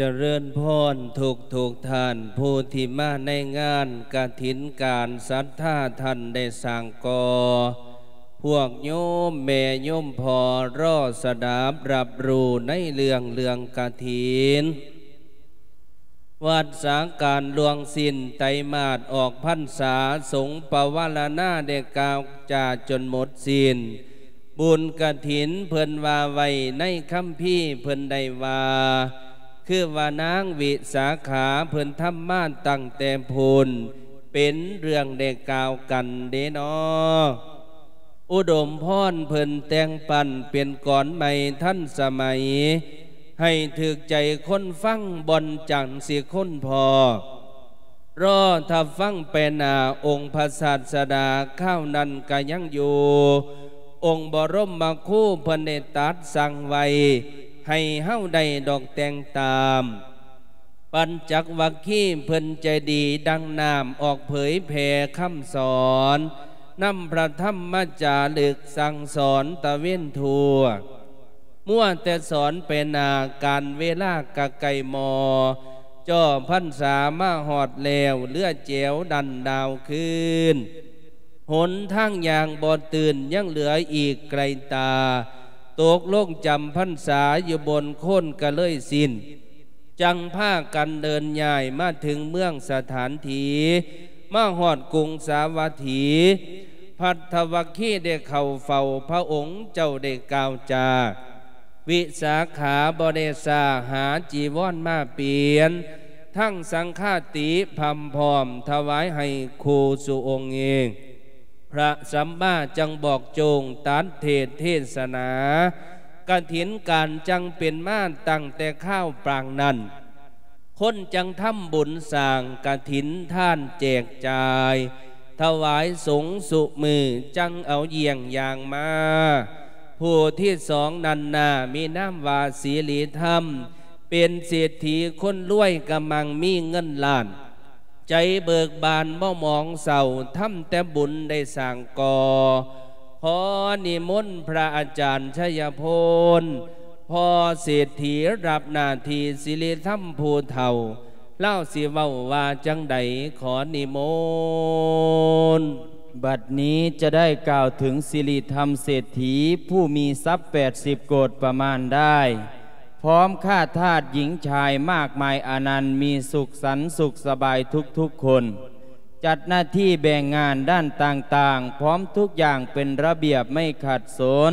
ຈະເລີນພອນທຸກໆທ່ານ ຜູ້ທີ່ມາໃນງານກະຖິນການສັດທາທ່ານໄດ້ສ້າງກໍ່ ພວກໂຍມແມ່ໂຍມພໍ່ລໍສະດັບຮັບຮູ້ໃນເລື່ອງ ເລື່ອງກະຖິນ ວັດສາການລ່ວງສິ້ນໄຕມາດອອກພັນສາ ສົງປະວາລະນາໄດ້ກ່າວຈາຈົນໝົດສິ້ນ ບຸນກະຖິນເພິ່ນວ່າໄວ້ໃນຄຳພີເພິ່ນໄດ້ວ່າ ຄືວ່ານາງວິສາຂາເພິ່ນທຳມາຕັ້ງແຕ່ພຸ້ນ ເປັນເລື່ອງໄດ້ກ່າວກັນເດເນາະ. ອຸດົມພອນເພິ່ນແຕ່ງປັ້ນເປັນກອນໃໝ່ທັນສະໄໝ ໃຫ້ຖືກໃຈຄົນຟັງ ບ່ອນຈັກຊິຄົ້ນພໍ້ ລໍຖ້າຟັງໄປໜ້າ ອົງພະສາດສະດາຄາວນັ້ນກະຍັງຢູ່ ອົງບໍລົມມະຄູເພິ່ນໄດ້ຕັດສັ່ງໄວ້ ໃຫ້ເຮົາໄດ້ດອກແຕ່ງຕາມ ປັນຈັກວັກຄີເພິ່ນໃຈດີດັ່ງນ້ຳ ອອກເຜີຍແຜ່ຄຳສອນ ນຳພະທຳມະຈາລຶກສັ່ງສອນຕະເວນທົ່ວ ມົວແຕ່ສອນໄປໜ້າ ການເວລາກະໃກ້ມໍ່ ຈໍ່ພັນສາມາຮອດແລ້ວ ເຫຼືອແຈວດັນດາວຄືນ ຫົນທາງຍ່າງບໍ່ຕື່ນ ຍັງເຫຼືອອີກໄກຕາ ຕົກລົງຈຳພັນສາຢູ່ບົນໂຄນກະເລີຍສິ້ນ ຈັ່ງພາກັນເດີນຍ້າຍມາເຖິງເມືອງສະຖານທີ່ ມາຮອດກຸງສາວັດຖີ ພັດທະວັກຄີໄດ້ເຂົ້າເຝົ້າພະອົງເຈົ້າໄດ້ກ່າວຈາ ວິສາຂາບໍ່ໄດ້ຊ້າ ຫາຈີວອນມາປ່ຽນ ທັງສັງຄາຕິພຳພ້ອມຖວາຍໃຫ້ຄູ່ສູ່ອົງເອງ ພະສຳມາຈັ່ງບອກໂຈງຕັດເທດເທສະໜາ ກະຖິນການຈັ່ງເປັນມາຕັ້ງແຕ່ຄາວປາງນັ້ນ ຄົນຈັ່ງທຳບຸນສ້າງກະຖິນທານແຈກຈ່າຍ ຖວາຍສົງຊຸມື້ ຈັ່ງເອົາຢ້ຽງຢ່າງມາ ຜູ້ທີສອງນັ້ນໜ້າມີນາມວ່າສີລິທຳ ເປັນເສດຖີຄົນລວຍກະມັ່ງມີເງິນລ້ານ ໃຈເບີກບານບໍ່ໝອງເສົ້າ ທຳແຕ່ບຸນໄດ້ສ້າງກໍ່ ຂໍນິມົນພະອາຈານໄຊຍະພົນ ພໍ່ເສດຖີຮັບໜ້າທີ່ສີລິທຳຜູ້ເຖົ້າ ລາວຊິເວົ້າວ່າຈັ່ງໃດ ຂໍນິມົນ. ບັດນີ້ຈະໄດ້ກ່າວເຖິງສີລິທຳເສດຖີ ຜູ້ມີຊັບແປດສິບໂກດປະມານໄດ້ ພ້ອມຂ້າທາດຍິງຊາຍມາກມາຍອານັນ ມີສຸກສັນສຸກສະບາຍທຸກໆຄົນ ຈັດໜ້າທີ່ແບ່ງງານດ້ານຕ່າງໆ ພ້ອມທຸກຢ່າງເປັນລະບຽບໄມ່ຂັດສົນ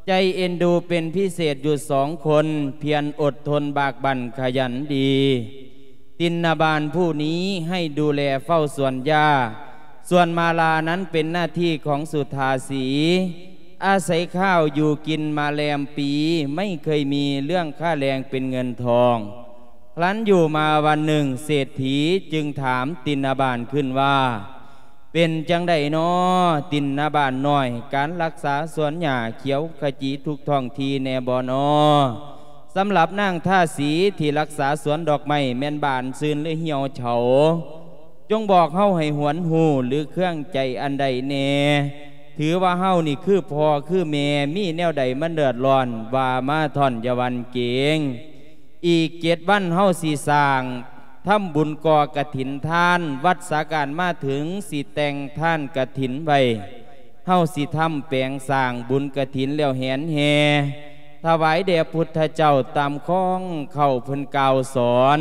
ໃຈເອັນດູເປັນພິເສດຢູ່ສອງຄົນ ພຽນອົດທົນບາກບັ່ນຂະຫຍັນດີ. ຕິນນະບານຜູ້ນີ້ໃຫ້ດູແລເຝົ້າສວນຢາ ສ່ວນມາລານັ້ນເປັນໜ້າທີ່ຂອງສຸທາສີ ອາໄສຂ້າວຢູ່ກິນມາແລມປີ ໄມ່ເຄີຍມີເລື່ອງຄ່າແລງເປັນເງິນທອງ. ຄັ້ນຢູ່ມາວັນໜຶ່ງ ເສດຖີຈຶ່ງຖາມຕິນນະບານຂຶ້ນວ່າ ເປັນຈັ່ງໃດນໍ ຕິນນະບານນ້ອຍ ການລັກສາສວນຫຍ້າຂຽວຂະຈີທຸກທ້ອງທີ່ແນ່ບໍ່ນໍ? ສຳລັບນາງທາສີທີ່ລັກສາສວນດອກໄມ້ແມ່ນບານຊື່ນ ຫຼື ຫ່ຽວເຖົ້າ ຈົ່ງບອກເຮົາໃຫ້ຫວນຮູ້ ຫຼື ເຄືອງໃຈອັນໃດແນ່? ຖືວ່າເຮົານີ້ຄືພໍ່ຄືແມ່ ມີແນວໃດມັນເດືອດຮ້ອນ ວ່າມາທ່ອນຢ່າຫວັ່ນເກງ. ອີກເຈັດວັນເຮົາຊິສ້າງ ທຳບຸນກໍ່ກະຖິນທານ ວັດສາການມາເຖິງ ຊິແຕ່ງທານກະຖິນໄວ້ ເຮົາຊິທຳແປງສ້າງບຸນກະຖິນແລ້ວແຫນແຫ່ ຖວາຍແດ່ພຸດທະເຈົ້າຕາມຂອງເຂົາເພິ່ນກ່າວສອນ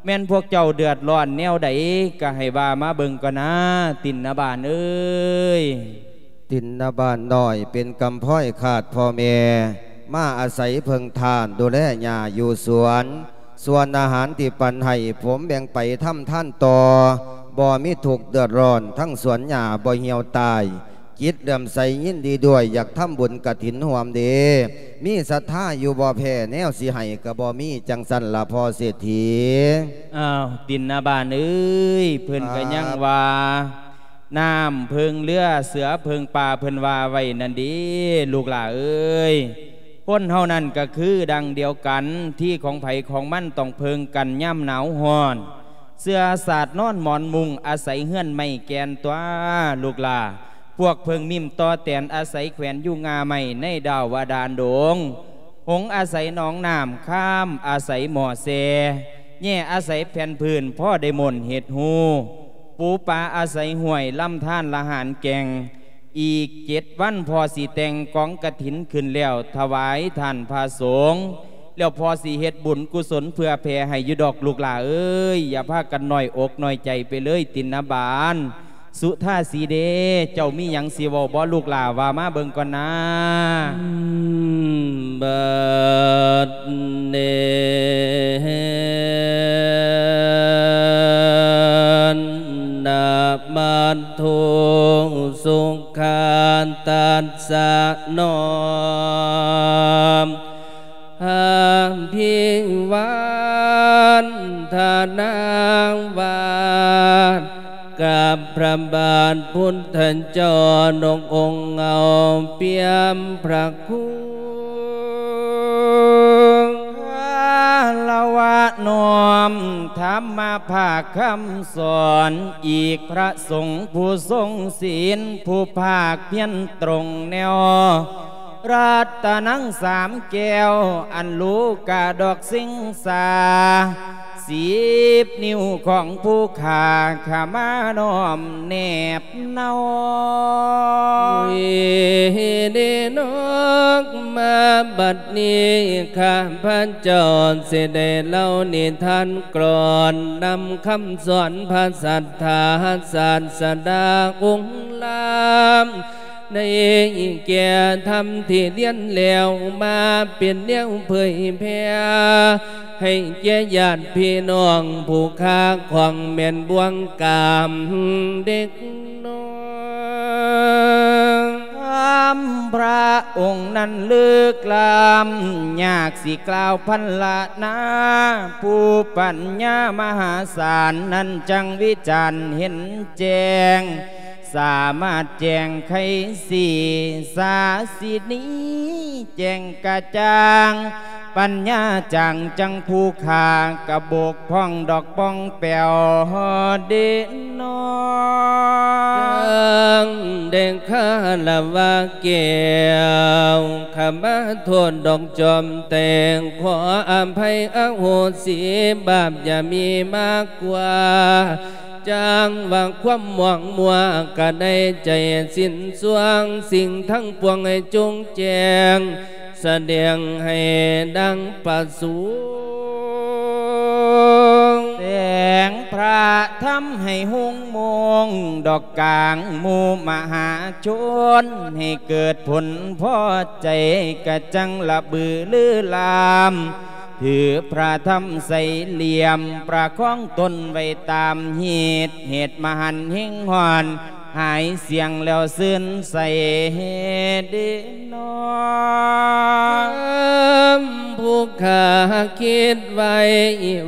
ແມ່ນພວກເຈົ້າເດືອດຮ້ອນແນວໃດ ກະໃຫ້ວ່າມາເບິ່ງກ່ອນນາ ຕິນນະບານເອີຍ. ຕິນນະບານນ້ອຍເປັນກຳພ້ອຍຂາດພໍ່ແມ່ ມາອາໄສເພິ່ງທ່ານດູແລຫຍ້າຢູ່ສວນ ສ່ວນອາຫານທີ່ປັນໃຫ້ ຜົມແບ່ງໄປທຳທານຕໍ່ ບໍ່ມີທຸກເດືອດຮ້ອນ ທັງສວນຫຍ້າບໍ່ຫ່ຽວຕາຍ ຈິດເຫຼື້ອມໃສຍິນດີດ້ວຍ ຢາກທຳບຸນກະຖິນຮ່ວມເດ ມີສັດທາຢູ່ບໍ່ແພ້ ແນວຊິໃຫ້ກະບໍ່ມີ ຈັ່ງຊັ້ນລະພໍ່ເສດຖີ. ອ້າວ ຕິນນະບານເອີຍ ເພິ່ນກະຍັງວ່າ ນ້ຳເພິ່ງເຮືອ ເສືອເພິ່ງປ່າ ເພິ່ນວ່າໄວ້ນັ້ນເດ ລູກຫຼ້າເອີຍ. ຄົນເຮົານັ້ນກະຄືດັ່ງດຽວກັນ ທີ່ຂອງໃຜຂອງມັນຕ້ອງເພິ່ງກັນຍາມໜາວຮ້ອນ ເສື້ອສາດນອນໝອນມຸງ ອາໄສເຮືອນໄມ້ແກ່ນຕົວະ ລູກຫຼ້າ. ພວກເຜິ້ງມິ້ມຕໍ່ແຕນ ອາໄສແຂວນຢູ່ງ່າໄມ້ໃນດາວບາດານດົງ ຫົງອາໄສໜອງນ້ຳ, ຄາມອາໄສໝໍ້ແຊ່, ແຍ່ອາໄສແຜ່ນພື້ນ ພໍໄດ້ມ້ນເຮັດຮູ, ປູປາອາໄສຫ້ວຍ, ລຳທານລະຫານແກ່ງ. ອີກເຈັດວັນພໍ່ຊິແຕ່ງກອງກະຖິນຂຶ້ນແລ້ວ ຖວາຍທ່ານພະສົງ, ແລ້ວພໍ່ຊິເຮັດບຸນກຸສົນເພື່ອແຜ່ໃຫ້ຢູ່ດອກລູກຫຼ້າເອີຍ. ຢ່າພາກັນນ້ອຍອົກນ້ອຍໃຈໄປເລີຍຕິນນະບານ. ສຸທາສີເດ ເຈົ້າມີຫຍັງຊິເວົ້າບໍ່ລູກຫຼ້າ? ວ່າມາເບິ່ງກ່ອນນາ. ອືມ ບັດນີ້ນະມັດຖຸສຸຂາຕັດສະ ນ້ອມ ອະພິວາທະນາ ໄຫວ້ກັບພະບາດພຸດທະເຈົ້າ ນົກອົງເງົາປ່ຽມພະຄຸນ ຄາລະວະນ້ອມທຳມະພາກຄຳສອນ ອີກພະສົງຜູ້ຊົງສິນ ຜູ້ພາກພຽນຕົງແນວ ລັດຕະນັງສາມແກ້ວ ອັນໂລກາດອກສິງສາ ສິບນິ້ວຂອງຜູ້ຂ້າ ຂ້າມານ້ອມແນບເນົາ. ເດນອກ ມາບັດນີ້ ຂ້າພະເຈົ້າຊິໄດ້ເລົ່ານິທານກລອນ ນຳຄຳສອນພະສັດຖາສາສະດາອົງລາມ ໃນແກ່ທຳທີ່ລຽນແລ້ວມາເປັນແນວເຜີຍແຜ່ ໃຫ້ແກ່ຍາດພີ່ນ້ອງຜູ້ຄາຂອງແມ່ນບ່ວງກາມເດັກນ້ອຍ. ຄຳພະອົງນັ້ນເລິກລ້ຳ ຍາກຊິກ່າວພັນລະນາ ຜູ້ປັນຍາມະຫາສານນັ້ນຈັ່ງວິຈານເຫັນແຈ້ງ ສາມາດແຈ້ງໄຂສີສາສິນີ ແຈ້ງກະຈ່າງປັນຍາຈາງ ຈັ່ງຜູ້ຂ້າກະບົກຜ່ອງດອກປ່ອງແປວເດນອ. ຈັ່ງໄດ້ຄາລະວະແກ້ວ ຂະມາໂທດດອກຈອມແຕ່ງ ຂໍອະໄພອະໂຫສິບາບ ຢ່າມີມາກວ່າ ຈັ່ງວ່າຄວາມໝອງມົວກະໄດ້ໃຈສິ້ນຊ່ວງ ສິ່ງທັງປວງໃຫ້ຈົ່ງແຈ້ງ ສະແດງໃຫ້ດັ່ງປະສົງ ແສງພະທຳໃຫ້ຮຸ່ງໂມງ ດອກກາງໝູ່ມະຫາຊົນ ໃຫ້ເກີດຜົນພໍໃຈ ກະຈັ່ງລະບືລືລາມ ຖືພະທຳໃສ່ຫຼ່ຽມ ປະຄອງຕົນໄວ້ຕາມຮີດ ເຫດມະຫັນເຮັງຮ້ອນ ຫາຍສ່ຽງແລ້ວຊື່ນໃສເດນອ. ຄຳຜູ້ຂ້າຄິດໄວ້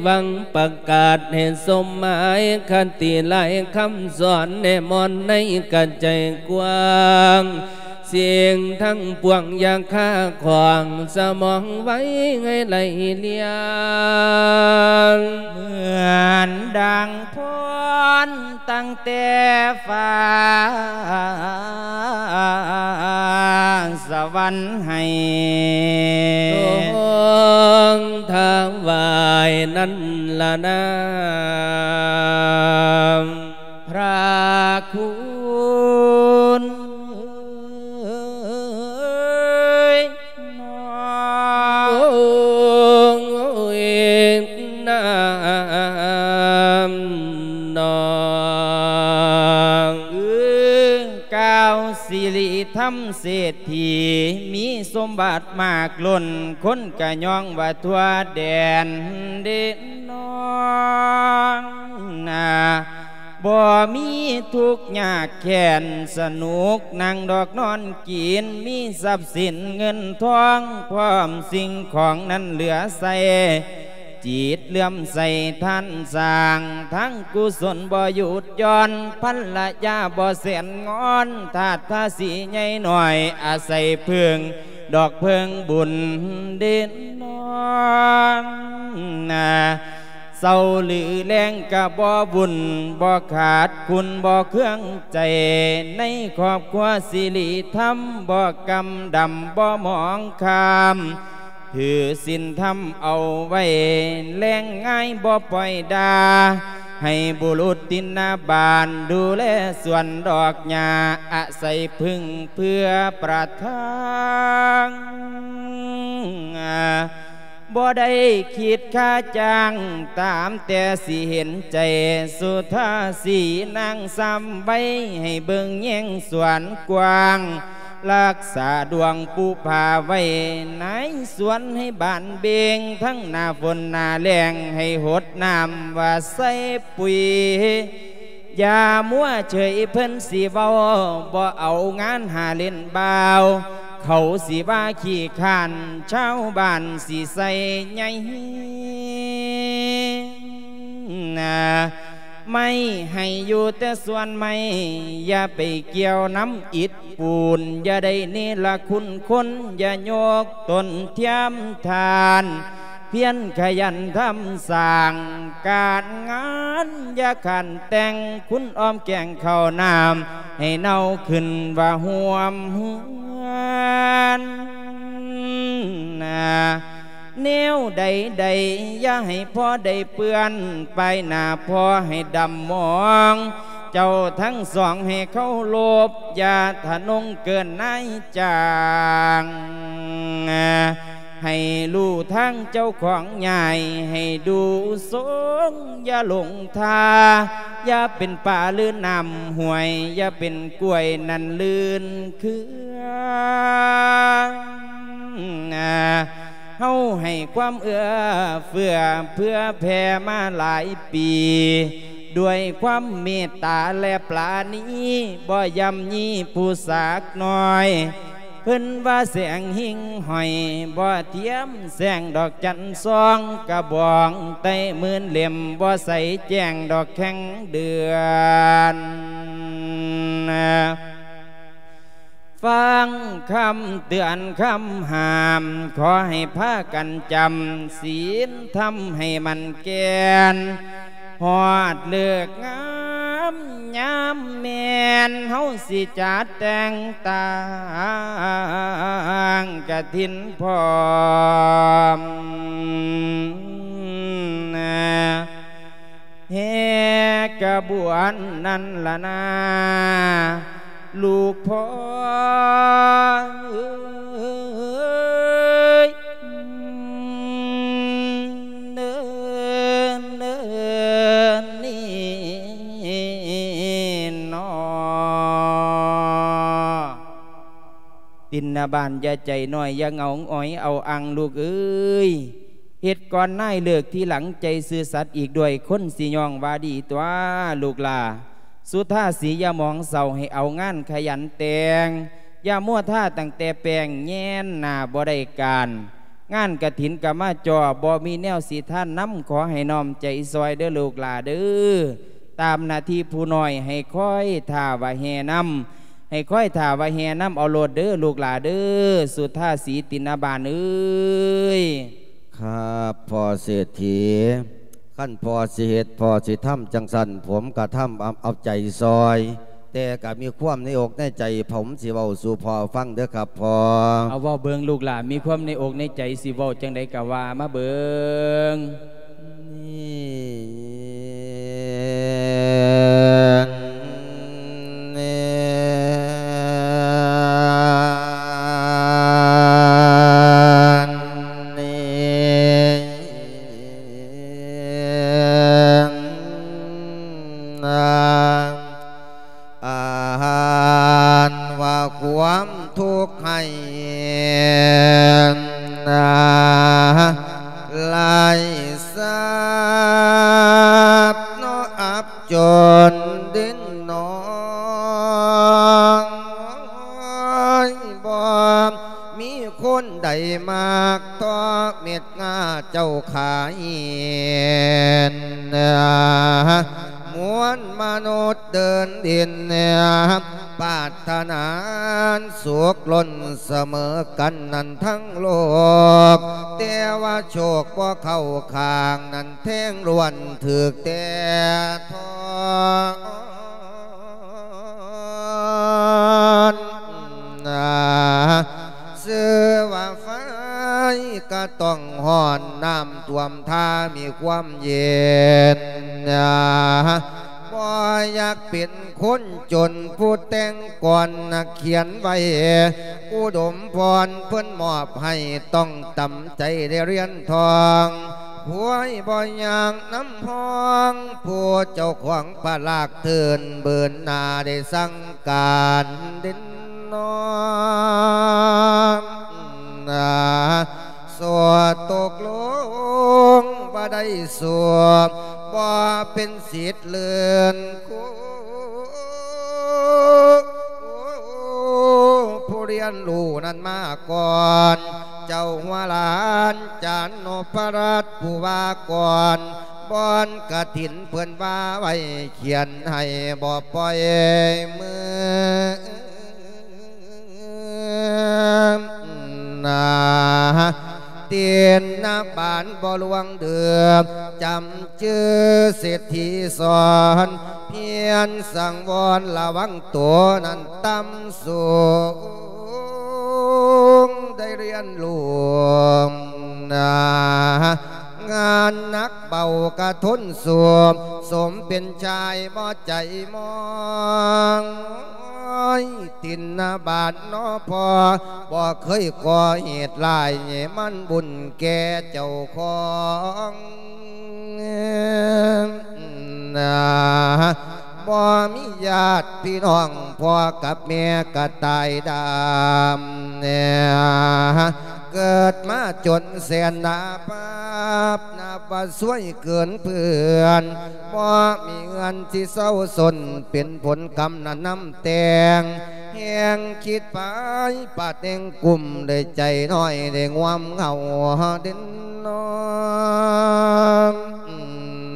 ຫວັງປະກາດໃຫ້ສົມໝາຍຄະຕິຫຼາຍຄຳສອນ ແນມອນໃນກະໃຈກວ້າງ ສິ່ງທັງປວງຢ່າຄາຂວາງ ສະໝອງໄວ້ໃຫ້ໄຫຼລຽນ ເໝືອນດັ່ງພອນຕັ້ງແຕ່ຟ້າສະຫວັນໃຫ້ ຕ້ອງຖວາຍນັ້ນລະນາ ພະຄຸນເອີຍ ນ້ອງ ໂອ້ຍ ນາມນ້ອງເອີຍ ກ່າວສິລິທຳເສດຖີ ມີສົມບັດມາກລົ້ນ ຄົນກະຍ້ອງວ່າທົ່ວແດນເດ ນ້ອງນາ ບໍ່ມີທຸກຍາກແຄ້ນ ສະໜຸກນັ່ງດອກນອນກິນ ມີຊັບສິນເງິນທອງ ພ້ອມສິ່ງຂອງນັ້ນເຫຼືອໃຊ້ ຈິດເຫຼື້ອມໃສທານສ້າງ ທັງກຸສົນບໍ່ຢຸດຢ່ອນ ພັນລະຍາບໍ່ແສນງອນ ທາດທາສີໃຫຍ່ນ້ອຍ ອາໄສເພິ່ງ ດອກເພິ່ງບຸນເດນອນນາ ເຊົາຫຼືແລງກະບໍ່ວຸ່ນ ບໍ່ຂາດຄຸນບໍ່ເຄືອງໃຈ ໃນຄອບຄົວສິລິທຳ ບໍ່ກຳດຳບໍ່ໝອງຄາມ ຖືສິນທຳເອົາໄວ້ ແລງງາຍບໍ່ປ່ອຍດ່າ ໃຫ້ບຸລຸດຕິນນາບານ ດູແລສວນດອກຫຍ້າ ອາໄສເພິ່ງເພື່ອປະທັງ ບໍ່ໄດ້ຄິດຄ່າຈ້າງ ຕາມແຕ່ຊິເຫັນໃຈ ສຸທາສີນາງຊ້ຳໄວ້ ໃຫ້ເບິ່ງແຍງສວນກວ້າງ ລັກສາດວງປູພາໄວ້ ນາຍສວນໃຫ້ບານເບັງ ທັງໜ້າຝົນໜ້າແລ້ງ ໃຫ້ຫົດນ້ຳວ່າໃສ່ປຸ໋ຍ ຢ່າມົວເຊີຍເພິ່ນຊິເວົ້າ ບໍ່ເອົາງານຫາຫຼິ້ນບ່າວ ເຂົາຊິວ່າຂີ້ຄ້ານ ຊາວບ້ານຊິໃສ່ໃຍ ໄມ້ໃຫ້ຢູ່ແຕ່ສວນໄມ້ ຢ່າໄປກ່ຽວນຳອິດປູນ ຢ່າໄດ້ເນລະຄຸນຄົນ ຢ່າຍົກຕົນທຽມທ່ານ ພຽນຂະຫຍັນທຳສ້າງການງານ ຢ່າຂັນແຕ່ງຄຸນອ້ອມແກງເຂົ້ານ້ຳ ໃຫ້ເນົ່າຂຶ້ນວ່າຮ່ວມເຮືອນ ແນວໃດໆ ຢ່າໃຫ້ພໍໄດ້ເປື້ອນ ປາຍໜ້າພໍໃຫ້ດຳໝອງ ເຈົ້າທັງສອງໃຫ້ເຄົາລົບ ຢ່າທະນົງເກີນນາຍຈ້າງ ໃຫ້ຮູ້ທາງເຈົ້າຂອງຍ້າຍ ໃຫ້ດູຊົງ ຢ່າຫຼົງທ່າ ຢ່າເປັນປາຫຼືນ້ຳຫ້ວຍ ຢ່າເປັນກ້ວຍນັ້ນລື່ນເຄືອ ເຮົາໃຫ້ຄວາມເອື້ອເຟື້ອເຜື່ອແຜ່ມາຫຼາຍປີ ດ້ວຍຄວາມເມດຕາ ແລະ ປານີ ບໍ່ຢ້ຳຢີຜູ້ສາກນ້ອຍ ເພິ່ນວ່າແສງຫິ່ງຫ້ອຍ ບໍ່ທຽມແສງດອກຈັນຊອງ ກະບອງໄຕ້ໝື່ນເຫຼັ້ມ ບໍ່ໃສແຈ້ງດອກແຂ້ງເດືອນ ຟັງຄຳເຕືອນຄຳຫ້າມ ຂໍໃຫ້ພາກັນຈຳ ສິນທຳໃຫ້ໝັ້ນແກ່ນ ຮອດເລີກງາມຍາມແມ່ນ ເຮົາຊິຈັດແຕ່ງຕັ້ງກະຖິນພ້ອມ ແຫ່ຂະບວນນັ້ນລະນາ ລູກພໍ່ເອີຍ ເນີນ ເນີນນີ້ນໍ ຕິນນະບານຢ່າໃຈນ້ອຍ ຢ່າເຫງົາຫງອຍເອົາອັງລູກເອີຍ ເຮັດກ່ອນນາຍເລີກທີຫຼັງ ໃຈຊື່ສັດອີກດ້ວຍ ຄົນຊິຍ້ອງວ່າດີຕົວະລູກຫຼ້າ ສຸທາສີຢ່າໝອງເສົ້າ ໃຫ້ເອົາງານຂະຫຍັນແຕ່ງ ຢ່າມົວທາຕັ້ງແຕ່ແປ້ງ ແຍງໜ້າບໍ່ໄດ້ການ ງານກະຖິນກະມາຈໍ້ ບໍ່ມີແນວຊິທານນຳ ຂໍໃຫ້ນ້ອມໃຈຊ່ອຍເດີລູກຫຼ້າເດີ ຕາມໜ້າທີ່ຜູ້ນ້ອຍ ໃຫ້ຄອຍຖ້າວ່າແຫ່ນຳ ໃຫ້ຄອຍຖ້າວ່າແຫ່ນຳເອົາໂລດເດີລູກຫຼ້າເດີ ສຸທາສີ ຕິນນະບານເອີຍ. ຄັບ ພໍ່ເສດຖີ ຄັນພໍ່ຊິເຮັດ ພໍ່ຊິທຳຈັ່ງຊັ້ນ ຜົມກະທຳເອົາ ເອົາໃຈຊ່ອຍ ແຕ່ກະມີຄວາມໃນອົກໃນໃຈ ຜົມຊິເວົ້າສູ່ພໍ່ຟັງເດີຄັບພໍ່. ເອົາເວົ້າເບິ່ງລູກຫຼ້າ ມີຄວາມໃນອົກໃນໃຈ ຊິເວົ້າຈັ່ງໃດກະວ່າມາເບິ່ງ. ອັນວ່າຄວາມທຸກໄຮ້ ຫຼາຍສັບເນາະ ອັບຈົນດິນນອນ ບໍ່ມີຄົນໃດມັກ ຕໍ່ເມັດງາເຈົ້າຂາຍ ມວນມະນຸດເດີນດິນ ປາດຖະໜາສຸກລົ້ນສະເໝີກັນນັ້ນທັງໂລກ ແຕ່ວ່າໂຊກບໍ່ເຂົ້າຂ້າງນັ້ນ ແທງລ້ວນຖືກແຕ່ທອນ ຊື່ວ່າໄຟ ກໍຕ້ອງຮ້ອນ ນ້ຳຖ້ວມຖ້າມີຄວາມເຢັນ. ບໍ່ຢາກເປັນຄົນຈົນ ຜູ້ແຕ່ງກ່ອນນະຂຽນໄວ້ ອຸດົມພອນເພິ່ນມອບໃຫ້ ຕ້ອງຕຳໃຈໄດ້ຫຼຽນທອງ. ພວຍບໍ່ຍາກນຳຮອງ ຜູ້ເຈົ້າຂອງພະລາກເທີນ ເບີນໜ້າໄດ້ສັ່ງການເດັ່ນນອນ. ສວດຕົກລົງບໍ່ໄດ້ສວດ ບໍ່ເປັນສິດເລື່ອນຄູ ຜູ້ຮຽນຮູ້ນັ້ນມາກ່ອນ ເຈົ້າຫົວຫຼານຈານນົບພະລັດຜູ້ວ່າກ່ອນ ບ່ອນກະຖິນເພິ່ນວ່າໄວ້ ຂຽນໃຫ້ບໍ່ປ່ອຍມື. ນາ ຕິນນະບານບໍ່ລ່ວງເດືອ ຈຳຈື່ເສດຖີສອນ ພຽນສັງວອນລະວັງໂຕນັ້ນຕ່ຳສູງ ໄດ້ຮຽນຮູ້ນາ ງານໜັກເບົາກະທົນສູ້ ສົມເປັນຊາຍບໍ່ໃຈມອງ. ຕິນນະບານນໍພໍ່ ບໍ່ເຄີຍກໍ່ເຫດຮ້າຍ ມັນບຸນແກ່ເຈົ້າຂອງນາ ບໍ່ມີຍາດພີ່ນ້ອງ ພໍ່ກັບແມ່ກະຕາຍດຳ ເກີດມາຈົນແສນໜ້າບາບ ນັບວ່າຊວຍເກີນເພື່ອນ ບໍ່ມີເຮືອນຊິເຊົາຊົນ ເປັນຜົນກຳນັ້ນນຳແຕ່ງ ແຮງຄິດໄປປາດແຫ່ງກຸ້ມ ໄດ້ໃຈນ້ອຍໄດ້ງວມເຫງົາເດັ່ນນອນ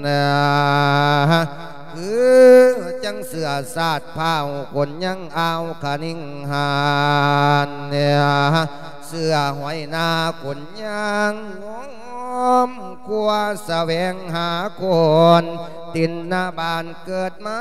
ນາ ຄືຈັ່ງເຊື້ອຊາດພ້າວ ຄົນຍັງອ່າວຄະນິງຫານ ເຊື້ອຫອຍນາຄົນຍັງງອມ ຄວ້າສະແຫວງຫາຄົນ ຕິນນະບານເກີດມາ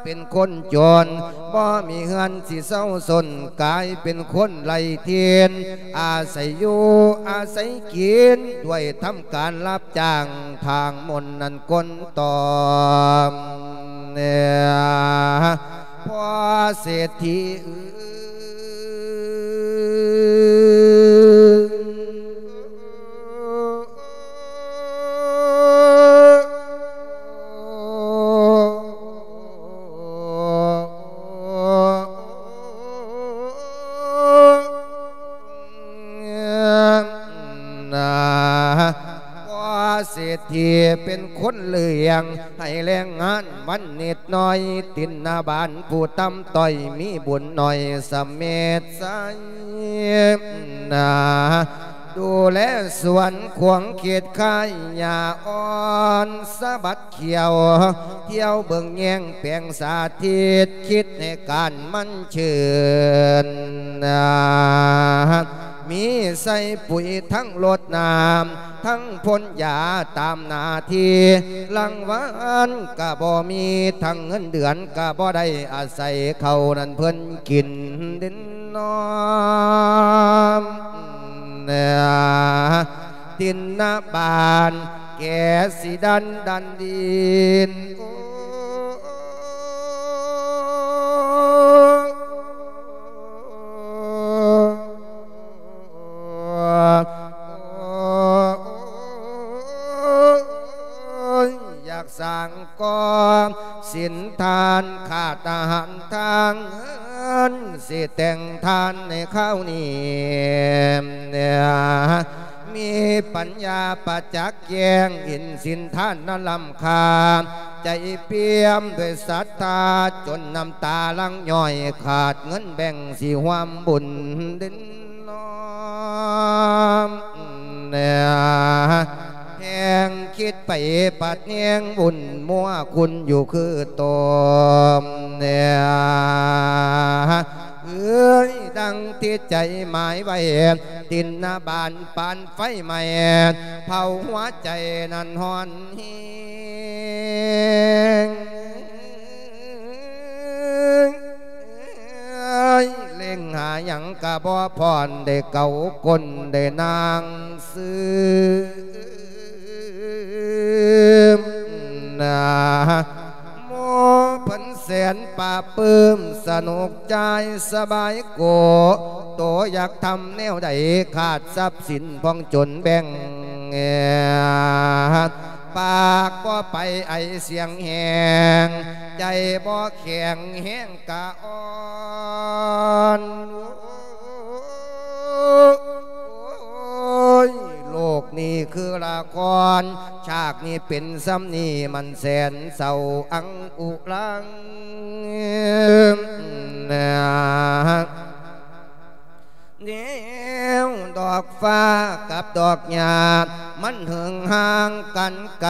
ເປັນຄົນຈົນ ບໍ່ມີເຮືອນຊິເຊົາຊົນ ກາຍເປັນຄົນໄຮ້ຖິ່ນ ອາໄສຢູ່ອາໄສກິນ ດ້ວຍທຳການຮັບຈ້າງ ທາງມົນນັ້ນກົນຕອມ ພໍ່ເສດຖີເອີຍ ນາ ພໍ່ເສດຖີເປັນຄົນລ້ຽງ ໃຫ້ແລງງານວັນນິດໜ້ອຍ ຕິນນະບານຜູ້ຕ່ຳຕ້ອຍ ມີບຸນໜ້ອຍສະເມັດໃສ ນາ ດູແລສວນຂວາງເຂດຄ້າຍ ຫຍ້າອ່ອນສະບັດຂຽວ ທ່ຽວເບິ່ງແຍງແປງສາທິດ ຄິດໃຫ້ການມັນຊື່ນນາ ມີໃສ່ປຸ໋ຍທັງລົດນ້ຳ ທັງພົ່ນຢາຕາມໜ້າທີ່ ລາງວັນກະບໍ່ມີ ທັງເງິນເດືອນກະບໍ່ໄດ້ ອາໄສເຂົ້ານັ້ນເພິ່ນກິນເດັ່ນນອນ ຕິນນະບານແກ່ຊິດັນດັນດິນ ໂອ້ຍ ຢາກສ້າງກໍ່ສິນທານ ຂາດອາຫານທາງເຮືອນ ຊິແຕ່ງທານໃນຄາວນີ້ ມີປັນຍາປະຈັກແຈ້ງ ເຫັນສິນທານນັ້ນລ້ຳຄ່າ ໃຈປ່ຽມດ້ວຍສັດທາ ຈົນນ້ຳຕາຫຼັ່ງຍ້ອຍ ຂາດເງິນແບ່ງຊິຮ່ວມບຸນເດັ່ນ ນ້ອມ ແຮງຄິດໄປປາດແຮງວຸ່ນມົວຄຸນຢູ່ຄືຕົມ ເອີຍ ດັ່ງທີ່ໃຈໝາຍໄວ້ ຕິນນະບານປານໄຟໄໝ້ ເຜົາຫົວໃຈນັ້ນຮ້ອນແຮງ ງຫາຫຍັງກະບໍ່ຜ່ອນ ໄດ້ເກົາກົ້ນໄດ້ນາງຊືມນາ ໂມເພິ່ນແສນປາບປື້ມ ສະໜຸກຈ່າຍສະບາຍໂກ ໂຕຢາກທຳແນວໃດ ຂາດຊັບສິນພອງຈົນແບ່ງ ປາກບໍ່ໄປໄອສຽງແຮງ ໃຈບໍ່ແຂງແຮງກະອ່ອນ ໂອ້ຍ ໂລກນີ້ຄືລະຄອນ ຊາກນີ້ເປັນຊ່ຳນີ້ ມັນແສນເສົ້າອັງອຸລັງ ແນວດອກຟ້າກັບດອກຫຍ້າ ມັນເຫິງຫ່າງກັນໄກ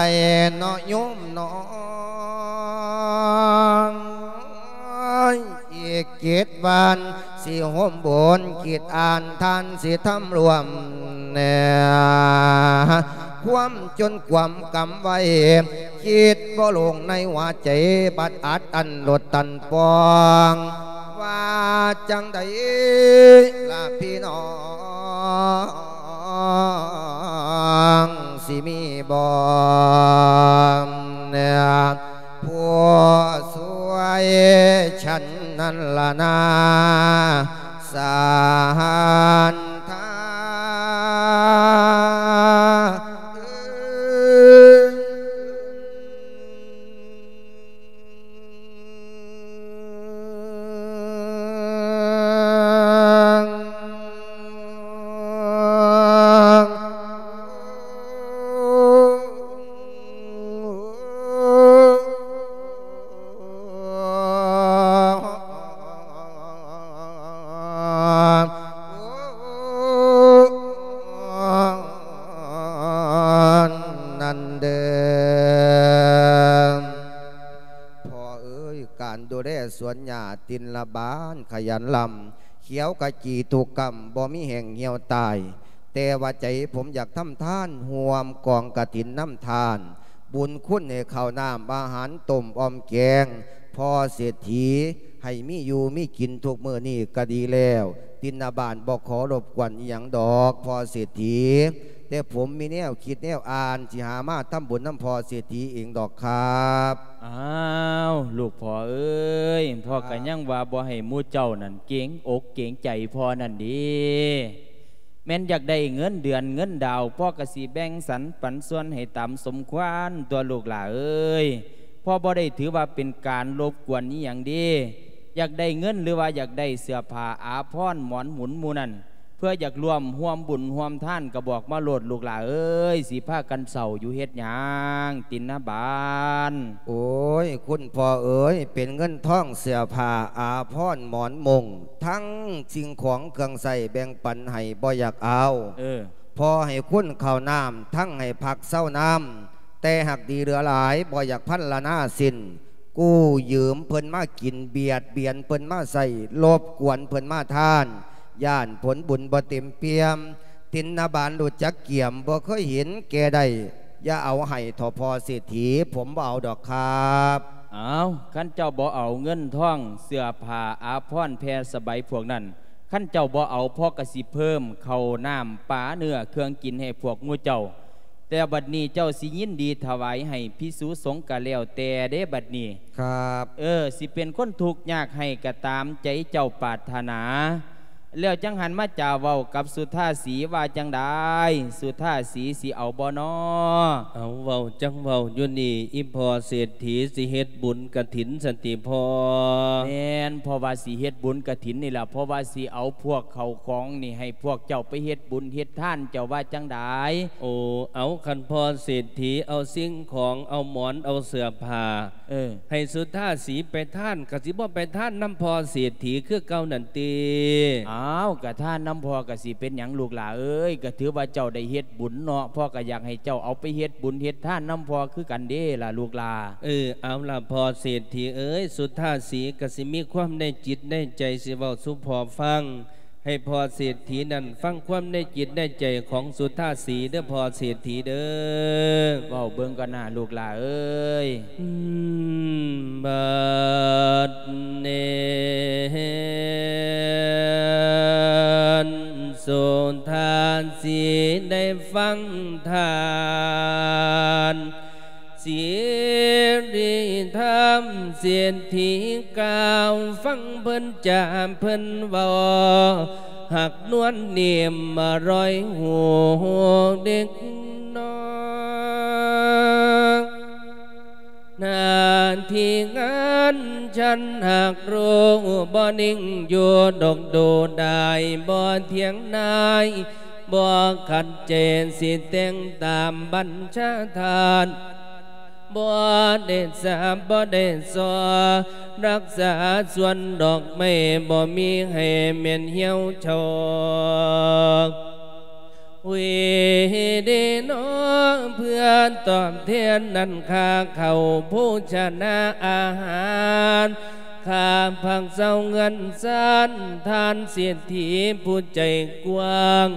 ເນາະໂຍມເນາະ ອີກເຈັດວັນ ຊິໂຮມບຸນຄິດອ່ານ ທ່ານຊິທຳລວມແນ່ ຄວາມຈົນຄວາມກຳໄວ້ ຄິດບໍ່ລົງໃນຫົວໃຈ ບັດອັດອັ້ນລົດຕັນປ່ອງ ວ່າຈັ່ງໃດລະພີ່ນ້ອງ ຊິມີບໍ່ ຜູ້ຊ່ວຍ ສະນັ້ນລະນາ ສັນທາ ນັ້ນເດີ ພໍ່ເອີຍ ການດູແລສວນຫຍ້າຕິນລະບານຂະຫຍັນລຳ ຂຽວຂະຈີທຸກກຳ ບໍ່ມີແຫ້ງຫ່ຽວຕາຍ ແຕ່ວ່າໃຈຜົມຢາກທຳທານ ຮ່ວມກອງກະຖິນນຳທ່ານ ບຸນຄຸນໃຫ້ເຂົ້ານ້ຳອາຫານຕົ້ມອອມແກງ ພໍ່ເສດຖີໃຫ້ມີຢູ່ມີກິນທຸກມື້ນີ້ກະດີແລ້ວ ຕິນນະບານບໍ່ຂໍລົບກວນອີ່ຫຍັງດອກພໍ່ເສດຖີ ແຕ່ຜົມມີແນວຄິດແນວອ່ານ ຊິຫາມາທຳບຸນນຳພໍ່ເສດຖີເອງດອກຄັບ. ອ້າວ ລູກພໍ່ເອີຍ ພໍ່ກະຍັງວ່າບໍ່ໃຫ້ໝູ່ເຈົ້ານັ້ນເກງອົກເກງໃຈພໍ່ນັ້ນເດ ແມ່ນຢາກໄດ້ເງິນເດືອນເງິນດາວ ພໍ່ກະຊິແບ່ງສັນປັນສ່ວນໃຫ້ຕາມສົມຄວນຕົວະລູກຫຼ້າເອີຍ ພໍ່ບໍ່ໄດ້ຖືວ່າເປັນການລົບກວນອີ່ຫຍັງເດ ຢາກໄດ້ເງິນ ຫຼືວ່າຢາກໄດ້ເສື້ອຜ້າອາພອນໝອນໝຸນໝູ່ນັ້ນ ເພື່ອຢາກຮ່ວມຮ່ວມບຸນຮ່ວມທານກະບອກມາໂລດລູກຫຼ້າເອີຍ ຊິພາກັນເສົ້າຢູ່ເຮັດຫຍັງ ຕິນນະບານ. ໂອ້ຍ ຄຸນພໍ່ເອີຍ ເປັນເງິນທອງເສື້ອຜ້າອາພອນໝອນມຸ້ງ ທັງສິ່ງຂອງເຄື່ອງໃຊ້ແບ່ງປັນໃຫ້ບໍ່ຢາກເອົາ ເອີ ພໍ່ໃຫ້ຄຸນເຂົ້ານ້ຳ ທັງໃຫ້ພັກເຊົານຳ ແຕ່ຫາກດີເຫຼືອຫຼາຍ ບໍ່ຢາກພັນລະນາສິ້ນ ກູ້ຢືມເພິ່ນມາກິນ ບຽດບຽນເພິ່ນມາໃຊ້ ລົບກວນເພິ່ນມາທານ ຢ້ານຜົນບຸນບໍ່ເຕັມປ່ຽມ ຕິນນະບານຮູ້ຈັກກຽມ ບໍ່ເຄີຍເຫັນແກ່ໄດ້ ຢ່າເອົາໃຫ້ເຖາະພໍ່ເສດຖີ ຜົມບໍ່ເອົາດອກຄັບ. ອ້າວ ຄັນເຈົ້າບໍ່ເອົາເງິນທອງ ເສື້ອຜ້າອາພອນແຜ່ສະໄບພວກນັ້ນ ຄັນເຈົ້າບໍ່ເອົາ ພໍ່ກະຊິເພີ່ມເຂົ້ານ້ຳປາເນື້ອເຄື່ອງກິນໃຫ້ພວກໝູ່ເຈົ້າ ແຕ່ບັດນີ້ເຈົ້າຊິຍິນດີຖະຫວາຍໃຫ້ພິກສຸສົງກະແລ້ວແຕ່ເດ້ບັດນີ້ ຄັບ ເອີ ຊິເປັນຄົນທຸກຍາກໃຫ້ກະຕາມໃຈເຈົ້າປາດຖະໜາ ແລ້ວຈັ່ງຫັນມາຈາເວົ້າກັບສຸທາສີວ່າຈັ່ງໃດ ສຸທາສີຊິເອົາບໍ່ນໍ? ເອົາ ເວົ້າຈັ່ງເວົ້າຢູ່ນີ້ ອີ່ພໍ່ເສດຖີຊິເຮັດບຸນກະຖິນຊັ້ນຕິພໍ່? ແມ່ນ ເພາະວ່າຊິເຮັດບຸນກະຖິນນີ້ລະ ເພາະວ່າຊິເອົາພວກເຂົ້າຂອງນີ້ໃຫ້ພວກເຈົ້າໄປເຮັດບຸນເຮັດທານ ເຈົ້າວ່າຈັ່ງໃດ? ໂອ ເອົາ ຄັນພໍ່ເສດຖີເອົາສິ່ງຂອງ ເອົາໝອນ ເອົາເສື້ອຜ້າ ເອີ ໃຫ້ສຸທາສີໄປທານ ກະຊິບໍ່ໄປທານນຳພໍ່ເສດຖີຄືເກົ່ານັ້ນຕິ? ອ້າວ ກະທານນຳພໍ່ກະຊິເປັນຫຍັງລູກຫຼ້າເອີຍ ກະຖືວ່າເຈົ້າໄດ້ເຮັດບຸນເນາະ ພໍ່ກະຢາກໃຫ້ເຈົ້າເອົາໄປເຮັດບຸນເຮັດທານນຳພໍ່ຄືກັນເດ້ລະລູກຫຼ້າ. ເອີ ເອົາລະພໍ່ເສດຖີເອີຍ ສຸທາສີກະຊິມີຄວາມໃນຈິດໃນໃຈ ຊິເວົ້າສູ່ພໍ່ຟັງ ໃຫ້ພໍ່ເສດຖີນັ້ນຟັງຄວາມໃນຈິດໃນໃຈຂອງສຸທາສີເດີພໍ່ເສດຖີເດີ. ເວົ້າເບິ່ງກ່ອນນາລູກຫຼ້າເອີຍ. ອືມ ບັດນີ້ ງທານ ສິລິທຳເສດຖີກ່າວ ຟັງເພິ່ນຈາເພິ່ນເວົ້າ ຮັກນວນນິ້ມອະລ່ອຍຫູເດັກນ້ອຍ ໜ້າທີ່ງານສັນຫາກຮູ້ ບໍ່ນິ່ງຢູ່ດົກດູດາຍ ບໍ່ຖຽງນາຍ ບໍ່ຂັດໃຈ ຊິແຕ່ງຕາມບັນຊາທ່ານ ບໍ່ໄດ້ສາບ ບໍ່ໄດ້ສໍ ຮັກສາສວນດອກໄມ້ ບໍ່ມີໃຫ້ແມ່ນຫ່ຽວເຊົາ ເວເດນໍ ເພື່ອຕອບແທນນັ້ນ ຄ່າເຂົ້າໂພຊະນາອາຫານ ຄ່າພັກເຊົາເຮືອນຊານ ທ່ານເສດຖີຜູ້ໃຈກວ້າງ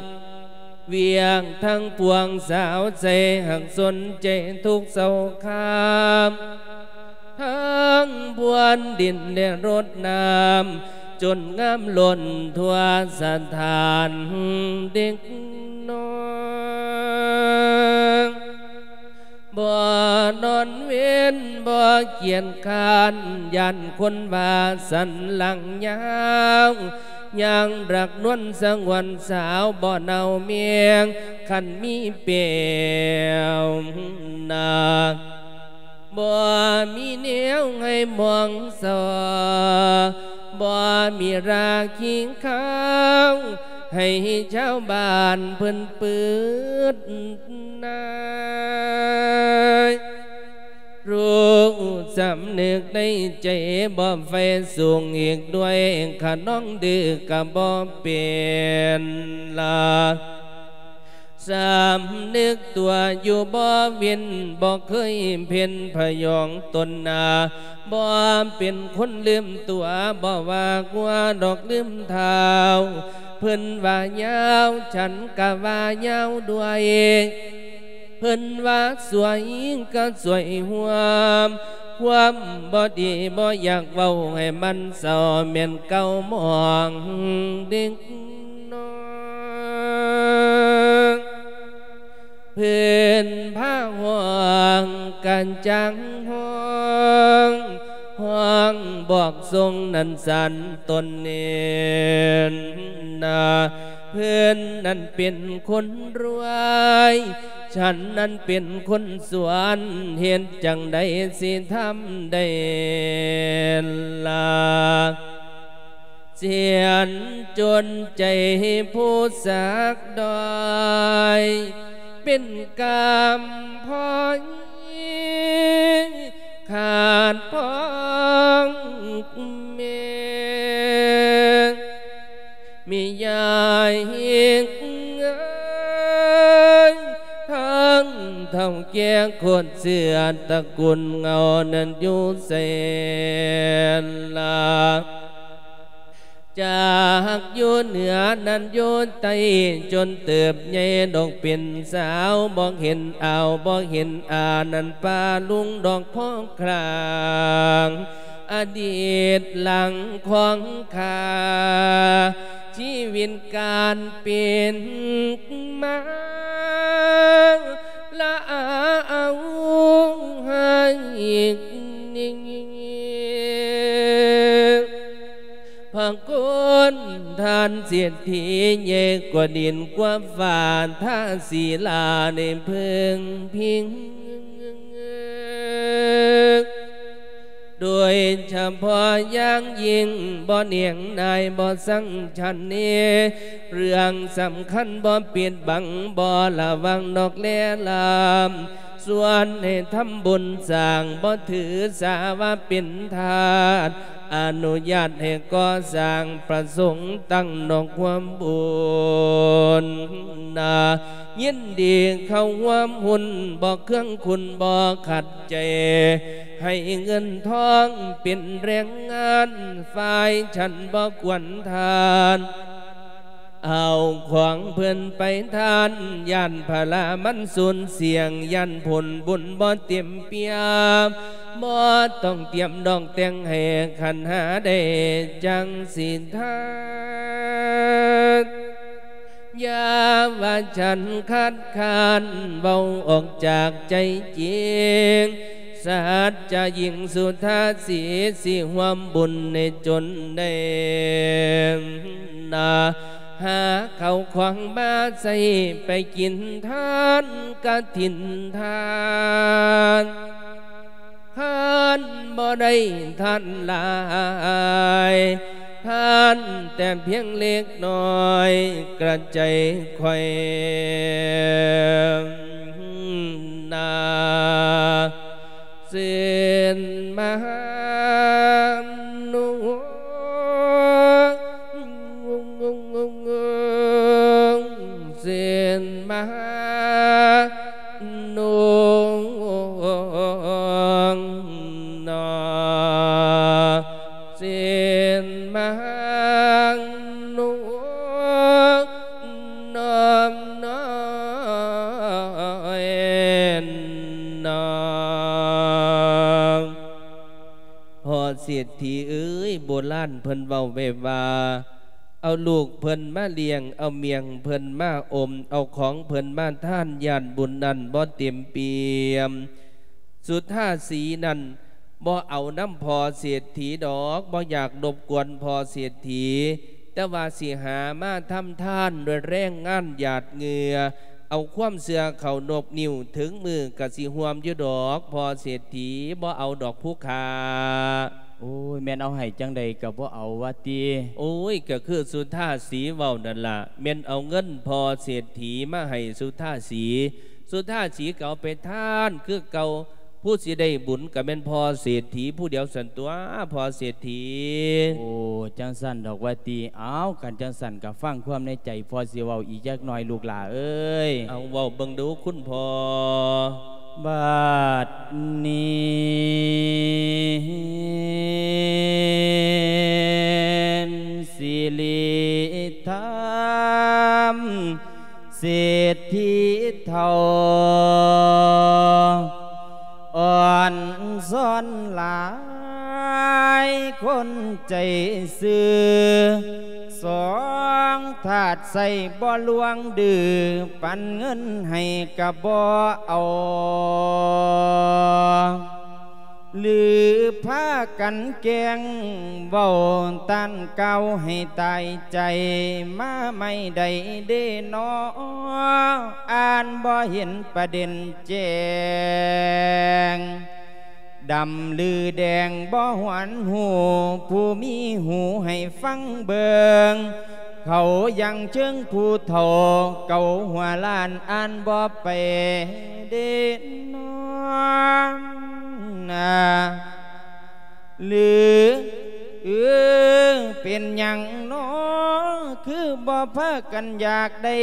ວຽກທັງປວງສາວໃຈ ຫາກສົນໃຈທຸກເຊົາຄາມ ທັງພວນດິນແລະລົດນ້ຳ ຈົນງາມລົ້ນທົ່ວສະຖານເດັກນ້ອຍ ບໍ່ນອນເວັນບໍ່ກຽດຄ້ານ ຢ້ານຄົນວ່າສັນຫຼັງຍາວ ຍັງຮັກນວນສະຫງວນສາວ ບໍ່ເນົ່າແມງ ຄັນມີແປວໜ້າ ບໍ່ມີແນວໃຫ້ມອງສ່ອ ບໍ່ມີລາຄີຂາວ ໃຫ້ຊາວບ້ານເພິ່ນປືດນາຍ ຮູ້ສຳນຶກໃນໃຈ ບໍ່ໄຟສູງອີກດ້ວຍ ຂະນອງດື້ກະບໍ່ເປັນລາ ສຳນຶກຕົວຢູ່ບໍ່ເວັ້ນ ບໍ່ເຄີຍເພັນພະຍອງຕົນນາ ບໍ່ເປັນຄົນລືມຕົວ ບໍ່ວ່າກົວດອກລືມທ້າວ ເພິ່ນວ່າຍາວ ສັນກະວ່າຍາວດ້ວຍ ເພິ່ນວ່າສວຍກະສວຍຮ່ວມ ຄວາມບໍ່ດີບໍ່ຢາກເວົ້າໃຫ້ມັນເສົ້າ ແມ່ນເກົ່າໝອງເດັກນ້ອຍ ເພິ່ນພາຮ້ອງກະຈັ່ງຮ້ອງ ຮ້ອງບອກຊົງນັ້ນສັນຕົນເນນນາ ເພິ່ນນັ້ນເປັນຄົນລວຍ ສັນນັ້ນເປັນຄົນສວນ ເຮັດຈັ່ງໃດຊິທຳໄດ້ລະ ສຽນຈົນໃຈຜູ້ສາກດອຍ ເປັນກຳພ້ອຍ ຂາດພ້ອງແມ່ ມີຍາຍເອີຍ ທັງເຖົ້າແກ່ໂຄດເຊື້ອຕະກຸນເງົານັ້ນຢູ່ໃສລະ ຈາກຢູ່ເໜືອນັ້ນຢູ່ໃຕ້ ຈົນເຕີບໃຫຍ່ດອກເປັນສາວ ບໍ່ເຫັນອາວ ບໍ່ເຫັນອາ ນັ້ນປ້າລຸງດອກພໍ ຄລາງອະດີດຫຼັງຂອງຂ້າ ຊີວິດການເປັນມາ ລະອາເອົາໃຫ້ນິງ ພະຄຸນທ່ານເສດຖີ ໃຫຍ່ກວ່າດິນກວ່າຟ້າ ທາສີລາໄດ້ເພິ່ງພິງ ໂດຍສະເພາະຢ່າງຍິ່ງ ບໍ່ໜຽງນາຍບໍ່ສັງສັນເນ ເລື່ອງສຳຄັນບໍ່ປິດບັງ ບໍ່ລະວັງນອກແລລາມ ຊວນໃຫ້ທຳບຸນສ້າງ ບໍ່ຖືສາວ່າເປັນທາດ ອະນຸຍາດໃຫ້ກໍ່ສ້າງ ປະສົງຕັ້ງນອກຮ່ວມບຸນນາ ຍິນດີເຂົ້າຮ່ວມຮຸ້ນ ບໍ່ເຄືອງຂຸນບໍ່ຂັດໃຈ ໃຫ້ເງິນທອງເປັນແຮງງານ ຝ່າຍສັນບໍ່ກວນທານ ເອົາຂອງເພິ່ນໄປທານ ຢ້ານພະລາມັນສູນສ່ຽງ ຢ້ານຜົນບຸນບໍ່ເຕັມປ່ຽມ ບໍ່ຕ້ອງຕຽມດອກແຕ່ງໃຫ້ຂັນຫ້າໄດ້ຈັ່ງສິທານ ຢ່າວ່າສັນຄັດຄ້ານ ເວົ້າອອກຈາກໃຈຈິງ ສັດຈະຍິ່ງສຸທາສີ ຊິຮ່ວມບຸນໃນຈົນໄດ້ນາ ຫາເຂົ້າຂອງມາໃຊ້ໄປກິນທານກະຖິນທານ ຄັນບໍ່ໄດ້ທານຫຼາຍ ທານແຕ່ພຽງເລັກນ້ອຍ ກະໃຈຂ້ອຍນາ ເຊັ່ນມານຸ ເຊັ່ນມານຸ ນອ ເຊັ່ນມານຸ ນອມນ້ອຍນອ ພໍ່ເສດຖີເອີຍ ໂບລານເພິ່ນເວົ້າໄວ້ວ່າ ເອົາລູກເພິ່ນມາລ້ຽງ ເອົາໝ້ຽງເພິ່ນມາອົມ ເອົາຂອງເພິ່ນມາທານ ຢ້ານບຸນນັ້ນບໍ່ເຕັມປ່ຽມ. ສຸທາສີນັ້ນບໍ່ເອົານຳພໍ່ເສດຖີດອກ ບໍ່ຢາກລົບກວນພໍ່ເສດຖີ ແຕ່ວ່າຊິຫາມາທຳທານດ້ວຍແຮງງານຫຍາດເຫຍື້ອ ເອົາຄວາມເຊື່ອເຂົ້ານົບນິ້ວ ເຖິງມື້ກະຊິຮ່ວມຢູ່ດອກພໍ່ເສດຖີ ບໍ່ເອົາດອກຜູ້ຂ້າ. ໂອ້ຍ ແມ່ນເອົາໃຫ້ຈັ່ງໃດກະບໍ່ເອົາວ່າຕິ. ໂອ້ຍ ກະຄືສຸທາສີເວົ້ານັ້ນລະ ແມ່ນເອົາເງິນພໍ່ເສດຖີມາໃຫ້ສຸທາສີ ສຸທາສີກະເອົາໄປທານຄືເກົ່າ ຜູ້ຊິໄດ້ບຸນກະແມ່ນພໍ່ເສດຖີຜູ້ດຽວຊັ້ນຕົວະ ພໍ່ເສດຖີ. ໂອ້ ຈັ່ງຊັ້ນດອກວ່າຕິ. ເອົາ ຄັນຈັ່ງຊັ້ນກະຟັງຄວາມໃນໃຈພໍ່ຊິເວົ້າອີກຈັກໜ້ອຍລູກຫຼ້າເອີຍ. ເອົາ ເວົ້າເບິ່ງດູຄຸນພໍ່. ບັດນີ້ ສິລິທຳ ເສດຖີເຖົ້າ ອ່ອນຊອນຫຼາຍຄົນໃຈຊື່ ສອງທາດໃຊ້ບໍ່ລວງດື້ ປັນເງິນໃຫ້ກະບໍ່ເອົາ ຫຼືພາກັນແກ່ງເວົ້າ ຕ້ານກ່າວໃຫ້ຕາຍໃຈ ມາໃໝ່ໄດ້ເດນໍ ອ່ານບໍ່ເຫັນປະເດັນແຈ້ງ ດຳຫຼືແດງບໍ່ຫວນຮູ້ ຜູ້ມີຫູໃຫ້ຟັງເບິ່ງ ເຂົາຍັງເຊີງຜູ້ເຖົ້າເກົ່າຫົວລ້ານ ອ່ານບໍ່ໄປເດນໍນາ ຫຼື ເອີ ເປັນຫຍັງນໍ ຄືບໍ່ພາກັນຢາກໄດ້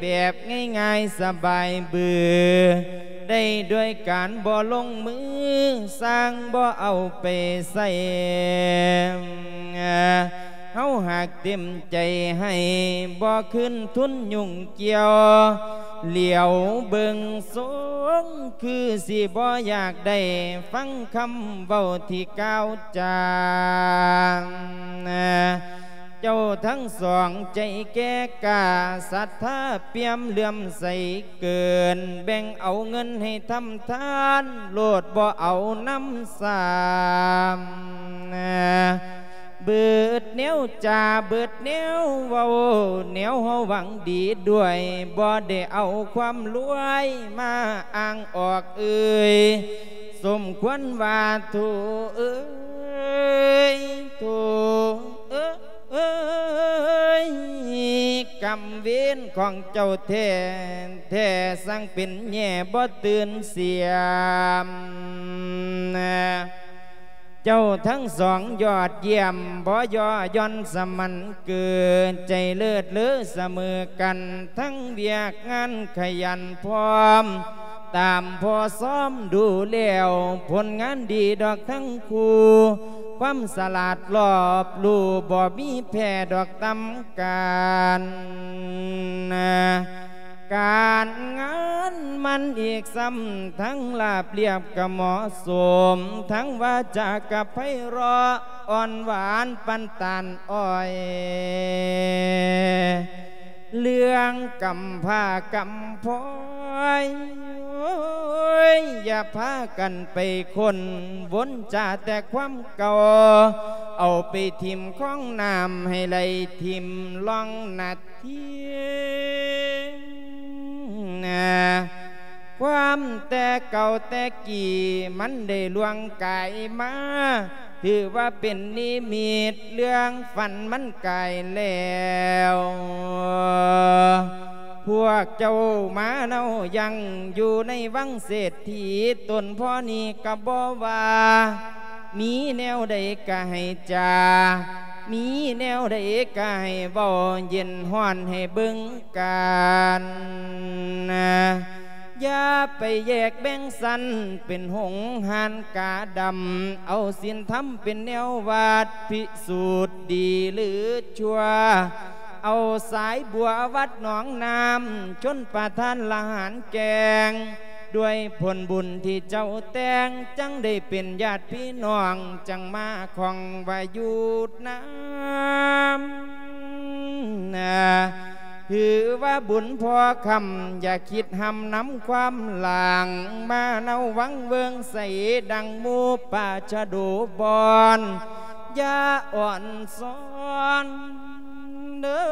ແບບງ່າຍໆສະບາຍບື ໄດ້ດ້ວຍການບໍ່ລົງມື ສ້າງບໍ່ເອົາໄປໃຊ້ ເຮົາຫາກເຕັມໃຈໃຫ້ ບໍ່ຄືນທຶນຫຍຸ້ງກ່ຽວ ຫຼຽວເບິ່ງຊົງ ຄືຊິບໍ່ຢາກໄດ້ຟັງຄຳເວົ້າທີ່ກ່າວຈາ ເຈົ້າທັງສອງໃຈແກ່ກ້າ ສັດທາປ່ຽມເຫຼື້ອມໃສເກີນ ແບ່ງເອົາເງິນໃຫ້ທຳທານໂລດ ບໍ່ເອົານຳຊ້ຳ ເບິດແນວຈາ ເບິດແນວເວົ້າ ແນວເຮົາຫວັງດີດ້ວຍ ບໍ່ໄດ້ເອົາຄວາມລວຍມາອ້າງອອກເອີຍ ສົມຄວນວ່າໂທເອີຍ ໂທເອີຍ ເອີຍ ກຳເວນຂອງເຈົ້າແທ້ ແທ້ ຊ່າງເປັນແຍ່ບໍ່ຕື່ນສຽມ ເຈົ້າທັງສອງຍອດຢ້ຽມ ບໍ່ຍໍ່ຢ່ອນສະໝັນເກີນ ໃຈເລີດເລີສະເໝີກັນ ທັງວຽກງານຂະຫຍັນພ້ອມ ຕາມພໍ່ຊ້ອມດູແລ້ວ ຜົນງານດີດອກທັງຄູ່ ຄວາມສະຫຼາດລອບຮູ້ ບໍ່ມີແພ້ດອກຕຳການ ການງານມັນອີກຊ້ຳ ທັງລາບລຽບກະເໝາະສົມ ທັງວາຈາກະໄພເລາະ ອ່ອນຫວານປານຕານອ້ອຍ ເລື່ອງກຳພ້າກຳພອຍ ໂອ້ຍ ຢ່າພາກັນໄປຄົ້ນວົນ ຈາແຕ່ຄວາມເກົ່າ ເອົາໄປຖິ້ມຄອງນ້ຳ ໃຫ້ໄຫຼຖິ້ມລ່ອງນາທີ. ຄວາມແຕ່ເກົ່າແຕ່ກີ້ ມັນໄດ້ລ່ວງກາຍມາ ຖືວ່າເປັນນິມິດ ເລື່ອງຝັນມັນກາຍແລ້ວ. ພວກເຈົ້າມາເນົາຍັງຢູ່ໃນວັງເສດຖີ ຕົນພໍ່ນີ້ກໍບໍ່ວ່າ ມີແນວໃດກໍໃຫ້ຈາ ມີແນວໃດກໍໃຫ້ເວົ້າ ເຢັນຮ້ອນໃຫ້ເບິ່ງກັນ. ຢ່າໄປແຍກແບ່ງຊັ້ນເປັນຫົງຫານກາດຳ ເອົາສິນທຳເປັນແນວວັດ ພິສູດດີຫຼືຊົ່ວ ເອົາສາຍບົວວັດໜອງນ້ຳ ຊົນປະທານລະຫານແກງ ດ້ວຍຜົນບຸນທີ່ເຈົ້າແຕ່ງ ຈັ່ງໄດ້ເປັນຍາດພີ່ນ້ອງ ຈັ່ງມາຂ້ອງວ່າຢູ່ນຳ. ນາ ຖືວ່າບຸນພໍ່ຄຳ ຢ່າຄິດຫ້ຳນຳຄວາມຫຼັງ ມາເນົາວັງເວີງໃສ ດັ່ງໝູ່ປາຊະໂດບອນ ຢ່າອ່ອນຊອນເດີ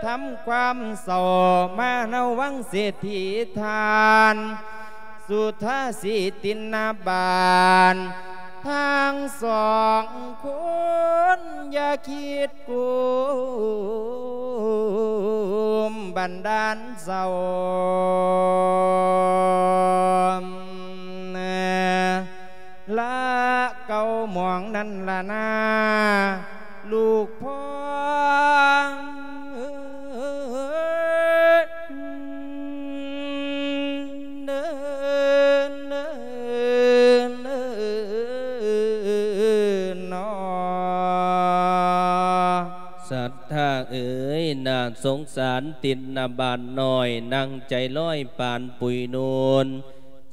ທຳຄວາມເສົ້າ ມາເນົາວັງເສດຖີທ່ານ ສຸທາສີຕິນນະບານ ທັງສອງຄົນ ຢ່າຄິດກຸມບັນດານເສົ້າ ລະເກົ່າໝອງນັ້ນລະນາ ລູກພໍ່. ສັດທາເອີຍ ໜ້າສົງສານຕິນນະບານນ້ອຍ ນັ່ງໃຈລອຍປານປຸຍນູນ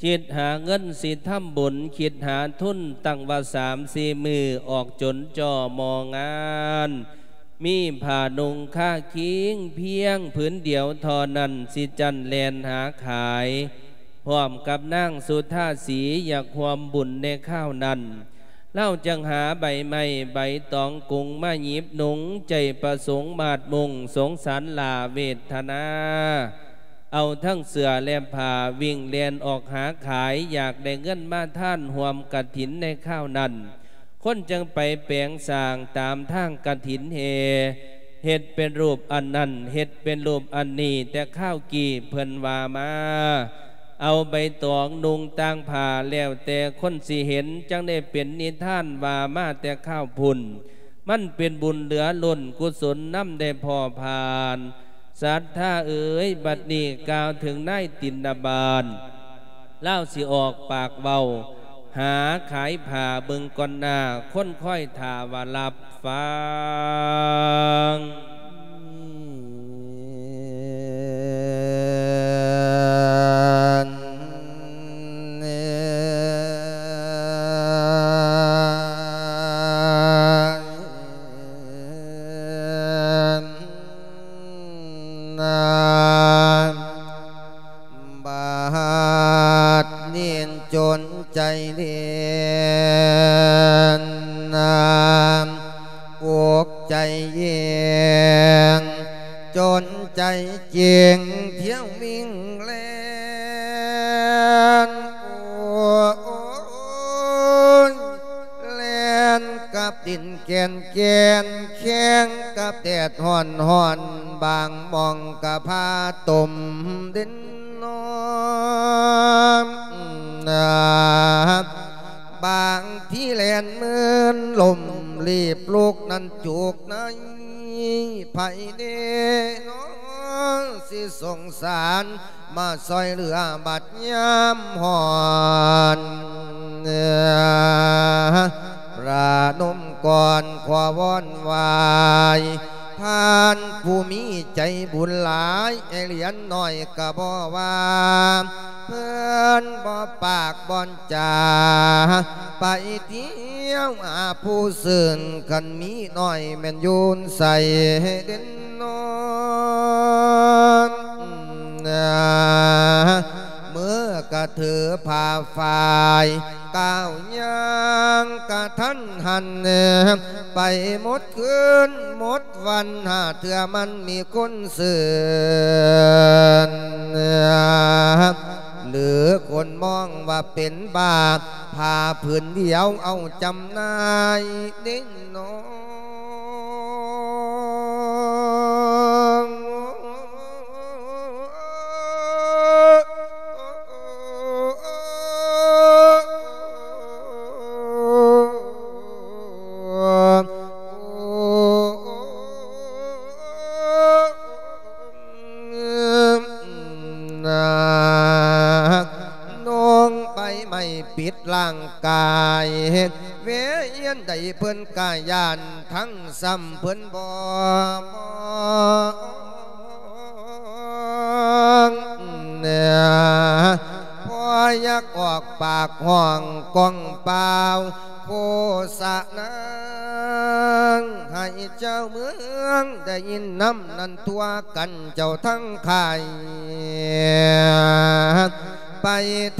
ຄິດຫາເງິນຊິທຳບຸນ ຄິດຫາທຶນຕັ້ງວ່າສາມສີ່ມື້ ອອກຈົນຈໍ່ມໍ່ງານ ມີຜ້ານຸ່ງຄາຄີງພຽງຜືນດຽວທໍ່ນັ້ນ ຊິຈັ້ນແລ່ນຫາຂາຍ ພ້ອມກັບນາງສຸທາສີ ຢາກຮ່ວມບຸນໃນຄາວນັ້ນ ລາວຈຶ່ງຫາໃບໄມ້ໃບຕອງກຸງມາຫຍິບນຸ່ງ ໃຈປະສົງມາດມຸງ ສົງສານຫຼ້າເວດທະນາ ເອົາທັງເສື້ອແລະຜ້າ ວິ່ງແລ່ນອອກຫາຂາຍ ຢາກໄດ້ເງິນມາທານຮ່ວມກະຖິນໃນຄາວນັ້ນ ຄົນຈຶ່ງໄປແປງສ້າງຕາມທາງກະຖິນແຫ່ ເຮັດເປັນຮູບອັນນັ້ນ ເຮັດເປັນຮູບອັນນີ້ ແຕ່ຄາວກີ້ເພິ່ນວ່າມາ ເອົາໃບຕອງນຸ່ງຕ່າງຜ້າ ແລ້ວແຕ່ຄົນຊິເຫັນ ຈັ່ງໄດ້ເປັນນິທານວ່າມາແຕ່ຄາວພຸ້ນ ມັນເປັນບຸນເຫຼືອລົ້ນ ກຸສົນນຳໄດ້ພໍຜ່ານ. ສັດທາເອີຍ ບັດນີ້ກ່າວເຖິງນາຍຕິນນະບານ ລາວຊິອອກປາກເວົ້າ ຫາຂາຍຜ້າເບິ່ງກ່ອນໜ້າ ຄົນຄອຍຖ້າວ່າຮັບຟັງ. ນາ ບາດນີ້ຈົນໃຈເລນນາ ອົກໃຈເຢັນ ຈົນໃຈເຈັງ ທ່ຽວວິ່ງແລ່ນ ໂອ້ຍ ແລ່ນກັບດິນແກ່ນແກ່ນ ແຂ່ງກັບແດດຮ້ອນໆ ບາງໝ່ອງກະພາຕົມເດັ່ນນ້ອຍ ບາງທີແລ່ນເມີນລົມ ລີບລຸກນັ້ນຈຸກໃນ ໃຜເດ້ເນາະ ຊິສົງສານ ມາຊ່ອຍເຫຼືອບັດຍາມຮ້ອນ ປະນົມກ່ອນຂໍວອນໄຫວ້ ທ່ານຜູ້ມີໃຈບຸນຫຼາຍ ໄອ້ຫຼຽນນ້ອຍກະບໍ່ວ່າ ເພິ່ນບໍ່ປາກບໍ່ຈາ ໄປທ່ຽວຫາຜູ້ຊື່ນ ຄັນມີນ້ອຍແມ່ນຢູ່ໃສເດັ່ນ ນອນ ເມືອກະຖືຜ້າຝ້າຍ ກ້າວຍ່າງກະທັນຫັນ ໄປໝົດຄືນໝົດວັນ ຫາເທື່ອມັນມີຄົນຊື່ນ ຫຼືຄົນມອງວ່າເປັນບ້າ ຜ້າຜືນດຽວເອົາຈຳໜ່າຍເດ້ນອ. ນຸ່ງໃບໄມ້ປິດຮ່າງກາຍ ເວຍຽນໃດເພິ່ນກະຢ້ານ ທັງຊ້ຳເພິ່ນບໍ່ມອງ ເນ ພໍຢາກອອກປາກຮ້ອງກ້ອງປ່າວ ໂຄສະນາ ໃຫ້ເຈົ້າເມືອງໄດ້ຍິນນຳນັ້ນທົ່ວກັນເຈົ້າທັງຄ້າຍ ໄປ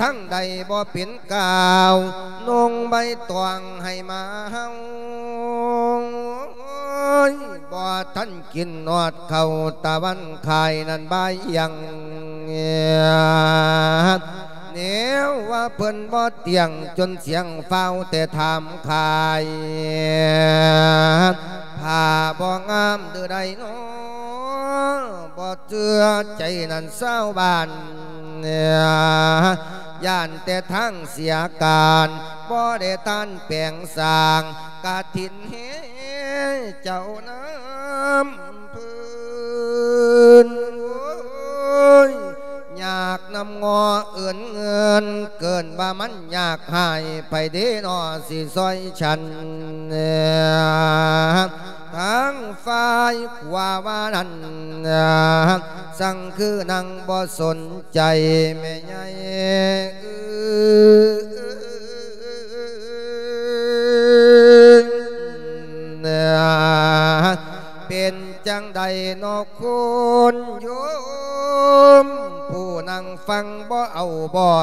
ທາງໃດບໍ່ເປັນກ່າວ ນຸ່ງໃບຕອງໃຫ້ມາເຮົາ ບໍ່ທັນ ກິນຮອດເຂົ້າຕາວັນຄ້າຍນັ້ນບ່າຍຍັງ ແນວວ່າເພິ່ນບໍ່ຕຽງ ຈົນສຽງຟ້າວແຕ່ຖາມຄ້າຍ ຜ້າບໍ່ງາມຫຼືໃດນໍ ບໍ່ເຊື່ອໃຈນັ້ນຊາວບ້ານ ຢ້ານແຕ່ທາງເສຍການ ບໍ່ໄດ້ທານແປງສ້າງ ກະຖິນ ເຮົເຈົ້ານຳເພິ່ນ ໂອ້ຍ ຍາກນຳງໍເອີ້ນເງິນ ເກີນວ່າມັນຍາກຫາຍ ໃຜເດນໍຊິຊ່ອຍສັນ ທາງຝ່າຍຂວາວ່ານັ້ນ ສັງຄືນາງບໍ່ສົນໃຈແມ່ໃຫຍ່ ເປັນຈັ່ງໃດນໍຄຸນໂຍມ ຜູ້ນັ່ງຟັງບໍ່ເອົາບໍ່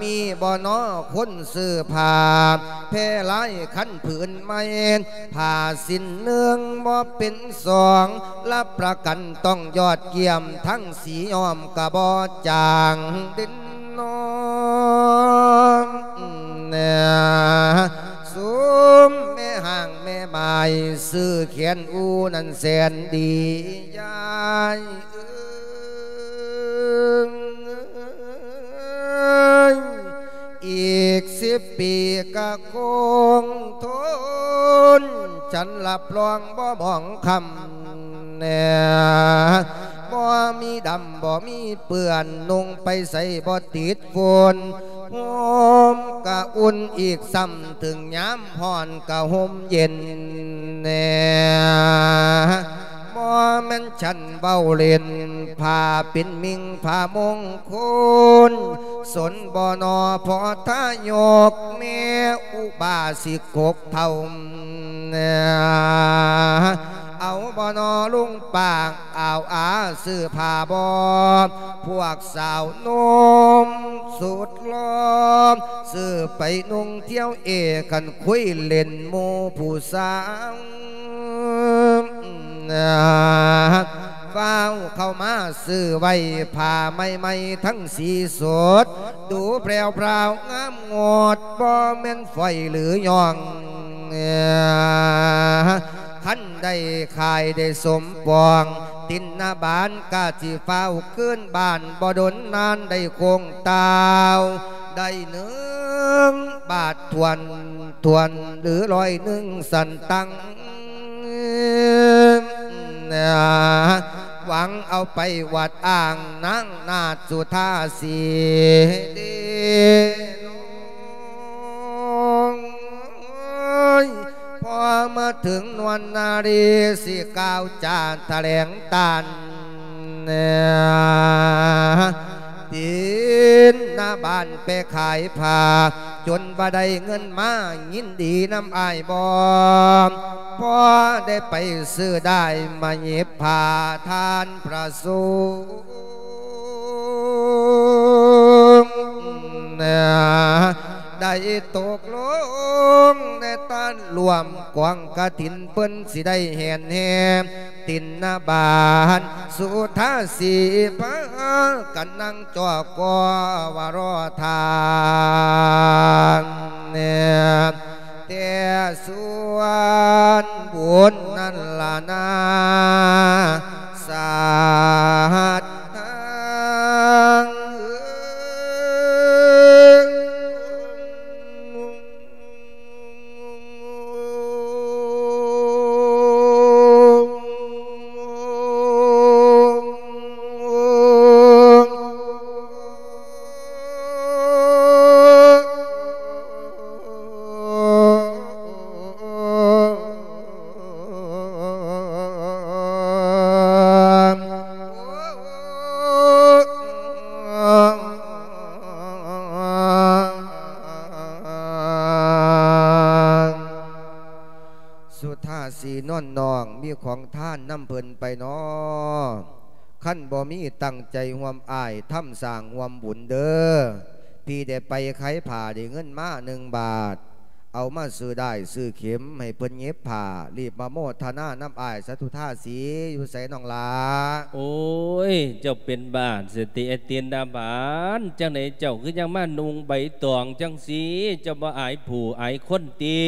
ມີບໍ່ນໍຄົນຊື້ຜ້າແພລາຍຄັນຜືນໃໝ່ ຜ້າສິ້ນໜຶ່ງບໍ່ເປັນສອງ ຮັບປະກັນຕ້ອງຍອດຢ້ຽມ ທັງສີຍ້ອມກະບໍ່ຈາງເດັ່ນນອນ ຊຸມແມ່ຮ້າງແມ່ໝ້າຍ ຊື້ແຂນອູນັ້ນແສນດີ ຍາຍເອີຍ ອີກສິບປີກະຄົງທົນ ສັນຮັບຮອງບໍ່ໝອງຄຳ ແນ່ ບໍ່ມີດຳບໍ່ມີເປື້ອນ ນຸ່ງໄປໃສບໍ່ຕິດຝຸ່ນ ຮົ່ມກະອຸ່ນອີກຊ້ຳ ເຖິງຍາມຮ້ອນກະຮົ່ມເຢັນແນ່ ບໍ່ແມ່ນ ສັນເວົ້າຫຼິ້ນ ຜ້າເປັນມິ່ງຜ້າມົງຄຸນ ສົນບໍ່ນໍພໍ່ທາຍົກ ແມ່ອຸບາສິກກົກເຖົ້າ ເອົາບໍ່ນໍລຸງປາງ ອາວອາຊື້ຜ້າບໍ່ ພວກສາວໜຸ່ມສຸດຫຼໍ່ ຊື້ໄປນຸ່ງທ່ຽວເອ ຄັນຄຸຍຫຼິ້ນໝູ່ຜູ້ສາວ ຟ້າວເຂົ້າມາຊື້ໄວ້ ຜ້າໃໝ່ໆທັງສີສົດ ດູແພຣວໆງາມງົດ ບໍ່ແມ່ນຝອຍຫຼືຍ່ອງ ຄັນໄດ້ຂາຍໄດ້ສົມປອງ ຕິນນະບານກະຊິຟ້າວຄືນບ້ານ ບໍ່ດົນນານໄດ້ໂຄ້ງຕ່າວ ໄດ້ໜຶ່ງບາດຖ້ວນໆ ຫຼືຮ້ອຍໜຶ່ງສັນຕັງ ຫວັງເອົາໄປອວດອ້າງນາງນາດສຸທາສີເດ ພໍມາເຖິງນວນນາລີ ຊິກ່າວຈາຖະແຫຼງຕ້ານ ຕິນນະບານໄປຂາຍຜ້າ ຈົນວ່າໄດ້ເງິນມາ ຍິນດີນຳອ້າຍບໍ່? ພໍໄດ້ໄປຊື້ໄດ້ມາຫຍິບຜ້າທ່ານພະສົງ ໄດ້ຕົກລົງໃນຕານລວມກອງກະຖິນ ເພິ່ນຊິໄດ້ແຫ່ນແຫ່ຕິນນະບາດ ສຸທາສີພາກັນນັ່ງ ເຈົ້າກໍວ່າລໍທ່າແດ່ ແຕ່ສ່ວນບຸນນັ້ນລະນາ ສາດທາງເອີຍ. ສຸທາສີນວນນ້ອງ ມີຂອງທານນຳເພິ່ນໄປນໍ? ຄັນບໍ່ມີ ຕັ້ງໃຈຮ່ວມອ້າຍທຳສ້າງຮ່ວມບຸນເດີ. ພີ່ໄດ້ໄປຂາຍຜ້າໄດ້ເງິນມາໜຶ່ງບາດ ເອົາມາຊື້ດ້າຍຊື້ເຂັມໃຫ້ເພິ່ນຫຍິບຜ້າ ລີບມາໂມທະນານຳອ້າຍສາທຸທາສີ. ຢູ່ໃສນ້ອງຫຼ້າ? ໂອ້ຍ ເຈົ້າເປັນບ້າຊະຕິ ໄອ້ຕິນນະບານ ຈັ່ງໃດເຈົ້າຄືຍັງມານຸ່ງໃບຕອງຈັ່ງຊີ້? ເຈົ້າບໍ່ອາຍຜູ້ອາຍຄົນຕິ?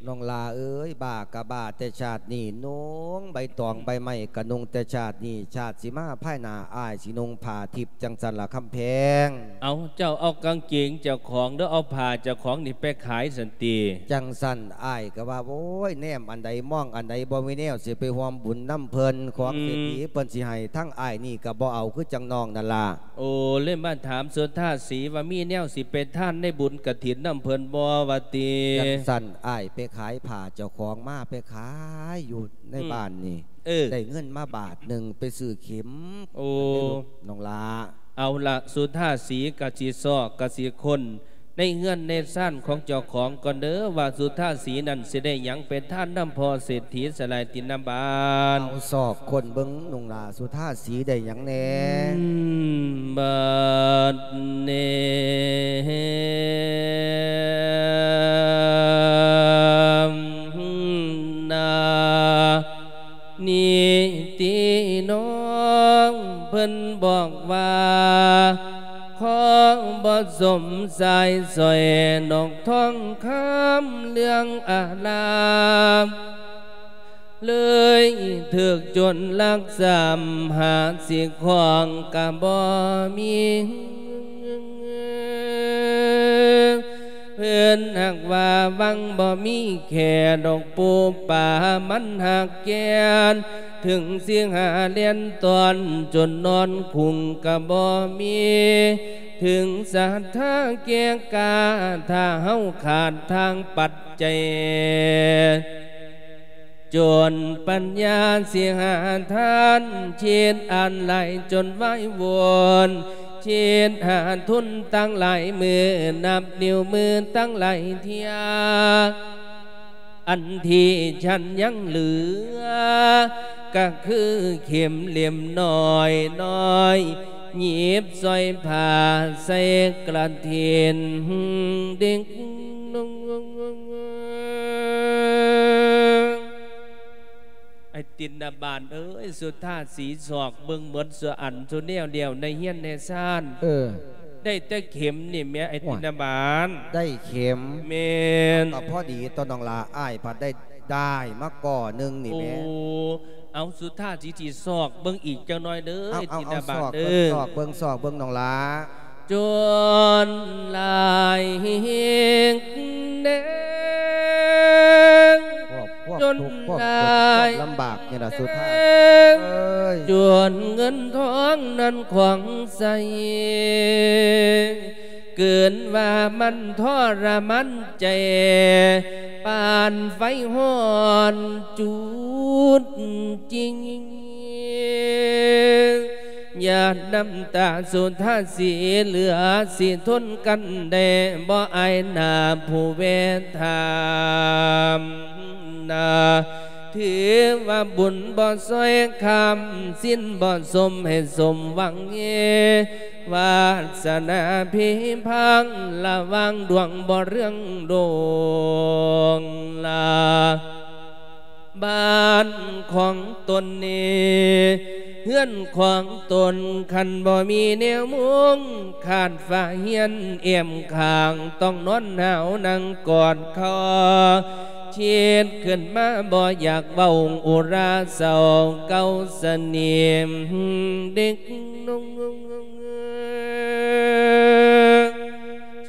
ນ້ອງຫຼ້າເອີຍ ບ້າກະບ້າແຕ່ຊາດນີ້ ນຸ່ງໃບຕອງໃບໄມ້ກະນຸ່ງແຕ່ຊາດນີ້ ຊາດຊິມາພາຍໜ້າ ອ້າຍຊິນຸ່ງຜ້າທິບຈັ່ງຊັ້ນລະຄຳແພງ. ເອົາ ເຈົ້າເອົາກາງເກງເຈົ້າຂອງ ຫຼືເອົາຜ້າເຈົ້າຂອງນີ້ໄປຂາຍຊັ້ນຕິ? ຈັ່ງຊັ້ນ ອ້າຍກະວ່າ ໂອ້ຍ ແນມອັນໃດມອງອັນໃດ ບໍ່ມີແນວຊິໄປຮ່ວມບຸນນຳເພິ່ນ ຂອງເສດຖີເພິ່ນຊິໃຫ້ ທາງອ້າຍນີ້ກະບໍ່ເອົາ ຄືຈັ່ງນ້ອງນັ້ນລະ. ໂອ້ ເລີຍມາຖາມສຸທາສີວ່າ ມີແນວຊິໄປທານໃນບຸນກະຖິນນຳເພິ່ນບໍ່ວ່າຕິ? ຈັ່ງຊັ້ນ ອ້າຍໄປຂາຍຜ້າເຈົ້າຂອງມາ ໄປຂາຍຢູ່ໃນ ອືມ ບ້ານນີ້ ເອີ ໄດ້ເງິນມາບາດໜຶ່ງ ໄປຊື້ເຂັມ. ໂອ້ ນ້ອງຫຼ້າ. ເອົາລະ ສຸທາສີກະຊິຊອກກະຊິຄົ້ນ ໃນເຮືອນໃນຊານຂອງເຈົ້າຂອງກ່ອນເດີ ວ່າສຸທາສີນັ້ນຊິໄດ້ຫຍັງໄປທານນຳພໍ່ເສດຖີສະຫຼາຍຕິນນະບານ. ເອົາຊອກຄົ້ນເບິ່ງນ້ອງຫຼ້າ ສຸທາສີໄດ້ຫຍັງແດ່? ອືມ ບາດນີ້ນາ ນີ້ຕິນ້ອງ ເພິ່ນບອກວ່າ ຂໍບໍ່ສົມສາຍສ້ອຍ ດອກທອງຄຳເລື່ອງອາລາມ ເລີຍຖືກໂຈນລັກສາມ ຫາຊິຂວງກະບໍ່ມີ. ເພິ່ນຫາກວ່າວັງບໍ່ມີແຄ່ດອກປູປາ ມັນຫາກແກ່ນ ເຖິງຊິຫາແລ່ນຕ້ອນ ຈົນນອນຄຸ່ງກະບໍ່ມີ ເຖິງສັດທາແກ່ກ້າ ຖ້າເຮົາຂາດທາງປັດໄຈ ຈົນປັນຍາຊິຫາທານ ຄິດອ່ານຫຼາຍຈົນວາຍວົນ ຄິດຫາທຶນຕັ້ງຫຼາຍມື້ ນັບນິ້ວມືຕັ້ງຫຼາຍເທື່ອ ອັນທີ່ຊັ້ນຍັງເຫຼືອ ກະຄືເຂັມເຫຼັ້ມນ້ອຍໆ ຫຍິບສອຍຜ້າໃສ່ກະຖິນ ດິກ ໄອ້ຕິນນະບານເອີຍ ສຸທາສີຊອກເບິ່ງໝົດສູ່ອັນສູ່ແນວແລ້ວ ໃນເຮືອນໃນຊານ ເອີ ໄດ້ແຕ່ເຂັມນີ້ແໝ່ ໄອ້ຕິນນະບານ. ໄດ້ເຂັມ? ແມ່ນ. ກໍພໍດີຕົວະນ້ອງຫຼ້າ ອ້າຍພັດໄດ້ດ້າຍມາກໍໜຶ່ງນີ້ແໝ່. ໂອ້ ເອົາ ສຸທາສີຊິຊອກເບິ່ງອີກຈັກໜ່ອຍເດີ ເອົາ ເອົາ ຕິນນະບານເດີ ຊອກເບິ່ງ ຊອກເບິ່ງ ຊອກເບິ່ງນ້ອງຫຼ້າ. ຈົນຫຼາຍແນງ ພວກ ພວກ ທຸກ ພວກ ຫຼາຍ ຄວາມລຳບາກນີ້ລະສຸທາສີເອີຍ ຈົນເງິນທອງນັ້ນຂວາງໃສ ເກີນວ່າມັນທໍລະມານໃຈ ປານໄຟຮ້ອນຈູດຈິງ. ນ້ຳຕາສຸທາສີເຫຼືອຊິທົນກັນໄດ້ບໍ່ ອາຍໜ້າຜູ້ເວທານາ ຖືວ່າບຸນບໍ່ຊ່ອຍຄ້ຳ ສິນບໍ່ສົມໃຫ້ສົມຫວັງເຮ ວາດສະໜາພິພັງລະຫວ່າງດວງບໍ່ເລື່ອງໂດງລາ ບ້ານຂອງຕົນນີ້ ເຮືອນຂອງຕົນ ຄັນບໍ່ມີແນວມຸງ ຂາດຝາຮຽນແອ້ມຂ້າງ ຕ້ອງນອນໜາວນັ່ງກອດຄໍ ຄິດຂຶ້ນມາບໍ່ຢາກເວົ້າອຸລາເສົ້າເກົ່າສະໜິມເດັກນ້ອຍ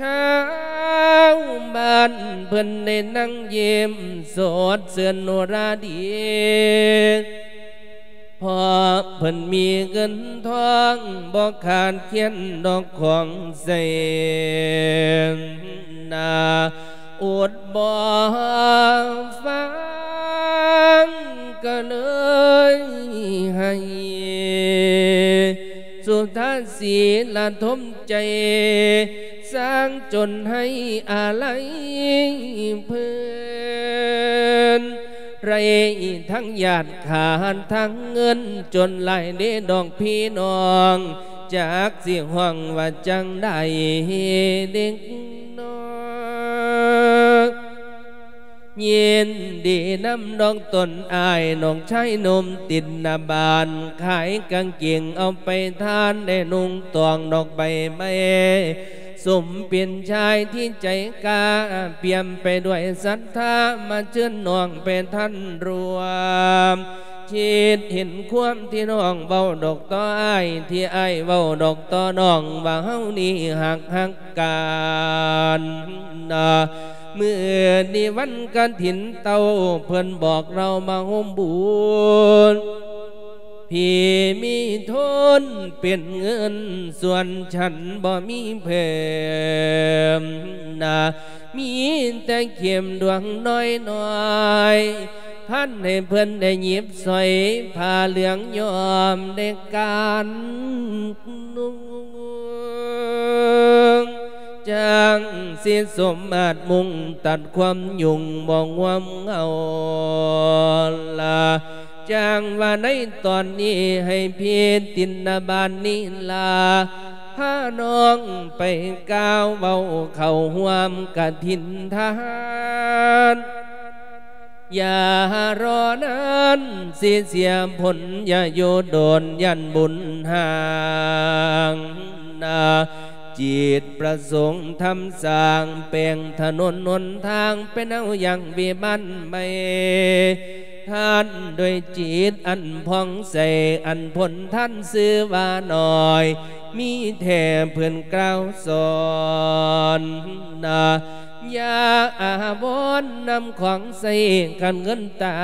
ຊາວບ້ານເພິ່ນໄດ້ນັ່ງຍິ້ມສົດຊື່ນໂນລາດີ ເພາະເພິ່ນມີເງິນທອງບໍ່ຂາດແຄນດອກຂອງໃຊ້ນາ ອົດບໍ່ຟັງກໍເລີຍໄຫ້ ສຸທາສີລະທົມໃຈ ສ້າງຈົນໃຫ້ອາໄລເພິ່ນ ໄດ້ທັງຍາດຂາດທັງເງິນ ຈົນຫຼາຍເດດອກພີ່ນ້ອງ ຈັກຊິຮ້ອງວ່າຈັ່ງໃດເດັກນ້ອຍ ຍິນດີນຳດອກຕົນອ້າຍ ນ້ອງຊາຍໜຸ່ມຕິນນະບານ ຂາຍກາງເກງເອົາໄປທານ ໄດ້ນຸ່ງຕອງດອກໃບໄມ້ ສົມເປັນຊາຍທີ່ໃຈກ້າ ປ່ຽມໄປດ້ວຍສັດທາ ມາເຊີນນ້ອງໄປທັນຮ່ວມ ຄິດເຫັນຄວາມທີ່ນ້ອງເວົ້າດອກຕໍ່ອ້າຍ ທີ່ອ້າຍເວົ້າດອກຕໍ່ນ້ອງ ວ່າເຮົານີ້ຮັກຮັກ ການນະ ມື້ນີ້ວັນກະຖິນເຕົ້າ ເພິ່ນບອກເຮົາມາໂຮມບຸນ ພີ່ມີທຶນເປັນເງິນ ສ່ວນສັນບໍ່ມີເພີ່ມນະ ມີແຕ່ເຂັມດວງນ້ອຍໆ ພັນໃຫ້ເພິ່ນໄດ້ຫຍິບສອຍ ຜ້າເຫຼືອງຍ້ອມໄດ້ການນຸ່ງ ຈັ່ງຊິສົມມາດມຸງຕັດຄວາມຫຍຸ້ງບໍ່ງວມເຫງົາລາ ຈັ່ງວ່າໃນຕອນນີ້ໃຫ້ພີ່ຕິນນະບານນີ້ລາ ພານ້ອງໄປກ່າວເວົ້າເຂົ້າຮ່ວມກະຖິນທານ ຢ່າລໍນານຊິເສຍຜົນ ຢ່າຢູ່ດົນຢ້ານບຸນຫ່າງນາ ຈິດປະສົງທຳສ້າງແປງຖະໜົນຫົນທາງ ເປັນເອົາຢ່າງວິມານໃໝ່ ທານດ້ວຍຈິດອັນຜ່ອງໃສ ອັນພົ້ນທານຊື່ວ່ານ້ອຍ ມີແທ້ເພິ່ນກ່າວສອນນາ ຢ່າອາວອນນຳຂອງໃຊ້ ຄັນເງິນຕາ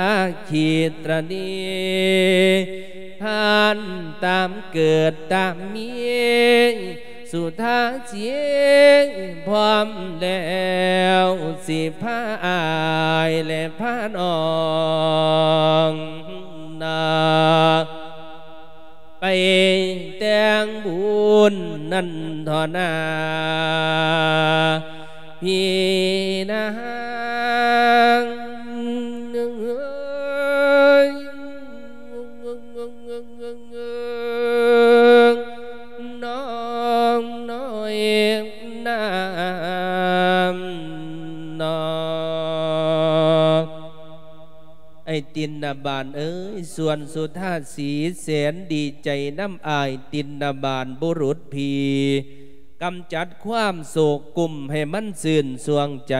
ຂີດຕະນີ ທ່ານຕາມເກີດຕາມມີ ສຸທາສີພ້ອມແລ້ວ ຊິພາອ້າຍ ແລະ ພານ້ອງນາ ໄປແຕ່ງບຸນນັ້ນທໍ່ນາ ພີ່ນາງເອີຍ ນ້ອງນ້ອຍນາມນອກ ອ້າຍຕິນນະບານເອີຍ ສ່ວນສຸທາສີແສນດີໃຈນຳອ້າຍຕິນນະບານບຸລຸດພີ່ ກຳຈັດຄວາມໂສກກຸມໃຫ້ມັນຊື່ນຊ່ວງໃຈ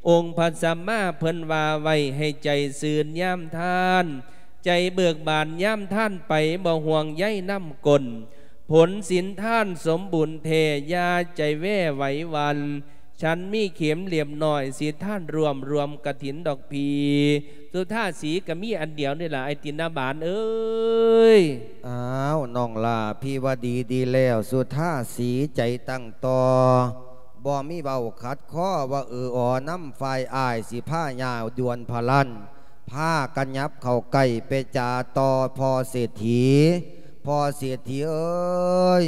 ອົງພະສຳມາເພິ່ນວ່າໄວ້ໃຫ້ໃຈຊື່ນຍາມທານ ໃຈເບີກບານຍາມທານໄປ ບໍ່ຫ່ວງໃຍນຳກົ້ນ ຜົນສິນທານສົມບູນແທ້ ຢ່າໃຈແວໄຫວຫວັ່ນ ສັນມີເຂັມລຽບນ້ອຍ ສິທານຮ່ວມ ຮ່ວມກະຖິນດອກພີ່ ສຸທາສີກະມີອັນດຽວນີ້ລະ ອ້າຍຕິນນະບານເອີຍ. ອ້າວ ນ້ອງຫຼ້າ ພີ່ວ່າດີດີແລ້ວ ສຸທາສີໃຈຕັ້ງຕໍ່ ບໍ່ມີເວົ້າຂັດຄໍ ວ່າເອີອອນຳຝ່າຍອ້າຍ ຊິພາຍ່າວດ່ວນພະລັນ ພາກັນຫຍັບເຂົ້າໃກ້ໄປຈາຕໍ່ພໍ່ເສດຖີ ພ ພໍ່ເສດຖີເອີຍ,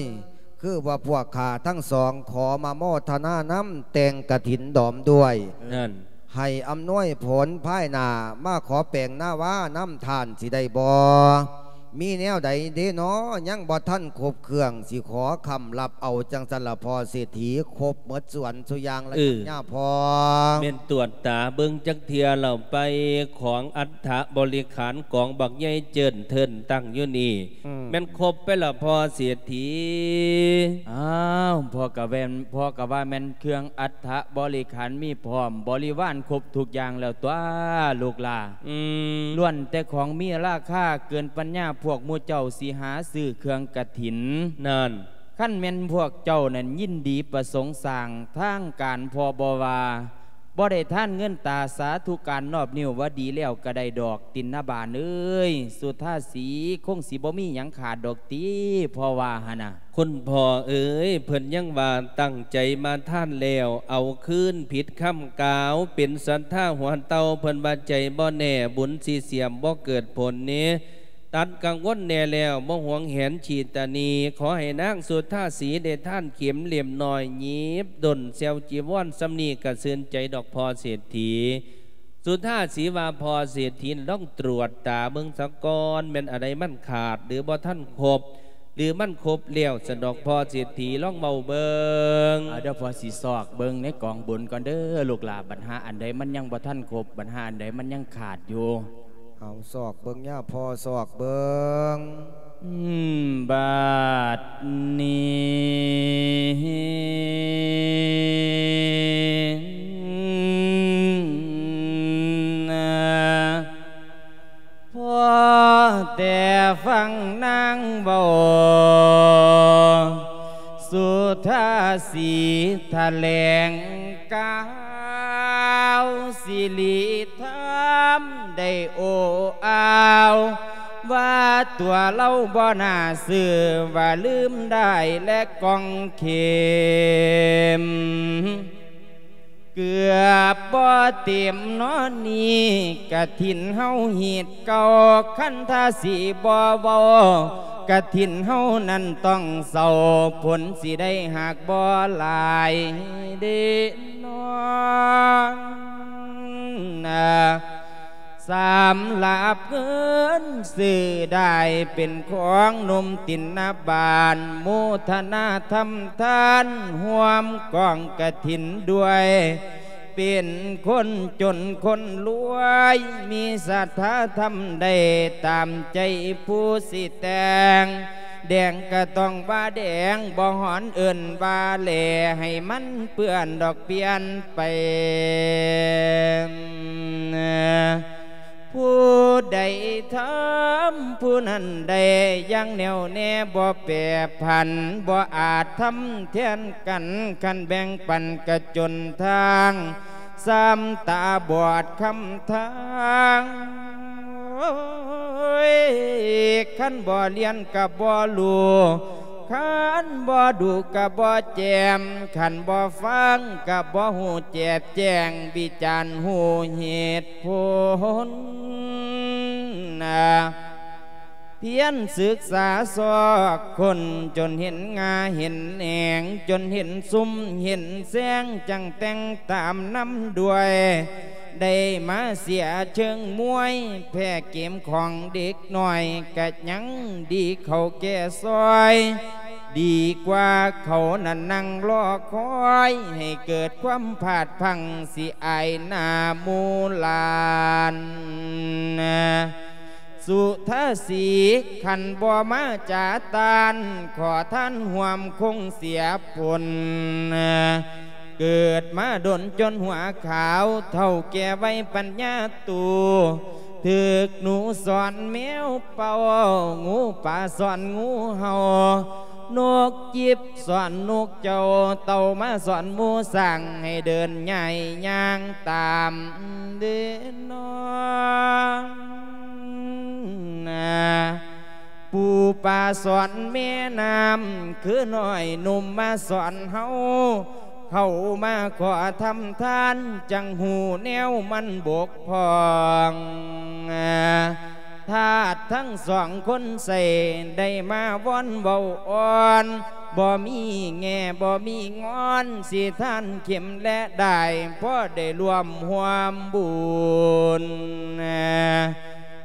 ຄືວ່າພວກຂ້າທັງສອງຂໍມາໂມທະນານຳແຕ່ງກະຖິນດອມດ້ວຍ, ນັ້ນ ໃຫ້ອຳນວຍຜົນພາຍໜ້າ, ມາຂໍແປງນາວານຳທ່ານຊິໄດ້ບໍ່? ມີແນວໃດເດນໍ ຍັງບໍ່ທັນຄົບເຄື່ອງ, ຊິຂໍຄ້ຳລັບເອົາຈັ່ງຊັ້ນລະພໍ່ເສດຖີ, ຄົບໝົດສ່ວນສູ່ຢ່າງລະ ເອີ ຍາພໍ່. ແມ່ນຕວດຕາເບິ່ງຈັກເທື່ອແລ້ວໄປ, ຂອງອັດຖະບໍລິຂານກອງບັກໃຫຍ່ເຈີນເທີນຕັ້ງຢູ່ນີ້ ອືມ ແມ່ນຄົບໄປລະພໍ່ເສດຖີ? ອ້າວ ພໍ່ກະແວ່ນ ພໍ່ກະວ່າແມ່ນເຄື່ອງອັດຖະບໍລິຂານມີພ້ອມບໍລິວານຄົບທຸກຢ່າງແລ້ວຕົວະລູກຫຼ້າ. ອືມ ລ້ວນແຕ່ຂອງມີລາຄາເກີນປັນຍາພວກໝູ່ເຈົ້າຊິຫາຊື້ເຄື່ອງກະຖິນ. ນັ້ນ ຄັນແມ່ນພວກເຈົ້ານັ້ນຍິນດີປະສົງສ້າງທາງການພໍ່ບໍ່ວ່າ ບໍ່ໄດ້ທານເງິນຕາສາທຸການນອບນິ້ວວ່າດີແລ້ວກະໄດ້ດອກ ຕິນນະບານເອີຍ, ສຸທາສີຄົງຊິບໍ່ມີຫຍັງຂາດດອກຕິ ພໍ່ວ່າຫັ້ນນະ. ຄຸນພໍ່ເອີຍ, ເພິ່ນຍັງວ່າຕັ້ງໃຈມາທານແລ້ວ ເອົາຄືນຜິດຄຳກ່າວ, ເປັນສັດທາຫົວເຕົ່າ, ເພິ່ນວ່າໃຈບໍ່ແນ່, ບຸນຊິເສຍມບໍ່ເກີດຜົນເນ. ຕັດກັງວົນແດ່ແລ້ວ, ບໍ່ຫວງແຫນຂີ້ຕາໜີ, ຂໍໃຫ້ນາງສຸທາສີໄດ້ທານເຂັມເຫຼັ້ມນ້ອຍ, ຫຍິບດົ້ນແຊວຈີວອນສ່ຳນີ້ກະຊື່ນໃຈດອກພໍ່ເສດຖີ. ສຸທາສີວ່າ, ພໍ່ເສດຖີລອງຕວດຕາເບິ່ງສາກ່ອນ, ແມ່ນອັນໃດມັນຂາດ ຫຼື ບໍ່ທັນຄົບ ຫຼື ມັນຄົບແລ້ວຊັ້ນດອກ ພໍ່ເສດຖີລອງເວົ້າເບິ່ງ. ເອົາ ດຽວພໍ່ຊິຊອກເບິ່ງໃນກອງບຸນກ່ອນເດີລູກຫຼ້າ, ບັດຫາອັນໃດມັນຍັງບໍ່ທັນຄົບ, ບັດຫາອັນໃດມັນຍັງຂາດຢູ່. ເອົາ ຊອກເບິ່ງຍາພໍ່ ຊອກເບິ່ງ. ອືມ ບາດນີ້ນະ ພໍແຕ່ຟັງນາງເວົ້າ ສຸທາສີຖະແຫຼງກ່າວ ສິລິທຳໄດ້ໂອ້ອາວ ວ່າຕົວລາວບໍ່ໜ້າຊື່ ວ່າລືມດ້າຍ ແລະ ກອງເຂັມ ເກືອບບໍ່ເຕັມນໍນີ້ ກະຖິນເຮົາຮີດເກົ່າ ຄັນຖ້າຊິບໍ່ເວົ້າ ກະຖິນເຮົານັ້ນຕ້ອງເສົ້າ ຜົນຊິໄດ້ຫາກບໍ່ຫຼາຍເດນໍ. ສຳລັບເງິນຊື້ໄດ້ເປັນຂອງໜຸ່ມຕິນນະບານ ໂມທະນາທຳທານຮ່ວມກອງກະຖິນດ້ວຍ ເປັນຄົນຈົນຄົນລວຍ ມີສັດທາທຳໄດ້ຕາມໃຈຜູ້ຊິແຕ່ງ ແດງກະຕ້ອງວ່າແດງ ບໍ່ຮ້ອນເອີ້ນວ່າແຫຼ ໃຫ້ມັນເປື້ອນດອກປ່ຽນໄປ. ຜູ້ໃດທຳຜູ້ນັ້ນໄດ້ຢ່າງແໜ້ວແນ່ ບໍ່ແປຜັນ ບໍ່ອາດທຳແທນກັນ ຄັນແບ່ງປັນກະຈົນທາງ ສ່ຳຕາບອດຄຳທາງ ໂອ້ຍ ຄັນບໍ່ລຽນກະບໍ່ຮູ້ ຄັນບໍ່ດູກະບໍ່ແຈ່ມ ຄັນບໍ່ຟັງກະບໍ່ຮູ້ແຈບແຈ້ງ ວິຈານຮູ້ເຫດຜົນນະ ພຽນສຶກສາຊອກຄົ້ນ ຈົນເຫັນງ່າເຫັນແໜງ ຈົນເຫັນຊຸມເຫັນແຊງ ຈັ່ງແຕ່ງຕາມນຳດ້ວຍ ໄດ້ມາເສຍເຊີງມວຍ ແພ້ເກມຂອງເດັກນ້ອຍ ກະຍັງດີເຂົ້າແກ່ຊອຍ ດີກວ່າເຂົານັ້ນນັ່ງລໍຄອຍ ໃຫ້ເກີດຄວາມພາດພັ້ງ ຊິອາຍໜ້າໝູ່ຫຼານ. ສຸທາສີ ຄັນບໍ່ມາຈາຕານ ຂໍທານຮ່ວມຄົງເສຍຜົນ ເກີດມາດົນຈົນຫົວຂາວ ເຖົ້າແກ່ໄວປັນຍາຕູ ຖືກໜູສອນແມວເປົ່າ ງູປ່າສອນງູເຫົ່າ ນົກຈິບສອນນົກເຈົ້າ ເຕົ່າມາສອນໝູຊ້າງ ໃຫ້ເດີນຍ້າຍຍ່າງຕາມເດີນອງນາ ປູປາສອນແມ່ນ້ຳ ຄືນ້ອຍໜຸ່ມມາສອນເຮົາ ເຂົ້າມາຂໍທຳທານ ຈັ່ງຮູ້ແນວມັນບົກຜ່ອງ. ທ ທາດທັງສອງຄົນໃສ່ ໄດ້ມາວອນເວົ້າອ່ອນ ບໍ່ມີແງ່ບໍ່ມີງອນ ຊິທານເຂັມແລະດ້າຍ ພໍໄດ້ຮ່ວມຮ່ວມບຸນ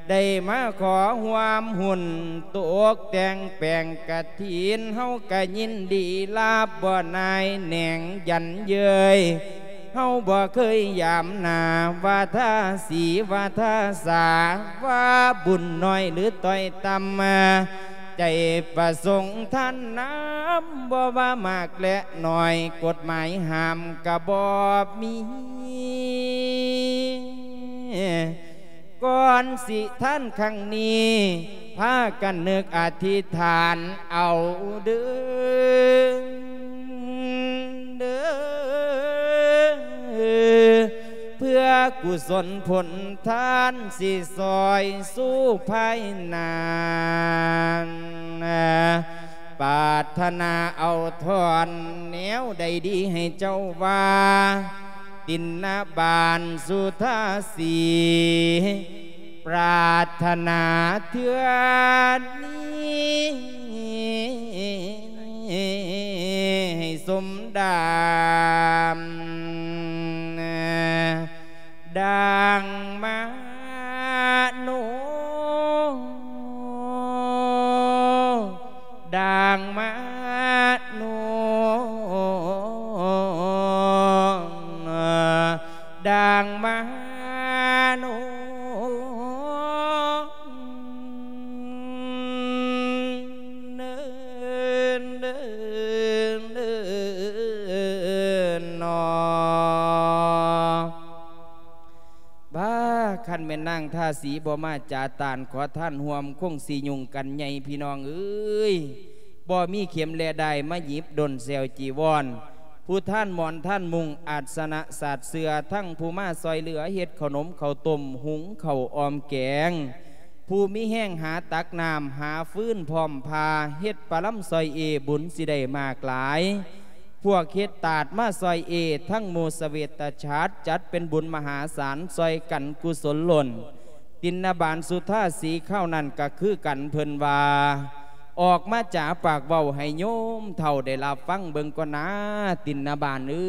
ໄດ້ມາຂໍຮ່ວມຫຸ້ນ ຕົກແຕ່ງແປງກະຖິນ ເຮົາກະຍິນດີຮັບ ບໍ່ນາຍແໜງຢັນເຍີຍ ເຮົາບໍ່ເຄີຍຢາມໜ້າ ວ່າທາສີວ່າທາສາ ວ່າບຸນໜ້ອຍຫຼືຕ້ອຍຕ່ຳ ໃຈປະສົງທ່ານນຳ ບໍ່ວ່າມາກແລະໜ້ອຍ ກົດໝາຍຫ້າມກະບໍ່ມີ ກ່ອນຊິທານຄັ້ງນີ້ ພາກັນນຶກອະທິຖານເອົາເດີ ເພື່ອກຸສົນຜົນທານ ຊິຊ່ອຍຊູພາຍໜ້າ ປາດຖະໜາເອົາທ່ອນແນວໃດດີໃຫ້ເຈົ້າວ່າ ຕິນນະບານສຸທາສີ ປາດຖະໜາເທື່ອນີ້ ໃຫ້ສົມດາມ ດັ່ງມະໂນ ດັ່ງມະໂນ ດັ່ງມະໂນ ເນີນ ເນີນ ເນີນ ນໍ. ບ້າ ຄັນແມ່ນນາງທາສີບໍ່ມາຈາຕານຂໍທານຮ່ວມ ຄົງຊິຫຍຸ້ງກັນໃຫຍ່ພີ່ນ້ອງເອີຍ ບໍ່ມີເຂັມແລະດ້າຍມາຫຍິບດົນແຊວຈີວອນ ຜູ້ທານໝອນທານມຸງ ອາດສະນະສາດເສື່ອ ທັງຜູ້ມາຊ່ອຍເຫຼືອເຮັດເຂົ້າໜົມເຂົ້າຕົ້ມ ຫຸງເຂົ້າອອມແກງ ຜູ້ມີແຮງຫາຕັກນ້ຳ ຫາຟືນພ້ອມພາ ເຮັດປະລຳຊ່ອຍເອ ບຸນຊິໄດ້ມາກຫຼາຍ ພວກເຮັດຕາດມາຊ່ອຍເອ ທັງໝູ່ສະເວດຕະຊາດ ຈັດເປັນບຸນມະຫາສານ ຊ່ອຍກັນກຸສົນລົ້ນ ຕິນນະບານສຸທາສີຄາວນັ້ນກະຄືກັນ ເພິ່ນວ່າ ອອກມາຈາປາກເວົ້າໃຫ້ໂຍມເຖົ້າໄດ້ຮັບຟັງເບິ່ງກ່ອນນາ ຕິນນະບານເອີ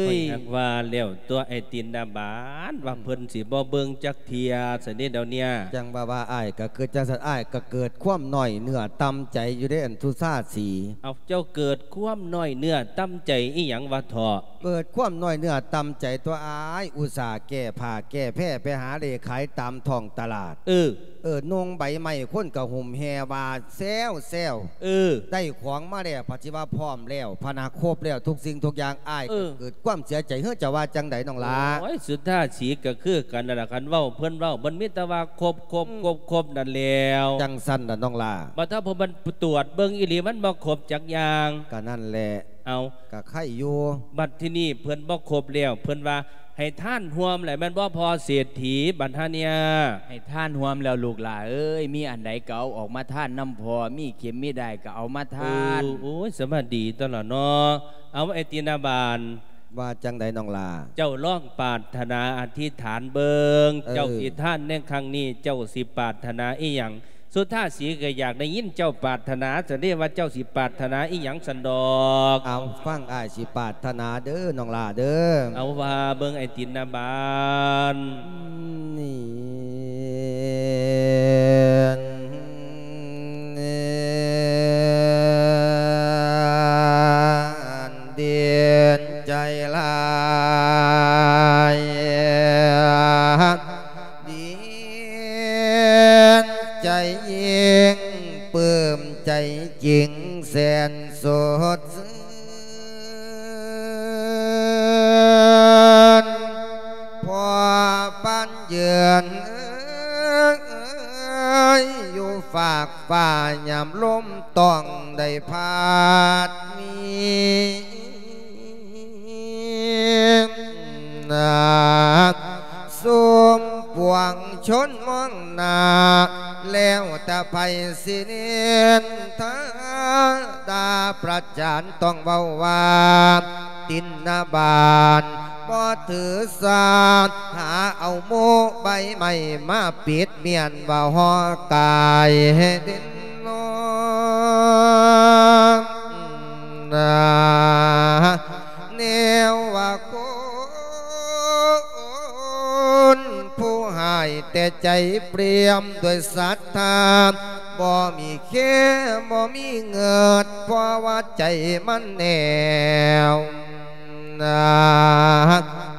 ຍ. ຂ້ອຍຫາກວ່າແລ້ວຕົວະ ໄອ້ຕິນນະບານ ວ່າເພິ່ນຊິບໍ່ເບິ່ງຈັກເທື່ອຊັ້ນເດດຽວເນີ້ຍ ຈັ່ງວ່າ ວ່າອ້າຍກະຄິດຈັ່ງຊັ້ນ ອ້າຍກະເກີດຄວາມນ້ອຍເນື້ອຕ່ຳໃຈຢູ່ເດ້ ອັນສຸທາສີ. ເອົາ ເຈົ້າເກີດຄວາມນ້ອຍເນື້ອຕ່ຳໃຈອີ່ຫຍັງວະເຖາະ? ເກີດຄວາມນ້ອຍເນື້ອຕ່ຳໃຈຕົວະອ້າຍ ອຸດສ່າແກ້ຜ້າແກ້ແພໄປຫາເລ່ຂາຍຕາມທ້ອງຕະຫຼາດ ເອີ ເອີ ນຸ່ງໃບໄມ້ຄົນກະຫຸ້ມແຫ່ວ່າແຊວໆ ເອີ ໄດ້ຂອງມາແລ້ວ ພັດຊິວ່າພ້ອມແລ້ວ ພັດນາຄົບແລ້ວທຸກສິ່ງທຸກຢ່າງ ອ້າຍ ເອີ ກະເກີດຄວາມເສຍໃຈ ເຮີ ເຈົ້າວ່າຈັ່ງໃດນ້ອງຫຼ້າ? ໂອ້ຍ ສຸທາສີກະຄືກັນນັ້ນລະ ຄັນເວົ້າເພິ່ນເວົ້າ ມັນມີແຕ່ວ່າຄົບໆໆນັ້ນແລ້ວ ຈັ່ງຊັ້ນລະນ້ອງຫຼ້າ. ບັດຖ້າເພິ່ນມາຕວດເບິ່ງອີ່ຫຼີ ມັນບໍ່ຄົບຈັກຢ່າງ ກະນັ້ນແຫຼະ ເອົາ ກະໄຄຢູ່. ບັດທີນີ້ເພິ່ນບໍ່ຄົບແລ້ວ ເພິ່ນວ່າໃຫ້ທານຮ່ວມແຫຼະ ແມ່ນບໍ່ພໍ່ເສດຖີ? ບັດຫາເນຍ ໃຫ້ທານຮ່ວມແລ້ວລູກຫຼ້າເອີຍ ມີອັນໃດກະເອົາອອກມາທານນຳພໍ່ ມີເຂັມມີດ້າຍກະເອົາມາທານ. ໂອ້ຍ ສະບາຍດີຕົວະລະເນາະ. ເອົາ ໄອ້ຕິນນະບານ ວ່າຈັ່ງໃດນ້ອງຫຼ້າ? ເຈົ້າລອງປາດຖະໜາອະທິຖານເບິ່ງ ເອີ ເຈົ້າຊິທານໃນຄັ້ງນີ້ ເຈົ້າຊິປາດຖະໜາອີ່ຫຍັງ? ສຸທາສີກະຢາກໄດ້ຍິນເຈົ້າປາດຖະໜາຊັ້ນເດ ວ່າເຈົ້າຊິປາດຖະໜາອີ່ຫຍັງຊັ້ນດອກ. ເອົາ ຟັງອ້າຍຊິປາດຖະໜາເດີນ້ອງຫຼ້າເດີ. ເອົາ ວ່າເບິ່ງໄອ້ຕິນນະບານ. ດີນໃຈຫຼາຍ ດີນໃຈຍິ່ງ ປຶ້ມໃຈຈິງແສນສົດຊື່ນ ພໍປານເຢືອນ ຢູ່ຟາກຟ້າຍາມລົມຕ້ອງໄດ້ພັດມີ ຊຸມປວງຊົນມອງໜ້າ ແລ້ວແຕ່ໃຜຊິນິນທາ ດ່າປະຈານ ຕ້ອງເວົ້າວ່າ ຕິນນະບານ ບໍ່ຖືສາ ຫາເອົາໂມໄບໄມ້ມາປິດ ມ້ຽນວ່າຫໍ່ກາຍດິນນອນ ແນວວ່າຄົນຜູ້ຮ້າຍແຕ່ໃຈປ່ຽມດ້ວຍສັດທາ ບໍ່ມີແຄ ບໍ່ມີເງິດ ເພາະວ່າໃຈມັນແໜວ ນາ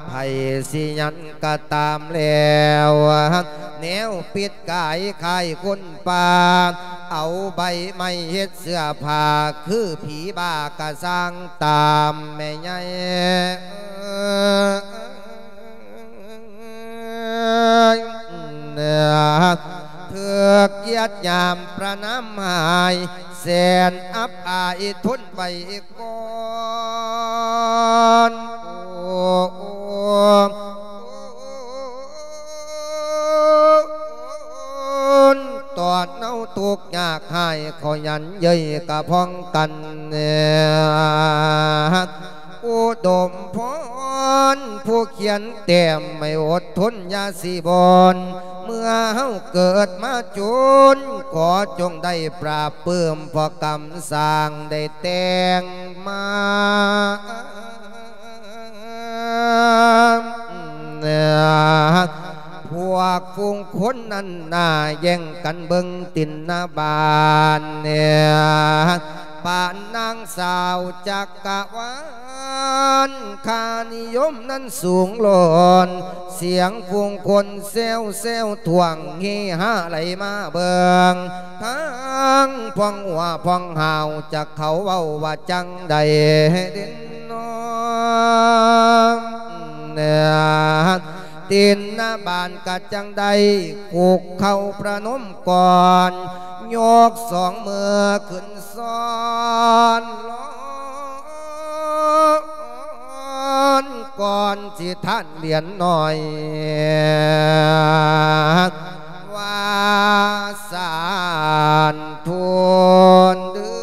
ໃຜຊິຫຍັງກະຕາມແລ້ວ ແນວປິດກາຍຄ້າຍຄົນປ່າ ເອົາໃບໄມ້ເຮັດເສື້ອຜ້າ ຄືຜີບ້າກະຊ່າງຕາມແມ່ໃຫຍ່ ຖືກຢຽດຫຍາມປະນາມຮ້າຍ ແສນອັບອາຍທົນໄຫວກ່ອນ ໂອ້ ໂອ້ ຕອນເຮົາທຸກຍາກຮ້າຍ ເຂົາຢັນເຍີ້ຍກະພ້ອງກັນ ອຸດົມພອນ ຜູ້ຂຽນແຕ້ມໃຫ້ອົດທົນຢ່າຊິບ່ອນ ເມື່ອເຮົາເກີດມາຈົນ ຂໍຈົ່ງໄດ້ປາບປື້ມ ເພາະກຳສ້າງໄດ້ແຕ່ງມາ ພວກຝູງຄົນນັ້ນໜ້າແຍ່ງກັນເບິ່ງຕິນນະບານ ປານນາງສາວຈັກກະວານ ຄ່ານິຍົມນັ້ນສູງລ້ອນ ສຽງຝູງຄົນແຊວໆ ທ້ວງເຮຮາໄຫຼມາເບິ່ງ ທັງພອງຫົວພອງຫາວ ຈັກເຂົາເວົ້າວ່າຈັ່ງໃດເດນອ ຕິນນະບານກະຈັ່ງໃດ ຄຸກເຂົ່າປະນົມກ່ອນ ຍົກສອງມືຂຶ້ນ ຊ້ອນລອນ ກ່ອນຊິທານຫຼຽນໜ້ອຍ ວ່າສານທຸນເດີ.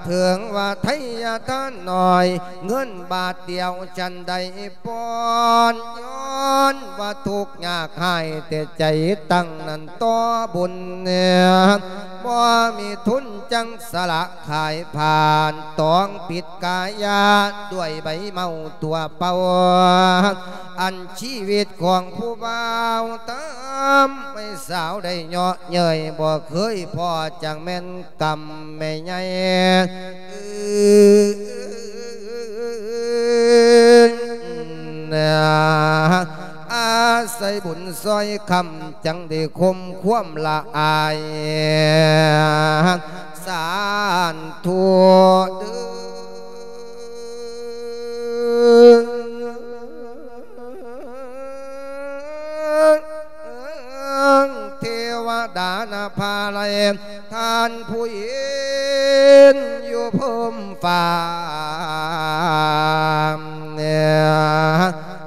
ເຖິງວ່າໄທຍະທານໜ້ອຍ ເງິນບາດດຽວຈັ່ງໃດ ປອນ ຍ້ອນວ່າທຸກຍາກຮ້າຍແຕ່ໃຈຕັ້ງນັ້ນຕໍ່ບຸນ ບໍ່ມີທຶນຈັ່ງສະຫຼະຂາຍຜ່ານ ຕ້ອງປິດກາຍາດ້ວຍໃບເມົາຕົວເປົ່າ ອັນຊີວິດຂອງຜູ້ບ່າວຕາມໄປສາວໄດ້ເຍາະເຍີ້ຍ ບໍ່ເຄີຍພໍ້ຈັ່ງແມ່ນ ກຳແມ່ໃຫຍ່ ອາໄສບຸນຊ່ອຍຄ້ຳ ຈັ່ງໄດ້ຄົມຄວາມລະອາຍ ສານທຸເດີ. ເທວະດານະພາໄລ ທ່ານຜູ້ເຫັນຢູ່ພົມຟ້າ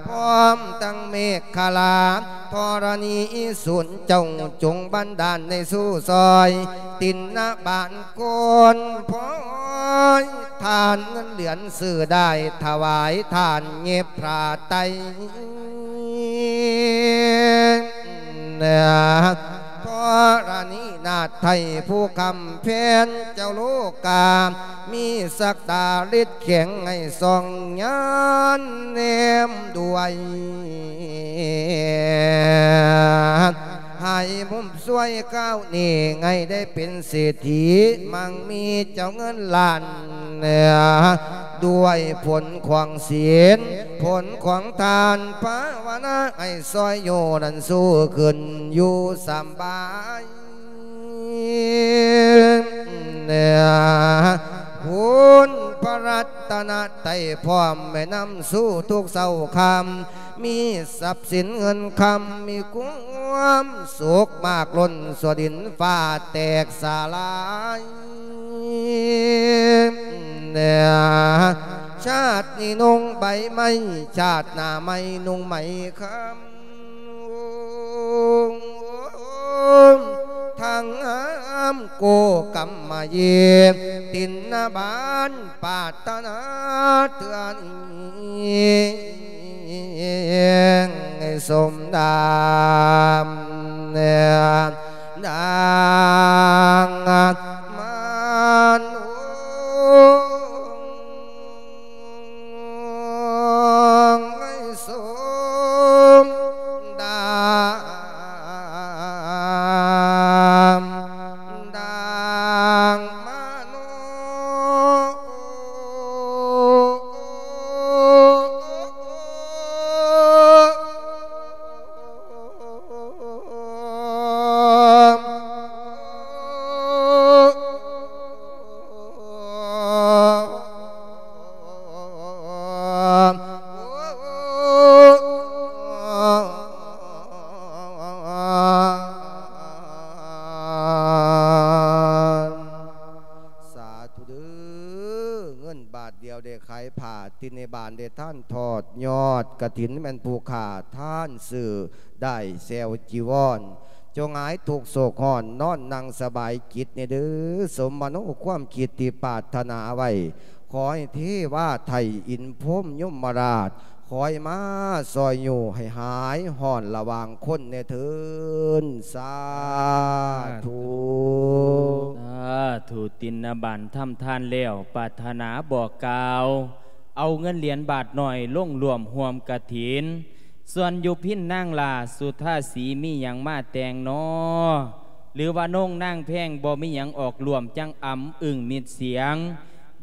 ພ້ອມທັງເມກຂະລາ ທໍລະນີສູນ ເຈົ້າຈົ່ງບັນດານໃຫ້ສູ່ຊ່ອຍ ຕິນນະບານ ຄົນພອຍ ທານເງິນຫຼຽນຊື້ໄດ້ ຖະຫວາຍທານເຫຍິບພຣາໄຕ ທໍລະນີນາດໄທ ຜູ້ຄຳແພນເຈົ້າໂລກາ ມີສັກດາລິດແຂງ ໃຫ້ສ່ອງຍານແນມດ້ວຍ ໃຫ້ມຸມ ຊ່ວຍກ້າວນີ້ ໃຫ້ໄດ້ເປັນເສດຖີ ມັງມີເຈົ້າເງິນລ້ານ ດ້ວຍຜົນຂອງສິນ ຜົນຂອງທານພາວະນາ ໃຫ້ຊ່ອຍໂຍນັ້ນສູ້ຂຶ້ນຢູ່ສຳບາຍ ຄຸນພະລັດຕະນະໄຕ ພ້ອມແມ່ນຳສູ້ທຸກເຊົ້າຄ່ຳ ມີຊັບສິນເງິນຄຳ ມີຄວາມສຸກມາກລົ້ນ ຊົ່ວດິນຟ້າແຕກສະຫຼາຍ. ຊາດນີ້ນຸ່ງໃບໄມ້ ຊາດໜ້າໃໝ່ນຸ່ງໄໝຄຳ. ທັງຫາມໂກກຳມະເຢ ຕິນນະບານປາດຖະໜາເທື່ອນີ້ ສົມດາມ ນາງມາໂນ ສົມດາມ ດາງມະໂນ. ສາທຸເດີ້ ເງິນບາດດຽວໄດ້ຂາຍຜ້າ ຕິນໃນບ້ານໄດ້ທານທອດຍອດກະຖິນ ແມ່ນຜູ້ຂ້າທານຊື້ໄດ້ແຊວຈີວອນ ຈົ່ງຫາຍທຸກໂສກຮ້ອນ ນອນນັ່ງສະບາຍຈິດແດ່ເດີ້ ສົມມະໂນຄວາມຄິດທີ່ປາດຖະໜາໄວ້ ຂໍໃຫ້ເທວາໄທອິນພົມຍົມມະລາດ ຄອຍມາຊ່ອຍຍູ້ໃຫ້ຫາຍຮ້ອນລະຫວ່າງຄົນແດ່ເທີນ ສາທຸ. ສາທຸ ຕິນນະບານທຳທານແລ້ວ ປາດຖະໜາບອກກ່າວ ເອົາເງິນຫຼຽນບາດນ້ອຍລົງຮ່ວມຮ່ວມກະຖິນ. ສ່ວນຢູ່ພິນນາງຫຼ້າ ສຸທາສີມີຫຍັງມາແຕ່ງນໍ ຫຼືວ່າໂນງນາງແພງບໍ່ມີຫຍັງອອກຮ່ວມ ຈັ່ງອຳອຶ້ງມິດສຽງ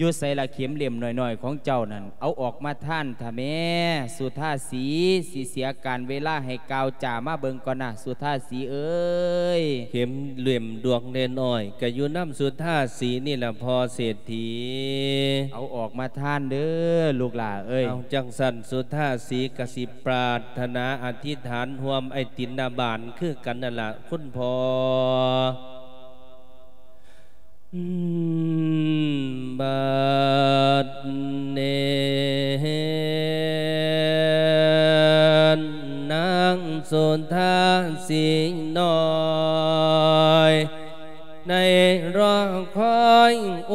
ຢູ່ໃສລະເຂັມເຫຼັ້ມນ້ອຍໆຂອງເຈົ້ານັ້ນ ເອົາອອກມາທານທະແມ້ ສຸທາສີ ຊິເສຍການເວລາໃຫ້ກ່າວຈາ ມາເບິ່ງກ່ອນນະ ສຸທາສີເອີຍ. ເຂັມເຫຼັ້ມດວງນ້ອຍໆ ກະຢູ່ນຳສຸທາສີນີ້ລະພໍ່ເສດຖີ ເອົາອອກມາທານເດີ້ລູກຫຼ້າເອີຍ. ເອົາ ຈັ່ງຊັ້ນສຸທາສີກະຊິປາດຖະໜາອະທິຖານຮ່ວມໄອ້ຕິນນະບານຄືກັນນັ້ນລະ ຄຸນພໍ່. ອືມ ບາດນີ້ນາງສຸທາສີນ້ອຍ ໄດ້ລໍຄອຍໂອ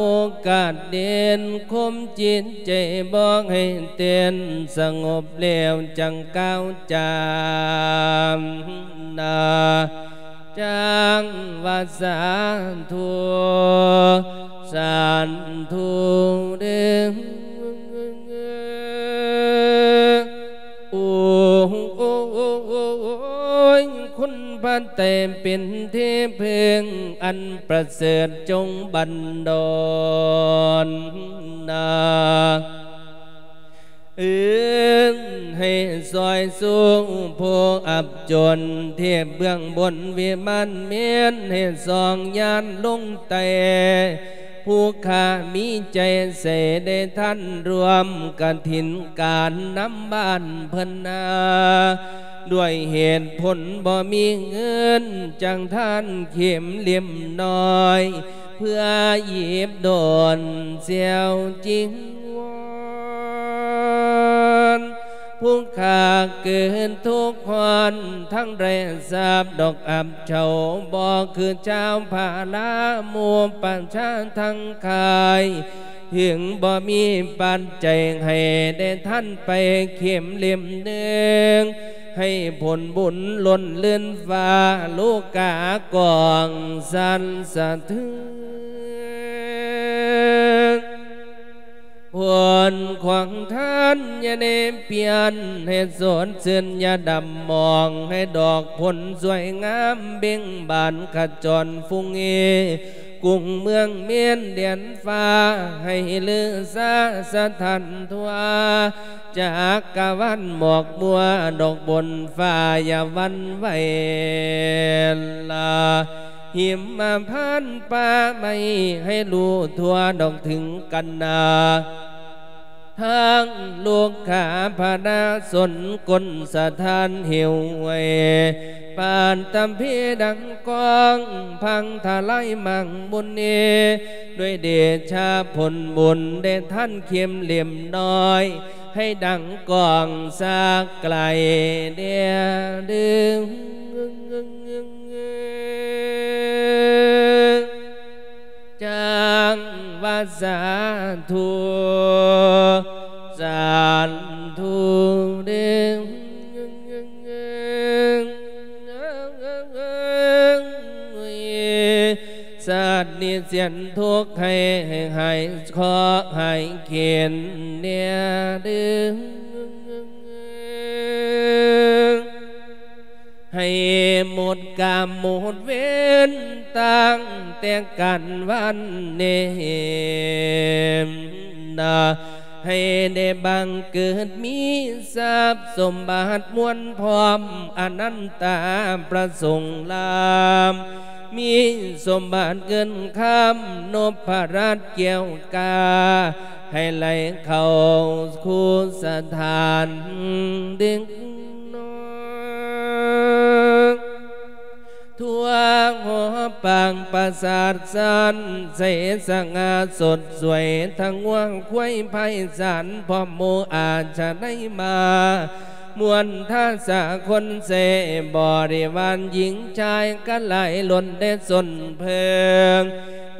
ກາດເດັ່ນ ຄຸມຈິດໃຈບໍ່ໃຫ້ເຕັ້ນ ສະຫງົບແລ້ວຈັ່ງກ່າວຈາ ນາ ຈັ່ງວ່າສາທຸ ສາທຸເດີ້ ໂອ້ຍ ຄຸນພະໄຕເປັນທີ່ເພິ່ງອັນປະເສີດ ຈົ່ງບັນດອນນາ ເອີ້ນໃຫ້ຊ່ອຍຊູຜູ້ອັບຈົນ ເທບເບື້ອງບົນວິມານເມນ ໃຫ້ສອງຍານລົງໃຕ້ ຜູ້ຂ້າມີໃຈໃສໄດ້ທ່ານຮ່ວມກະຖິນການນຳບ້ານເພິ່ນນາ ດ້ວຍເຫດຜົນບໍ່ມີເງິນ ຈັ່ງທ່ານເຂັມເຫຼັ້ມນ້ອຍ ເພື່ອຫຍິບໂດນແຊວຈີວອນ ຜູ້ຂ້າເກີດທຸກຮ້ອນ ທັງໄດ້ຊາບດອກອັບເຊົາ ບໍ່ຄືຊາວພາລາໝູ່ປະຊາທັງຄ້າຍ ເຖິງບໍ່ມີປັດໄຈໃຫ້ໄດ້ທັນໄປເຂັມເຫຼັ້ມໜຶ່ງ ໃຫ້ຜົນບຸນລົ້ນລື່ນຟ້າ ໂລກາກອງສັ່ນສະເທືອນ ຜົນຂອງທ່ານຢ່າໄດ້ປ່ຽນ ໃຫ້ສົດຊື່ນຢ່າດຳໝອງ ໃຫ້ດອກຜົນສວຍງາມເບັ່ງບານຂະຈອນຟຸ່ງເອ ກຸງເມືອງເມນແດນຟ້າ ໃຫ້ລືຊາສະຖານທົ່ວ ຈັກກະວານໝອກມົວ ດອກບົນຟ້າຢ່າຫວັ່ນໄຫວລາ ຫິມມະພານປ່າໄມ້ ໃຫ້ຮູ້ທົ່ວດອກເຖິງກັນນາ ທັງລູກຄ້າພະນາຊົນ ກົ້ນສະທ້ານຫິວໄຫວ ປານຕຳພີດັງກ້ອງ ພັງທະລາຍມັງມຸນເອ ດ້ວຍເດຊະຜົນບຸນ ໄດ້ທັນເຂັມເຫຼັ້ມນ້ອຍ ໃຫ້ດັງກ້ອງສາກໄກແດ່ເດີ້. ຈັ່ງວ່າສາທຸ ສາທຸເດີ້. ສັດນີ້ສຽນທຸກໃຫ້ຫາຍເຄາະຫາຍເຂັນແດ່ເດີ້. ໃຫ້ໝົດກຳໝົດເວນຕັ້ງແຕ່ການວັນນີ້ນະ ໃຫ້ໄດ້ບັງເກີດມີຊັບສົມບັດມວນພ້ອມອະນັນຕາປະສົງລາມ ມີສົມບັດເງິນຄຳນົບພະລັດແກ້ວກາ ໃຫ້ໄຫຼເຂົ້າຄູ່ສະຖານເດັກນ້ອຍ ທົ່ວຫໍປາງປາສາດສັນ ໃສສະຫງ່າສົດສວຍ ທັງງົວຄວາຍໄພສັນ ພ້ອມໝູ່ອາຊະໄນມາ ມວນທາສາຄົນເສ ບໍລິວານຍິງຊາຍ ກະຫຼາຍລົ້ນແດ່ຊົນເພີງ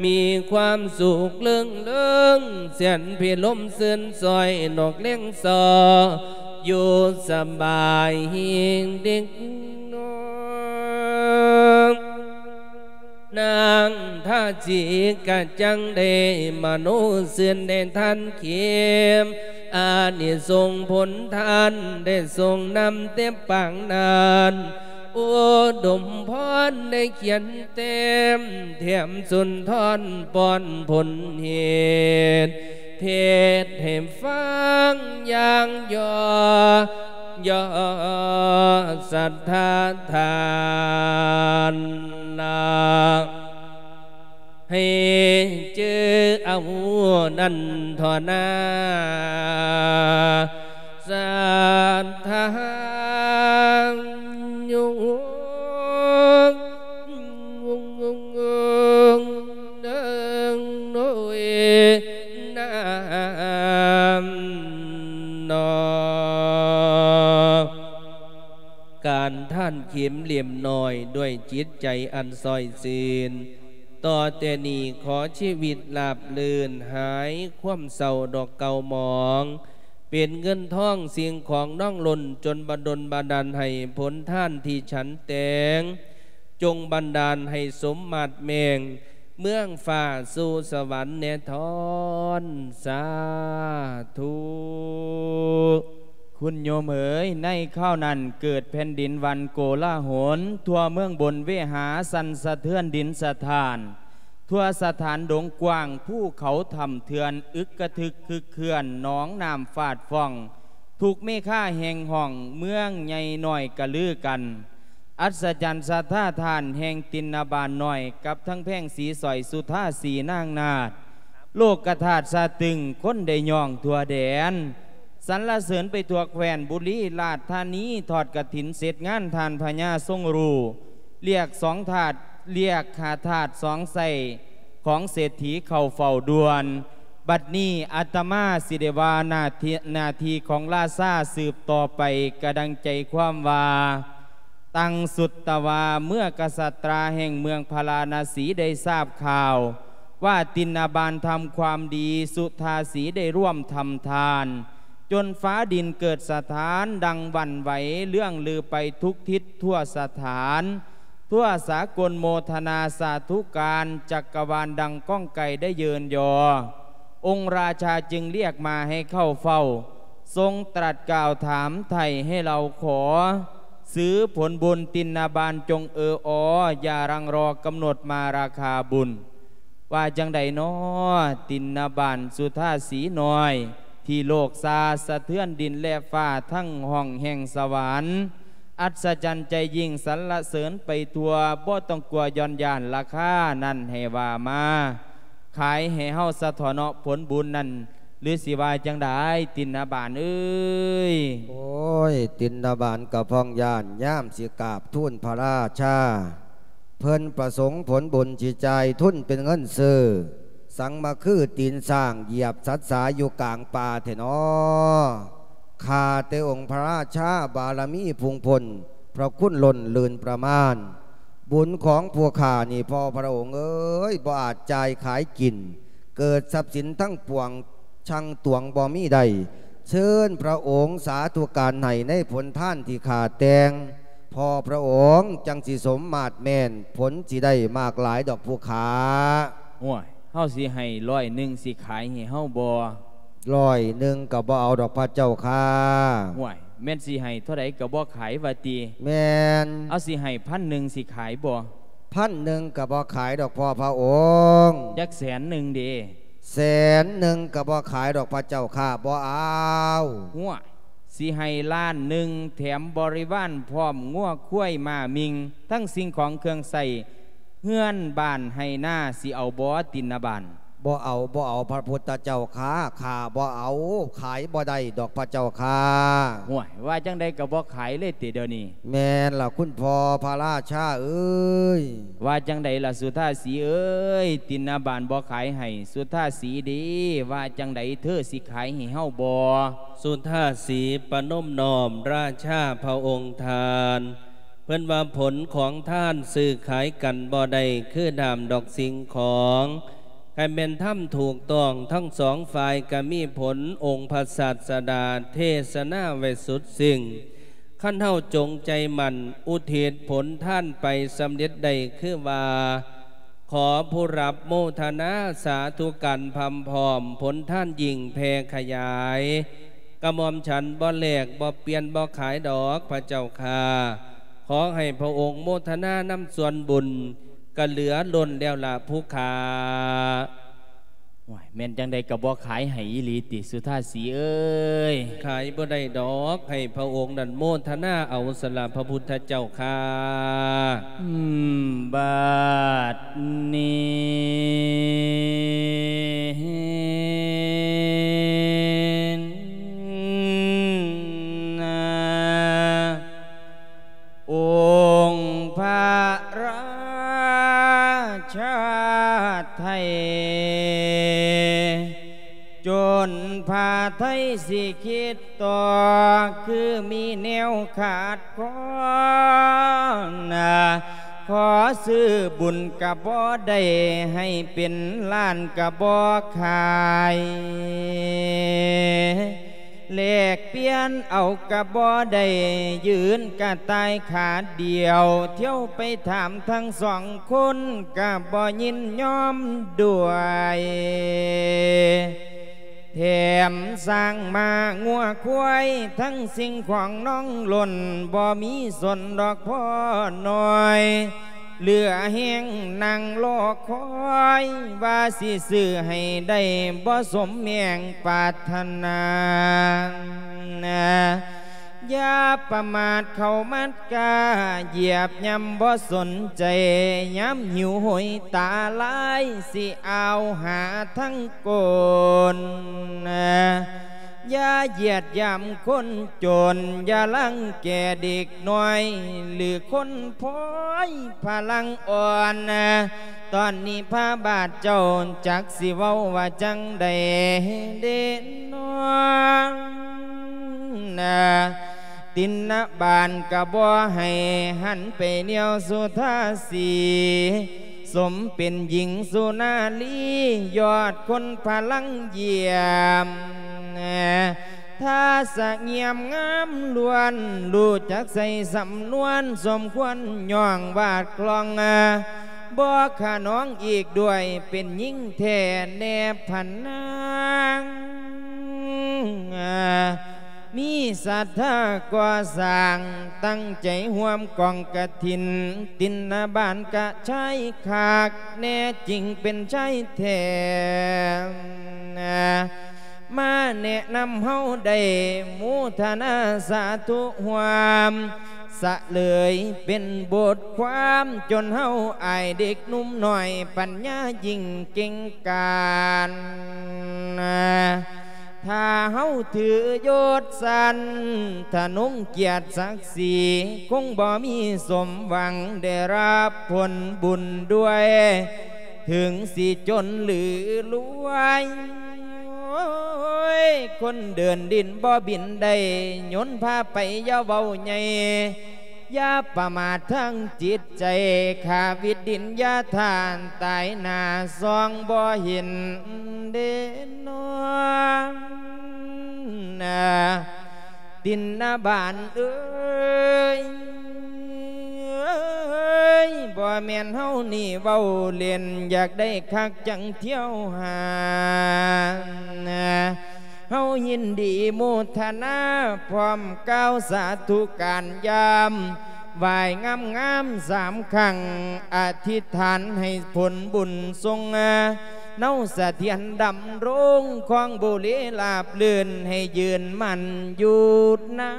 ມີຄວາມສຸກເລີງເລີງ ສຽນພິລົມຊື່ນຊ່ອຍ ນົກເລັງຊໍ ຢູ່ສະບາຍເດັກນ້ອຍ. ນາງທາສີກະຈັ່ງໄດ້ມະໂນຊື່ນ ໄດ້ທັນເຂັມອານິສົງຜົນທານ ໄດ້ຊົງນຳແຕ່ປາງນັ້ນ ອຸດົມພອນໄດ້ຂຽນແຕ້ມ ແຖມສຸນທອນປ້ອນຜົນເຫດ ເທດໃຫ້ຟັງຢ່າງຍໍ ຍໍສັດທາທ່ານນະ ໃຫ້ຈື່ເອົານັ້ນທໍ່ນາ ສັດທາໂຍ ເດີໂນຍນາມນໍ ການທ່ານເຂັມເຫຼັ້ມນ້ອຍ ດ້ວຍຈິດໃຈອັນຊ່ອຍຊື່ນ ຕໍ່ແຕ່ນີ້ຂໍຊີວິດລາບລື່ນ ຫາຍຄວາມເສົ້າດອກເກົ່າໝອງ ເປັນເງິນທອງສິ່ງຂອງນອງລົ້ນ ຈົນບັນດົນບັນດານໃຫ້ຜົນທານທີ່ສັນແຕ່ງ ຈົ່ງບັນດານໃຫ້ສົມມາດແມງ ເມືອງຟ້າສູ່ສະຫວັນແດ່ທ້ອນ ສາທຸ. ຄຸນໂຍມເອີຍ, ໃນຄາວນັ້ນເກີດແຜ່ນດິນຫວັ່ນໂກລາຫົນ, ທົ່ວເມືອງບົນເວຫາສັ່ນສະເທືອນດິນສະຖານ, ທົ່ວສະຖານດົງກວ້າງ, ພູເຂົາຖ້ຳເຖື່ອນ ອຶກກະທຶກຄຶກເຄື່ອນ, ໜອງນ້ຳຟາດຟອງ, ທຸກເມຄາແຫ່ງຫ້ອງ, ເມືອງໃຫຍ່ນ້ອຍກະລືກັນ. ອັດສະຈັນສັດທາທ່ານແຫ່ງຕິນນະບານນ້ອຍ ກັບທັງແພງສີສອຍສຸທາສີນາງນາດ, ໂລກກະທາດສະຕຶງ ຄົນໄດ້ຍ້ອງທົ່ວແດນ, ສັນລະເສີນໄປທົ່ວແຄວ້ນບຸລີລາດທານີ, ທອດກະຖິນເສັດງານທ່ານພະຍາຊົງຮູ້, ລຽກສອງທາດ, ລຽກຫາທາດສອງໄຊ ຂອງເສດຖີເຂົ້າເຝົ້າດ່ວນ. ບັດນີ້ອາດຕະມາຊິໄດ້ວ່າໜ້າທີ່, ໜ້າທີ່ຂອງລາຊາສືບຕໍ່ໄປ ກະດັ່ງໃຈຄວາມວ່າ ຕັງສຸດຕະວາ ເມື່ອກະສັດຕາແຫ່ງເມືອງພາລານະສີໄດ້ຊາບຂ່າວວ່າ ຕິນນະບານທຳຄວາມດີ ສຸທາສີໄດ້ຮ່ວມທຳທານ ຈົນຟ້າດິນເກີດສະທ້ານ ດັງຫວັ່ນໄຫວ ເລື່ອງລືໄປທຸກທິດທົ່ວສະຖານ ທົ່ວສາກົນໂມທະນາສາທຸການ ຈັກກະວານດັ່ງກ້ອງໄກ່ໄດ້ເຍີນຍໍ. ອົງລາຊາຈຶ່ງລຽກມາໃຫ້ເຂົ້າເຝົ້າ, ຊົງຕລັດກ່າວຖາມໄຖ່ໃຫ້ເລົ່າຂໍ, ສືຜົນບຸນຕິນນະບານຈົ່ງເອີອອ, ຢ່າຮັ່ງລໍກຳນົດມາລາຄາບຸນ. ວ່າຈັ່ງໃດນໍ ຕິນນະບານສຸທາສີນ້ອຍ ທີ່ໂລກຊາສະເທືອນດິນແລະຟ້າ ທັງຫ້ອງແຫ່ງສະຫວັນ ອັດສະຈັນໃຈຍິ່ງສັນລະເສີນໄປທົ່ວ ບໍ່ຕ້ອງກົວຢ່ອນຢ້ານລາຄານັ້ນໃຫ້ວ່າມາ ຂາຍໃຫ້ເຮົາສະເທາະເນາະ ຜົນບຸນນັ້ນ ຫຼືຊິວ່າຈັ່ງໃດ ຕິນນະບານເອີຍ? ໂອ້ຍ ຕິນນະບານກະພອງຢ້ານ ຍາມຊິກາບທູນພະລາຊາ ເພິ່ນປະສົງຜົນບຸນຊິຈ່າຍທຶນເປັນເງິນຊື້ ສັງມາຄືຕີນຊ້າງຢຽບສັດສາຢູ່ກາງປ່າແທ້ນໍ. ຂ້າແຕ່ອົງພະລາຊາ ບາລະມີພຸ່ງພົ້ນ ພະຄຸນລົ້ນລື່ນປະມານ ບຸນຂອງຜູ້ຂ້ານີ້ ພໍ່ພະອົງເອີຍ ບໍ່ອາດຈ່າຍຂາຍກິນ ເກີດຊັບສິນທັງປວງ ຊັ່ງຕວງບໍ່ມີໄດ້ ເຊີນພະອົງສາທຸການໃຫ້ໃນຜົນທານທີ່ຂ້າແຕ່ງ ພໍ່ພະອົງຈັ່ງຊິສົມມາດແມ່ນ ຜົນຊິໄດ້ມາກຫຼາຍດອກຜູ້ຂ້າ. ຫ້ວຍ ເຮົາຊິໃຫ້ຮ້ອຍໜຶ່ງ ຊິຂາຍໃຫ້ເຮົາບໍ່? ຮ້ອຍໜຶ່ງກະບໍ່ເອົາດອກພະເຈົ້າຂ້າ. ຫ້ວຍ ແມ່ນຊິໃຫ້ເທົ່າໃດກະບໍ່ຂາຍວ່າຕິ? ແມ່ນ. ເອົາ ຊິໃຫ້ພັນໜຶ່ງ ຊິຂາຍບໍ່? ພັນໜຶ່ງກະບໍ່ຂາຍດອກພໍ່ພະອົງ. ຈັກແສນໜຶ່ງເດ? ແສນໜຶ່ງກະບໍ່ຂາຍດອກພະເຈົ້າຂ້າ ບໍ່ເອົາ. ຫ້ວຍ ຊິໃຫ້ລ້ານໜຶ່ງ ແຖມບໍລິວານ ພ້ອມງົວຄວາຍມ້າມິ່ງ ທັງສິ່ງຂອງເຄື່ອງໃຊ້ເຮືອນບ້ານໄຮ່ນາ ຊິເອົາບໍ່ ຕິນນະບານ? ບໍ່ເອົາ ບໍ່ເອົາ ພະພຸດທະເຈົ້າຂ້າ ຂ້າບໍ່ເອົາ ຂາຍບໍ່ໄດ້ດອກພະເຈົ້າຂ້າ. ຫ້ວຍ ວ່າຈັ່ງໃດກະບໍ່ຂາຍເລີຍຕິດຽວນີ້? ແມ່ນລະຄຸນພໍ່ພະລາຊາເອີຍ. ວ່າຈັ່ງໃດລະສຸທາສີເອີຍ? ຕິນນະບານບໍ່ຂາຍໃຫ້ ສຸທາສີເດ ວ່າຈັ່ງໃດ ເທີຊິຂາຍໃຫ້ເຮົາບໍ່? ສຸທາສີປະນົມນ້ອມລາຊາພະອົງທ່ານ ເພິ່ນວ່າຜົນຂອງທ່ານຊື້ຂາຍກັນບໍ່ໄດ້ ຄືດາມດອກສິ່ງຂອງ ຄັນແມ່ນທຳຖືກຕ້ອງທັງສອງຝ່າຍກະມີຜົນ ອົງພະສາດສະດາເທສະນາໄວ້ສຸດສິ່ງ ຄັນເຮົາຈົງໃຈໝັ້ນອຸທິດຜົນທານໄປສຳເລັດໄດ້ຄືວ່າ ຂໍຜູ້ຮັບໂມທະນາສາທຸການພຳພ້ອມ ຜົນທານຍິ່ງແຜ່ຂະຫຍາຍ ກະໝ່ອມສັນບໍ່ແລກບໍ່ປ່ຽນບໍ່ຂາຍດອກພະເຈົ້າຂ້າ ຂໍໃຫ້ພະອົງໂມທະນານຳສ່ວນບຸນ ກະເຫຼືອລົ້ນແລ້ວລະຜູ້ຂ້າ. ໂອ້ຍ ແມ່ນຈັ່ງໃດກະບໍ່ຂາຍໃຫ້ອີ່ຫຼີຕິ ສຸທາສີເອີຍ? ຂາຍບໍ່ໄດ້ດອກ ໃຫ້ພະອົງນັ້ນໂມທະນາເອົາສະລະພະພຸດທະເຈົ້າຂ້າ. ອືມ ບາດນີ້ນະ ອົງພະລາຊາໄທ ຈົນພະໄທຊິຄິດຕໍ່ ຄືມີແນວຂາດຄອນ ຂໍຊື້ບຸນກະບໍ່ໄດ້ ໃຫ້ເປັນລ້ານກະບໍ່ຂາຍ ແລກປ່ຽນເອົາກະບໍ່ໄດ້ ຢືນກະຕ່າຍຂາດຽວ ທ່ຽວໄປຖາມທັງສອງຄົນ ກະບໍ່ຍິນຍອມດ້ວຍ ແຖມຊ້າງມ້າງົວຄວາຍ ທັງສິ່ງຂອງນ້ອງຫຼົ່ນ ບໍ່ມີສົນດອກພໍ່ນ້ອຍ ເຫຼືອແຮງນັ່ງລໍຄອຍ ວ່າຊິຊື້ໃຫ້ໄດ້ບໍ່ສົມແມງປາດຖະໜາ ຢ່າປະໝາດເຂົ້າມັດກ້າ ຢຽບຍ່ຳບໍ່ສົນໃຈ ຍາມຫິວໂຫຍຕາລາຍ ຊິອາວຫາທັງ ໂກນ ຢ່າຢຽດຢາມຄົນຈົນ ຢ່າລັງແກເດັກນ້ອຍ ຫຼືຄົນພອຍພະລັງອ່ອນ ຕອນນີ້ພະບາດເຈົ້າຈັກຊິເວົ້າວ່າຈັ່ງໃດເດນໍ ຕິນນະບານກະບໍ່ໃຫ້ ຫັນໄປແນວສຸທາສີ ສົມເປັນຍິງສຸນາລີ ຍອດຄົນພະລັງຢ້ຽມ ທ່າສະງຽມງາມລ້ວນ ຮູ້ຈັກໃຊ້ສຳນວນ ສົມຄວນຍ້ອງວາດຄລອງ ບໍ່ຂະໜອງອີກດ້ວຍ ເປັນຍິງແທ້ແນບພັນນາງ ມີສັດທາກໍ່ສ້າງ ຕັ້ງໃຈຮ່ວມກອງກະຖິນ ຕິນນະບານກະຊາຍຄັກ ແນ່ຈິງເປັນຊາຍແທ້ ມາແນະນຳເຮົາໄດ້ ໂມທະນາສາທຸຮ່ວມ ສະເຫຼີຍເປັນບົດຄວາມ ຈົນເຮົາອາຍເດັກໜຸ່ມນ້ອຍ ປັນຍາຍິ່ງເກັ່ງການ. ຖ້າເຮົາຖືຍົດຊັ້ນທະນົງກຽດສັກສີ ຄົງບໍ່ມີສົມຫວັງໄດ້ຮັບຜົນບຸນດ້ວຍ ເຖິງຊິຈົນຫຼືລວຍ. ໂອ້ຍ ຄົນເດີນດິນບໍ່ບິນໄດ້ ຍົນພາໄປຢ່າເວົ້າໃຫຍ່ ຢ່າປະໝາດທາງຈິດໃຈ ຂ້າວິດດິນຢ່າທ່ານ ຕາຍໜ້າສ່ອງບໍ່ເຫັນເດນອ ຕິນນະບານເອີຍ ບໍ່ແມ່ນເຮົານີ້ເວົ້າເລ່ນ ຢາກໄດ້ຄັກຈັ່ງທ່ຽວຫາ. ເຮົາຍິນດີໂມທະນາ ພ້ອມກ່າວສາທຸການຍາມ ໄຫວ້ງາມໆສາມຄັ້ງ ອະທິຖານໃຫ້ຜົນບຸນຊົງ ເນົາສະຖຽນດຳລົງ ຄອງບູລີລາບລື່ນ ໃຫ້ຢືນໝັ້ນຢູ່ນາ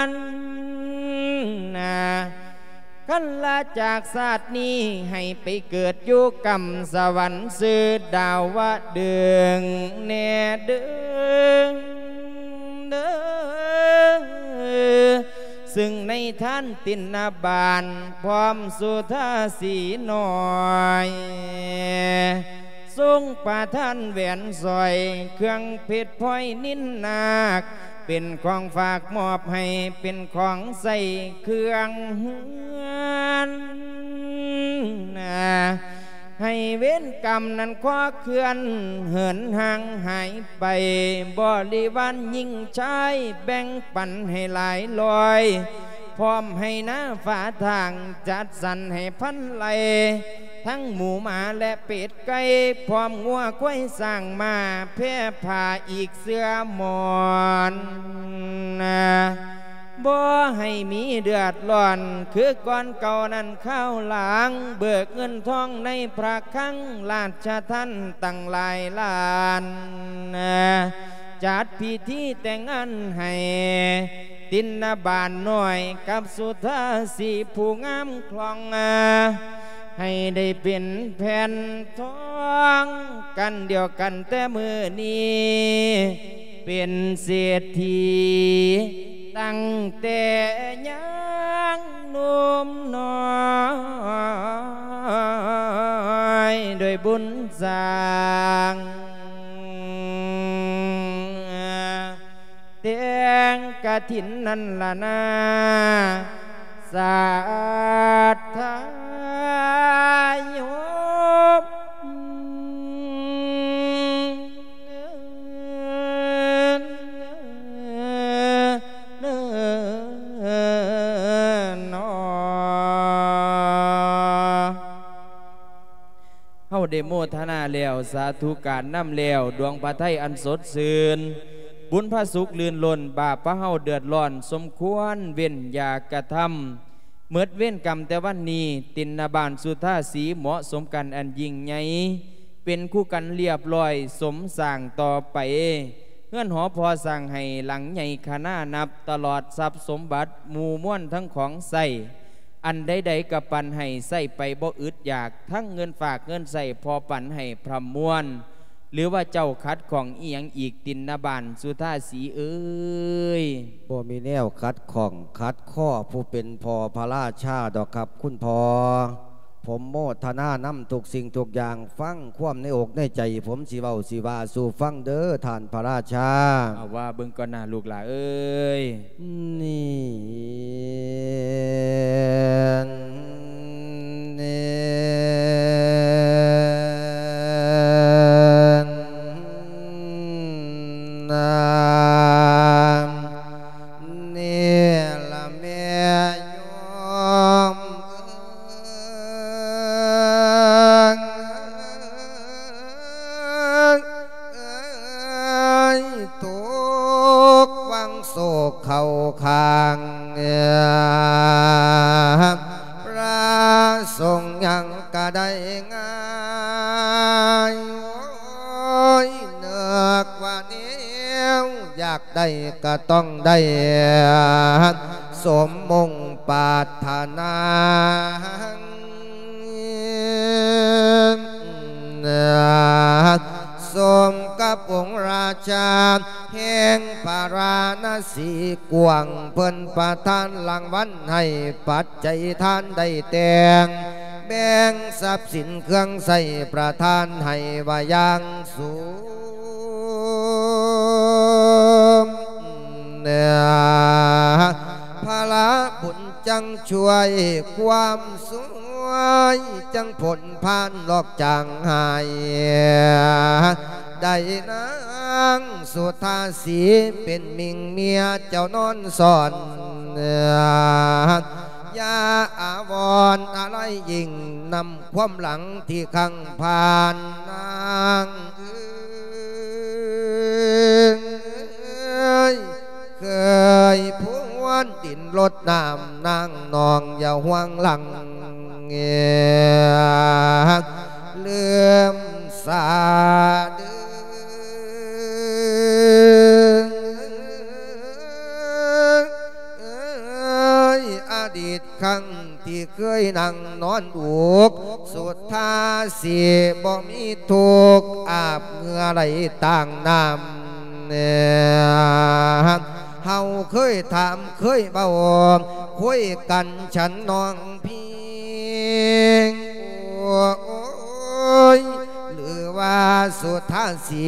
ນ. ຄັນລາຈາກຊາດນີ້ ໃຫ້ໄປເກີດຢູ່ກຳສະຫວັນ ຊື່ດາວະເດີງແດ່ເດີງເດີ. ຊຶ່ງໃນທ່ານຕິນນະບານ ພ້ອມສຸທາສີນ້ອຍ ຊົງປະທານແຫວນສ້ອຍ ເຄື່ອງເພັດພອຍນິນນາກ ເປັນຂອງຝາກມອບໃຫ້ ເປັນຂອງໃຊ້ເຄື່ອງເຮືອນ. ໃຫ້ເວນກຳນັ້ນຂໍເຄື່ອນເຫີນຫ່າງຫາຍໄປ ບໍລິວານຍິງຊາຍແບ່ງປັນໃຫ້ຫຼາຍລອຍ ພ້ອມໃຫ້ນາຝາທາງຈັດສັນໃຫ້ພັນໄລ່ ທັງໝູໝາແລະເປັດໄກ່ ພ້ອມງົວຄວາຍຊ້າງມ້າແພ່ພາອີກເສື້ອໝອນ. ບໍ່ໃຫ້ມີເດືອດຮ້ອນຄືກ່ອນເກົ່ານັ້ນຄາວຫຼັງ ເບີກເງິນທອງໃນພະຄັງລາຊະທັນຕັ້ງຫຼາຍລ້ານ ຈັດພິທີແຕ່ງງານໃຫ້ຕິນນະບານນ້ອຍກັບສຸທາສີຜູ້ງາມຄລ່ອງ ໃຫ້ໄດ້ເປັນແຜ່ນທອງກັນດຽວກັນແຕ່ມື້ນີ້ ເປັນເສດຖີຕັ້ງແຕ່ຍັງໜຸ່ມນ້ອຍ ດ້ວຍບຸນສ້າງແຕ່ງກະຖິນນັ້ນລະນາ ສັດທາໂຍມ. ເຮົາໄດ້ໂມທະນາແລ້ວ ສາທຸການນຳແລ້ວ ດວງພະໄທອັນສົດຊື່ນ ບຸນພະສຸກລື່ນລົ້ນ ບາບພະເຮົາເດືອດຮ້ອນສົມຄວນເວັ້ນຢ່າກະທຳ ໝົດເວນກຳແຕ່ວັນນີ້ ຕິນນະບານສຸທາສີເໝາະສົມກັນອັນຍິ່ງໃຫຍ່ ເປັນຄູ່ກັນລຽບລ້ອຍສົມສ້າງຕໍ່ໄປ ເຮືອນຫໍພໍສ້າງໃຫ້ຫຼັງໃຫຍ່ຄະນານັບ ຕະຫຼອດຊັບສົມບັດໝູ່ມວນທັງຂອງໃຊ້ ອັນໃດໆກະປັນໃຫ້ໃຊ້ໄປບໍ່ອຶດຢາກ ທັງເງິນຝາກເງິນໃຊ້ພໍປັນໃຫ້ພຣຳມວນ ຫຼືວ່າເຈົ້າຂັດຂ້ອງອີ່ຫຍັງອີກ ຕິນນະບານສຸທາສີເອີຍ? ບໍ່ມີແນວຂັດຂ້ອງຂັດຂໍ້ຜູ້ເປັນພໍ່ພະລາຊາດອກຄັບຄຸນພໍ່. ຜົມໂມທະນານຳທຸກສິ່ງທຸກຢ່າງ ຟັງຄວາມໃນອົກໃນໃຈ ຜົມຊິເວົ້າຊິວ່າສູ່ຟັງເດີທ່ານພະລາຊາ. ເອົາວ່າເບິ່ງກ່ອນນາລູກຫຼາເອີຍ. ນີ້ ນີ້ ນາ ນີ້ລະແມ່ໂຍມເອີຍ ຕົກວັງໂສກເຂົ້າຂ້າງ ພະສົງຍັງກະໄດ້ງ່າຍ ໂອ້ຍ ນຶກວ່າແນວຢາກໄດ້ກະຕ້ອງໄດ້ ສົມມຸ່ງປາດຖະໜາ ສົມກັບອົງລາຊາແຫ່ງພາລານະສີກວ້າງ ເພິ່ນປະທານລາງວັນໃຫ້ປັດໄຈທານໄດ້ແຕ່ງ ແບ່ງຊັບສິນເຄື່ອງໃຊ້ປະທານໃຫ້ວ່າຢ່າງສູງ. ພະລະບຸນຈັ່ງຊ່ວຍ ຄວາມສວຍຈັ່ງພົ້ນຜ່ານລອກຈາງຫາຍ ໄດ້ນາງສຸທາສີເປັນມິ່ງເມຍເຈົ້ານອນສອນ ຢ່າອາວອນອາໄລຍິ່ງນຳ ຄວາມຫຼັງທີ່ຄັ້ງຜ່ານນາງເອີຍ ເຄີຍພວນດິນລົດນ້ຳນາງ ນ້ອງຢ່າຫ່ວງຫຼັງເອີຍ ລືມສາເດີ ເອີຍ ອະດີດຄັ້ງທີ່ເຄີຍນັ່ງນອນອຸກ ສຸທາສີບໍ່ມີທຸກ ອາບເຫື່ອໄຫຼຕ່າງນ້ຳ ເຮົາເຄີຍຖາມເຄີຍເວົ້າ ຄຸຍກັນ ສັນນ້ອງພີ່ ໂອ້ຍ ຫຼືວ່າສຸທາສີ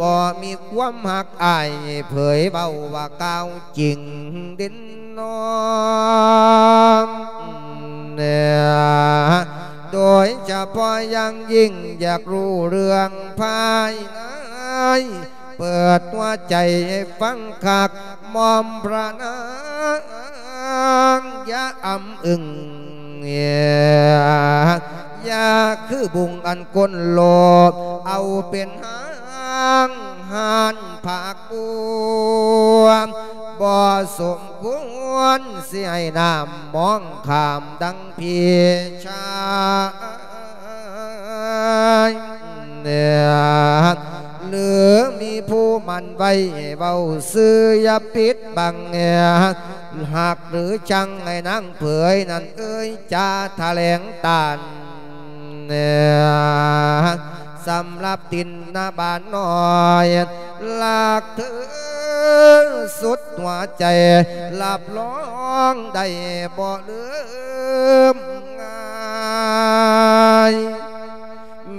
ບໍ່ມີຄວາມຮັກອ້າຍ ເຜີຍເວົ້າວ່າກ່າວຈິງເດັ່ນນ້ອງ ໂດຍສະເພາະຢ່າງຍິ່ງ ຢາກຮູ້ເລື່ອງພາຍໃນ ເປີດຫົວໃຈໃຫ້ຟັງຄັກ ໝ່ອມພະນາງຢ່າອຳອຶງ ຢ່າຄືບຸງອັນຄົນໂລບ ເອົາເປັນຫາງຫານພາກບົວ ບໍ່ສົມຄວນຊິໃຫ້ນ້ຳມອງຂ້າມ ດັ່ງພີ່ຊາຍ ຫຼືມີຜູ້ໝັ້ນໄວ້ເວົ້າຊື່ ຢ່າປິດບັງ ຮັກຫຼືຊັງໃຫ້ນາງເຜີຍນັ້ນເອີຍ ຈາຖະແຫຼງຕ້ານ ສຳລັບຕິນນະບານນ້ອຍ ລັກເທີສຸດຫົວໃຈ ຮັບຮອງໄດ້ບໍ່ລືມງ່າຍ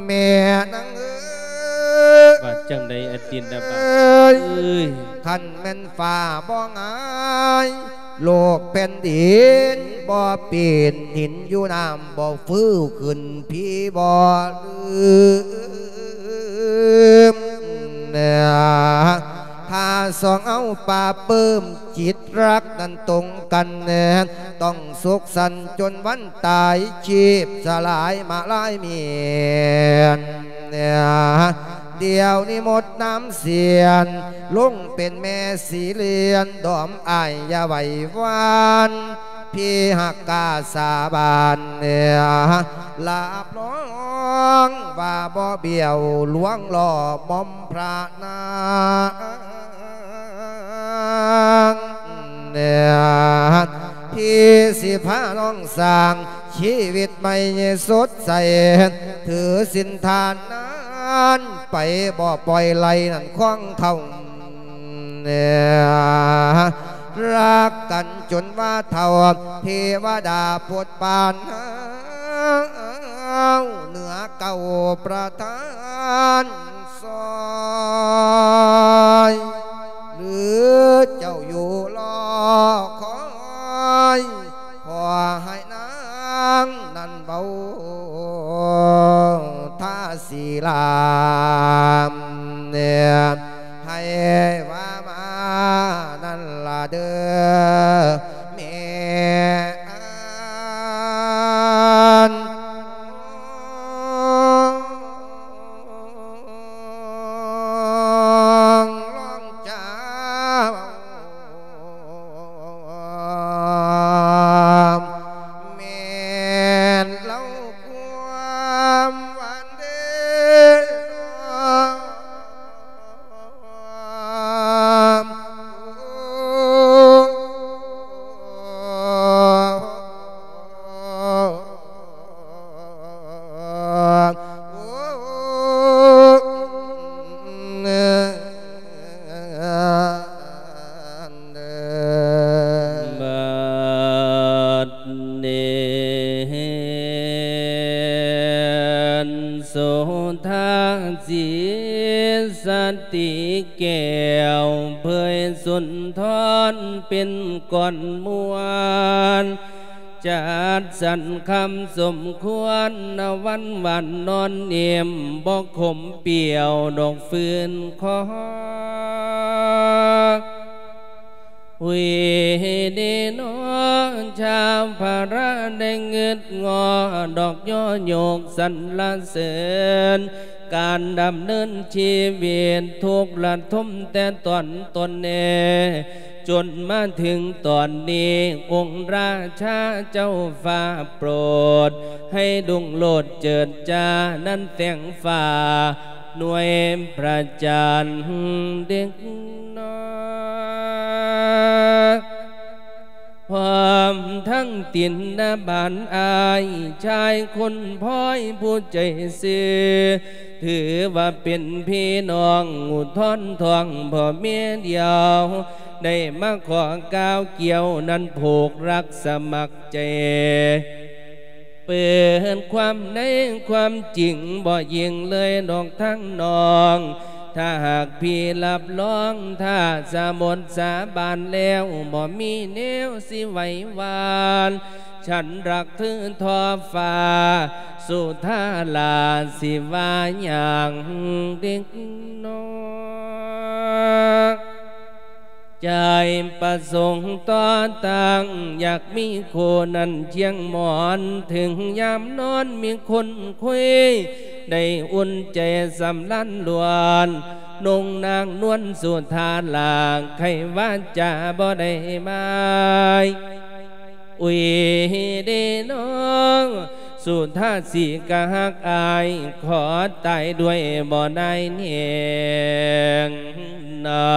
ແມ່ນາງເອີຍ ວ່າຈັ່ງໃດອະຕິນນະບານເອີຍ ເອີຍ ຄັນແມ່ນຟ້າບໍ່ຫງາຍ ໂລກແຜ່ນດິນບໍ່ປີນ ຫີນຢູ່ນ້ຳບໍ່ຟື້ນຂຶ້ນ ພີ່ບໍ່ລືມ ຖ້າສອງເຮົາປາບປື້ມ ຈິດຮັກນັ້ນຕົງກັນ ຕ້ອງສຸກສັນຈົນວັນຕາຍ ຊີບສະຫຼາຍມາລາຍເມນ ດຽວນີ້ໝົດນ້ຳສຽນ ລົງເປັນແມ່ສີລຽນ ດອມອ້າຍຢ່າໄຫວ້ຫວັ່ນ ພີ່ຮັກກ້າສາບານ ຮັບຮອງວ່າບໍ່ບ້ຽວ ລວງລໍ້ໝ່ອມພະນາງ ທີ່ຊິພານ້ອງສ້າງຊີວິດໃໝ່ສົດໃສ ຖືສິນທານນັ້ນໄປ ບໍ່ປ່ອຍໄຫຼນັ້ນຂອງເຂົາ ຮັກກັນຈົນວ່າເຖົ້າ ເທວະດາໂປດປານເຮົາ ເໜືອເກົ້າປະທານ ຊອຍ ຫຼືເຈົ້າຢູ່ລໍຄອຍ ຂໍໃຫ້ນາງນັ້ນເວົ້າທ່າສີລາມ ໃຫ້ວ່າມານັ້ນລະເດີ ແມ່ນ ລອງເຈົ້າ ຕີແກ້ວເຜີຍສຸນທອນເປັນກ່ອນມ່ວນ ຈັດສັນຄຳສົມຄວນ ນະວັນຫວານນອນເນມ ບໍ່ຂົມປ່ຽວດອກຟືນຄໍ. ຫວີດີໜໍ ຊາວພະລະໄດ້ງຶດງໍ ດອກຍໍຍົກສັນລະເສີນ ການດຳເນີນຊີວິດທຸກລະທົມແຕ່ຕອນຕົ້ນແນ່ ຈົນມາເຖິງຕອນນີ້ ອົງລາຊາເຈົ້າຟ້າໂປດ ໃຫ້ລຸງໂລດເຈີດຈ້ານັ້ນແສງຟ້າ ໜ່ວຍພະຈັນເດັກນ້ອຍ ພ້ອມທັງຕິນນະບານອ້າຍຊາຍຄົນພ້ອຍຜູ້ໃຈຊື່ ຖືວ່າເປັນພີ່ນ້ອງອຸທອນທ້ອງພໍ່ເມດຽວ ໄດ້ມາຂໍກ່າວກ່ຽວນັ້ນຜູກລັກສະໝັກໃຈ ເປີດຄວາມໃນຄວາມຈິງບໍ່ຍິງເລີຍດອກທາງນ້ອງ ຖ້າຫາກພີ່ຮັບຮອງ ຖ້າສາບົດສາບານແລ້ວ ບໍ່ມີແນວຊິໄຫວຫວານ ສັນລັກຖືທໍ່ຟ້າ ສຸທາລາຊິວ່າຫຍັງເດັກນ້ອຍ ໃຈປະສົງຕໍ່ຕັ້ງ ຢາກມີຄູ່ນັ້ນຄຽງໝອນ ເຖິງຍາມນອນມີຄົນຄຸຍ ໄດ້ອຸ່ນໃຈສຳລານລ້ວນ ນົງນາງນວນສຸທາລາ ໄຂວາຈາບໍ່ໄດ້ໝາຍ ອຸຍເດນ້ອງ ສຸທາສີກະຮັກອ້າຍ ຂໍຕາຍດ້ວຍບໍ່ນາຍແນງນາ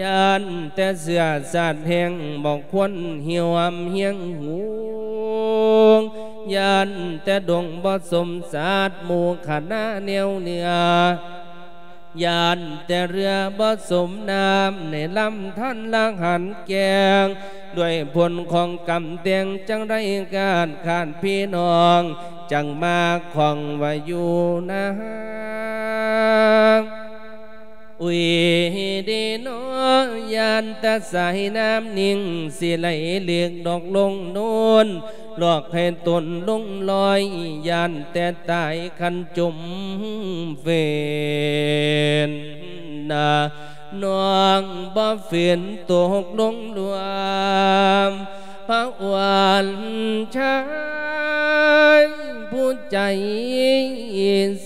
ຢ້ານແຕ່ເຊື້ອຊາດແຮງ ບໍ່ຄວນຮ່ວມຮຽງຫູງ ຢ້ານແຕ່ດົງບໍ່ສົມຊາດ ໝູ່ຄະນະແນວເໜືອ ຢ້ານແຕ່ເຮືອບໍ່ສົມນ້ຳ ໃນລຳທັນລະຫັນແກ່ງ ດ້ວຍຜົນຂອງກຳແຕ່ງ ຈັ່ງໄດ້ກາດຂາດພີ່ນ້ອງ ຈັ່ງມາຂ້ອງວ່າຢູ່ນາ ອຸຍເດນ້ອຍ ຢ້ານແຕ່ສາຍນ້ຳນິ່ງ ຊິໄຫຼເລິກດອກລົງໂນ້ນ ຫຼອກໃຫ້ຕົນລົງລອຍ ຢ້ານແຕ່ຕາຍຄັນຈົມເຟນນາ ນ້ອງບໍ່ຝືນຕົກລົງລວມ ພະອວນຊາຍຜູ້ໃຈ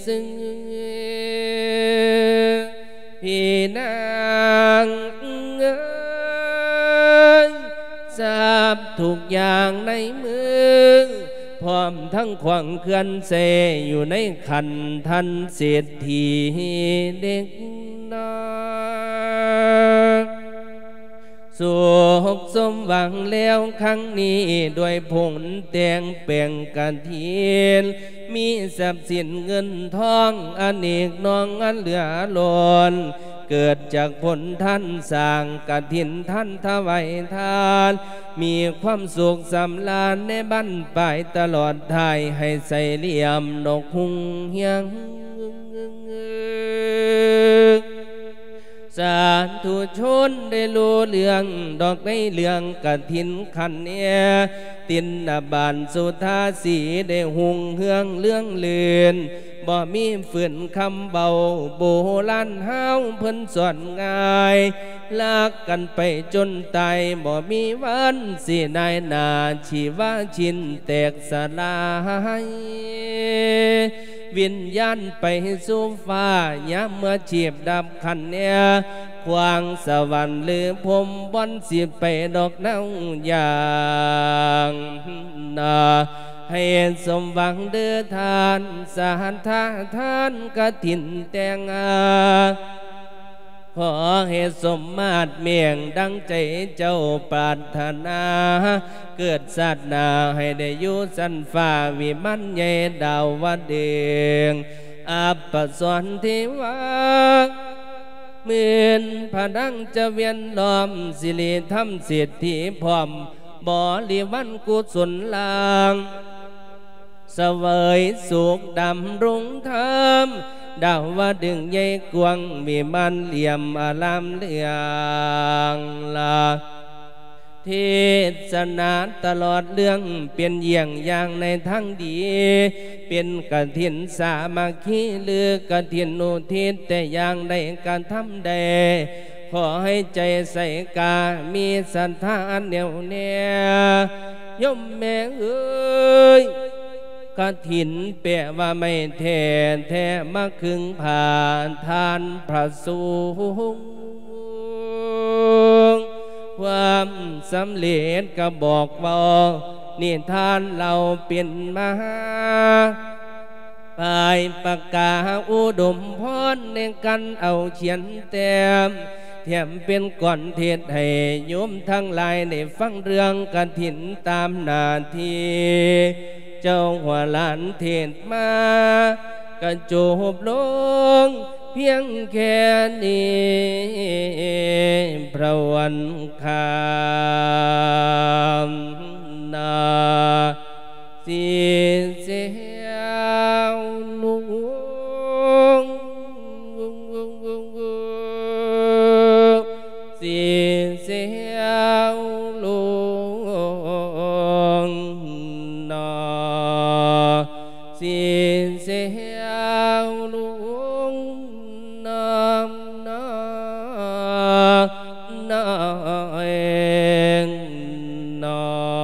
ຊື່ ພີ່ນາງເອີຍ ຊັບທຸກຢ່າງໃນມື ພ້ອມທັງຂວາງເຄື່ອນເຊ ຢູ່ໃນຂັນທັນເສດຖີເດັກນ້ອຍ ສຸກສົມຫວັງແລ້ວຄັ້ງນີ້ ດ້ວຍຜົນແຕ່ງແປງກະຖິນ ມີຊັບສິນເງິນທອງອະເນກໜອງອັນເຫຼືອລົ້ນ ເກີດຈາກຜົນທານສ້າງກະຖິນ ທານຖວາຍທານ ມີຄວາມສຸກສຳລານໃນບັ້ນປາຍຕະຫຼອດທ້າຍ ໃຫ້ໃສຫຼ່ຽມນກຮຸ່ງຮຽງ ສາທຸຊົນໄດ້ຮູ້ເລື່ອງດອກໃນເລື່ອງກະຖິນຂັນແອ ຕິນນະບານສຸທາສີໄດ້ຮຸ່ງເຮືອງເລື່ອງລື່ນ ບໍ່ມີຝືນຄຳເວົ້າ ໂບລານເຮົາເພິ່ນສອນງ່າຍ ລັກກັນໄປຈົນຕາຍ ບໍ່ມີວັນຊິນາຍໜ້າ ຊີວາຊິນແຕກສະລາຍ ວິນຍານໄປສູ່ຟ້າ ຍາມເມື່ອຊີບດັບຂັນແອ ຂວາງສະຫວັນຫຼືພົມ ບ່ອນຊິໄປດອກເນົາຢ່າງນາ ໃຫ້ສົມຫວັງເດີທ່ານ ສາທາທານກະຖິນແຕ່ງຫາ ຂໍໃຫ້ສົມມາດແມ່ງດັ່ງໃຈເຈົ້າປາດຖະໜາ ເກີດຊາດໜ້າໃຫ້ໄດ້ຢູ່ຊັ້ນຟ້າວິມານໃຫຍ່ດາວະດຶງ ອັບປະສອນເທວາ ໝື່ນພະດັງຈະວຽນລ້ອມ ສິລິທຳເສດຖີພ້ອມ ບໍລິວານກຸສົນລາງ ສະເຫວີຍສຸກດຳລົງທຳ ດາວະດຶງໃຫຍ່ກວ້າງ ວິມານຫຼ່ຽມອາລາມເຫຼືອງລາ ເທດສະນາຕະຫຼອດເລື່ອງ ເປັນຢ້ຽງຢ່າງໃນທາງດີ ເປັນກະຖິນສາມັກຄີ ຫຼືກະຖິນອຸທິດ ແຕ່ຢ່າງໃດກະທຳໄດ້ ຂໍໃຫ້ໃຈໃສກາ ມີສັດທາແໜ້ວແນ່ ໂຍມແມ່ເອີຍ ກະຖິນແປວ່າໄມ້ແທ້ ແທ້ມາຄຶງຜ້າທ່ານພະສົງ ຄວາມສຳເລັດກະບອກເວົ້າ ນິທານເລົ່າເປັນມາ ປາຍປາກກາອຸດົມພອນ ໃນການເອົາຂຽນແຕ້ມ ແຖມເປັນກອນເທດໃຫ້ໂຍມທັງຫຼາຍໄດ້ຟັງເລື່ອງກະຖິນຕາມໜ້າທີ່ ເຈົ້າຫົວຫຼານເທດມາ ກະຈົບລົງພຽງແຄ່ນີ້ ພະວັນຄານາ ສິນແຊວຫຼວງ ສິນແຊວຫຼວງນາ ສິນແຊວຫຼວງນາ ນາ ນາ ເອງນາ.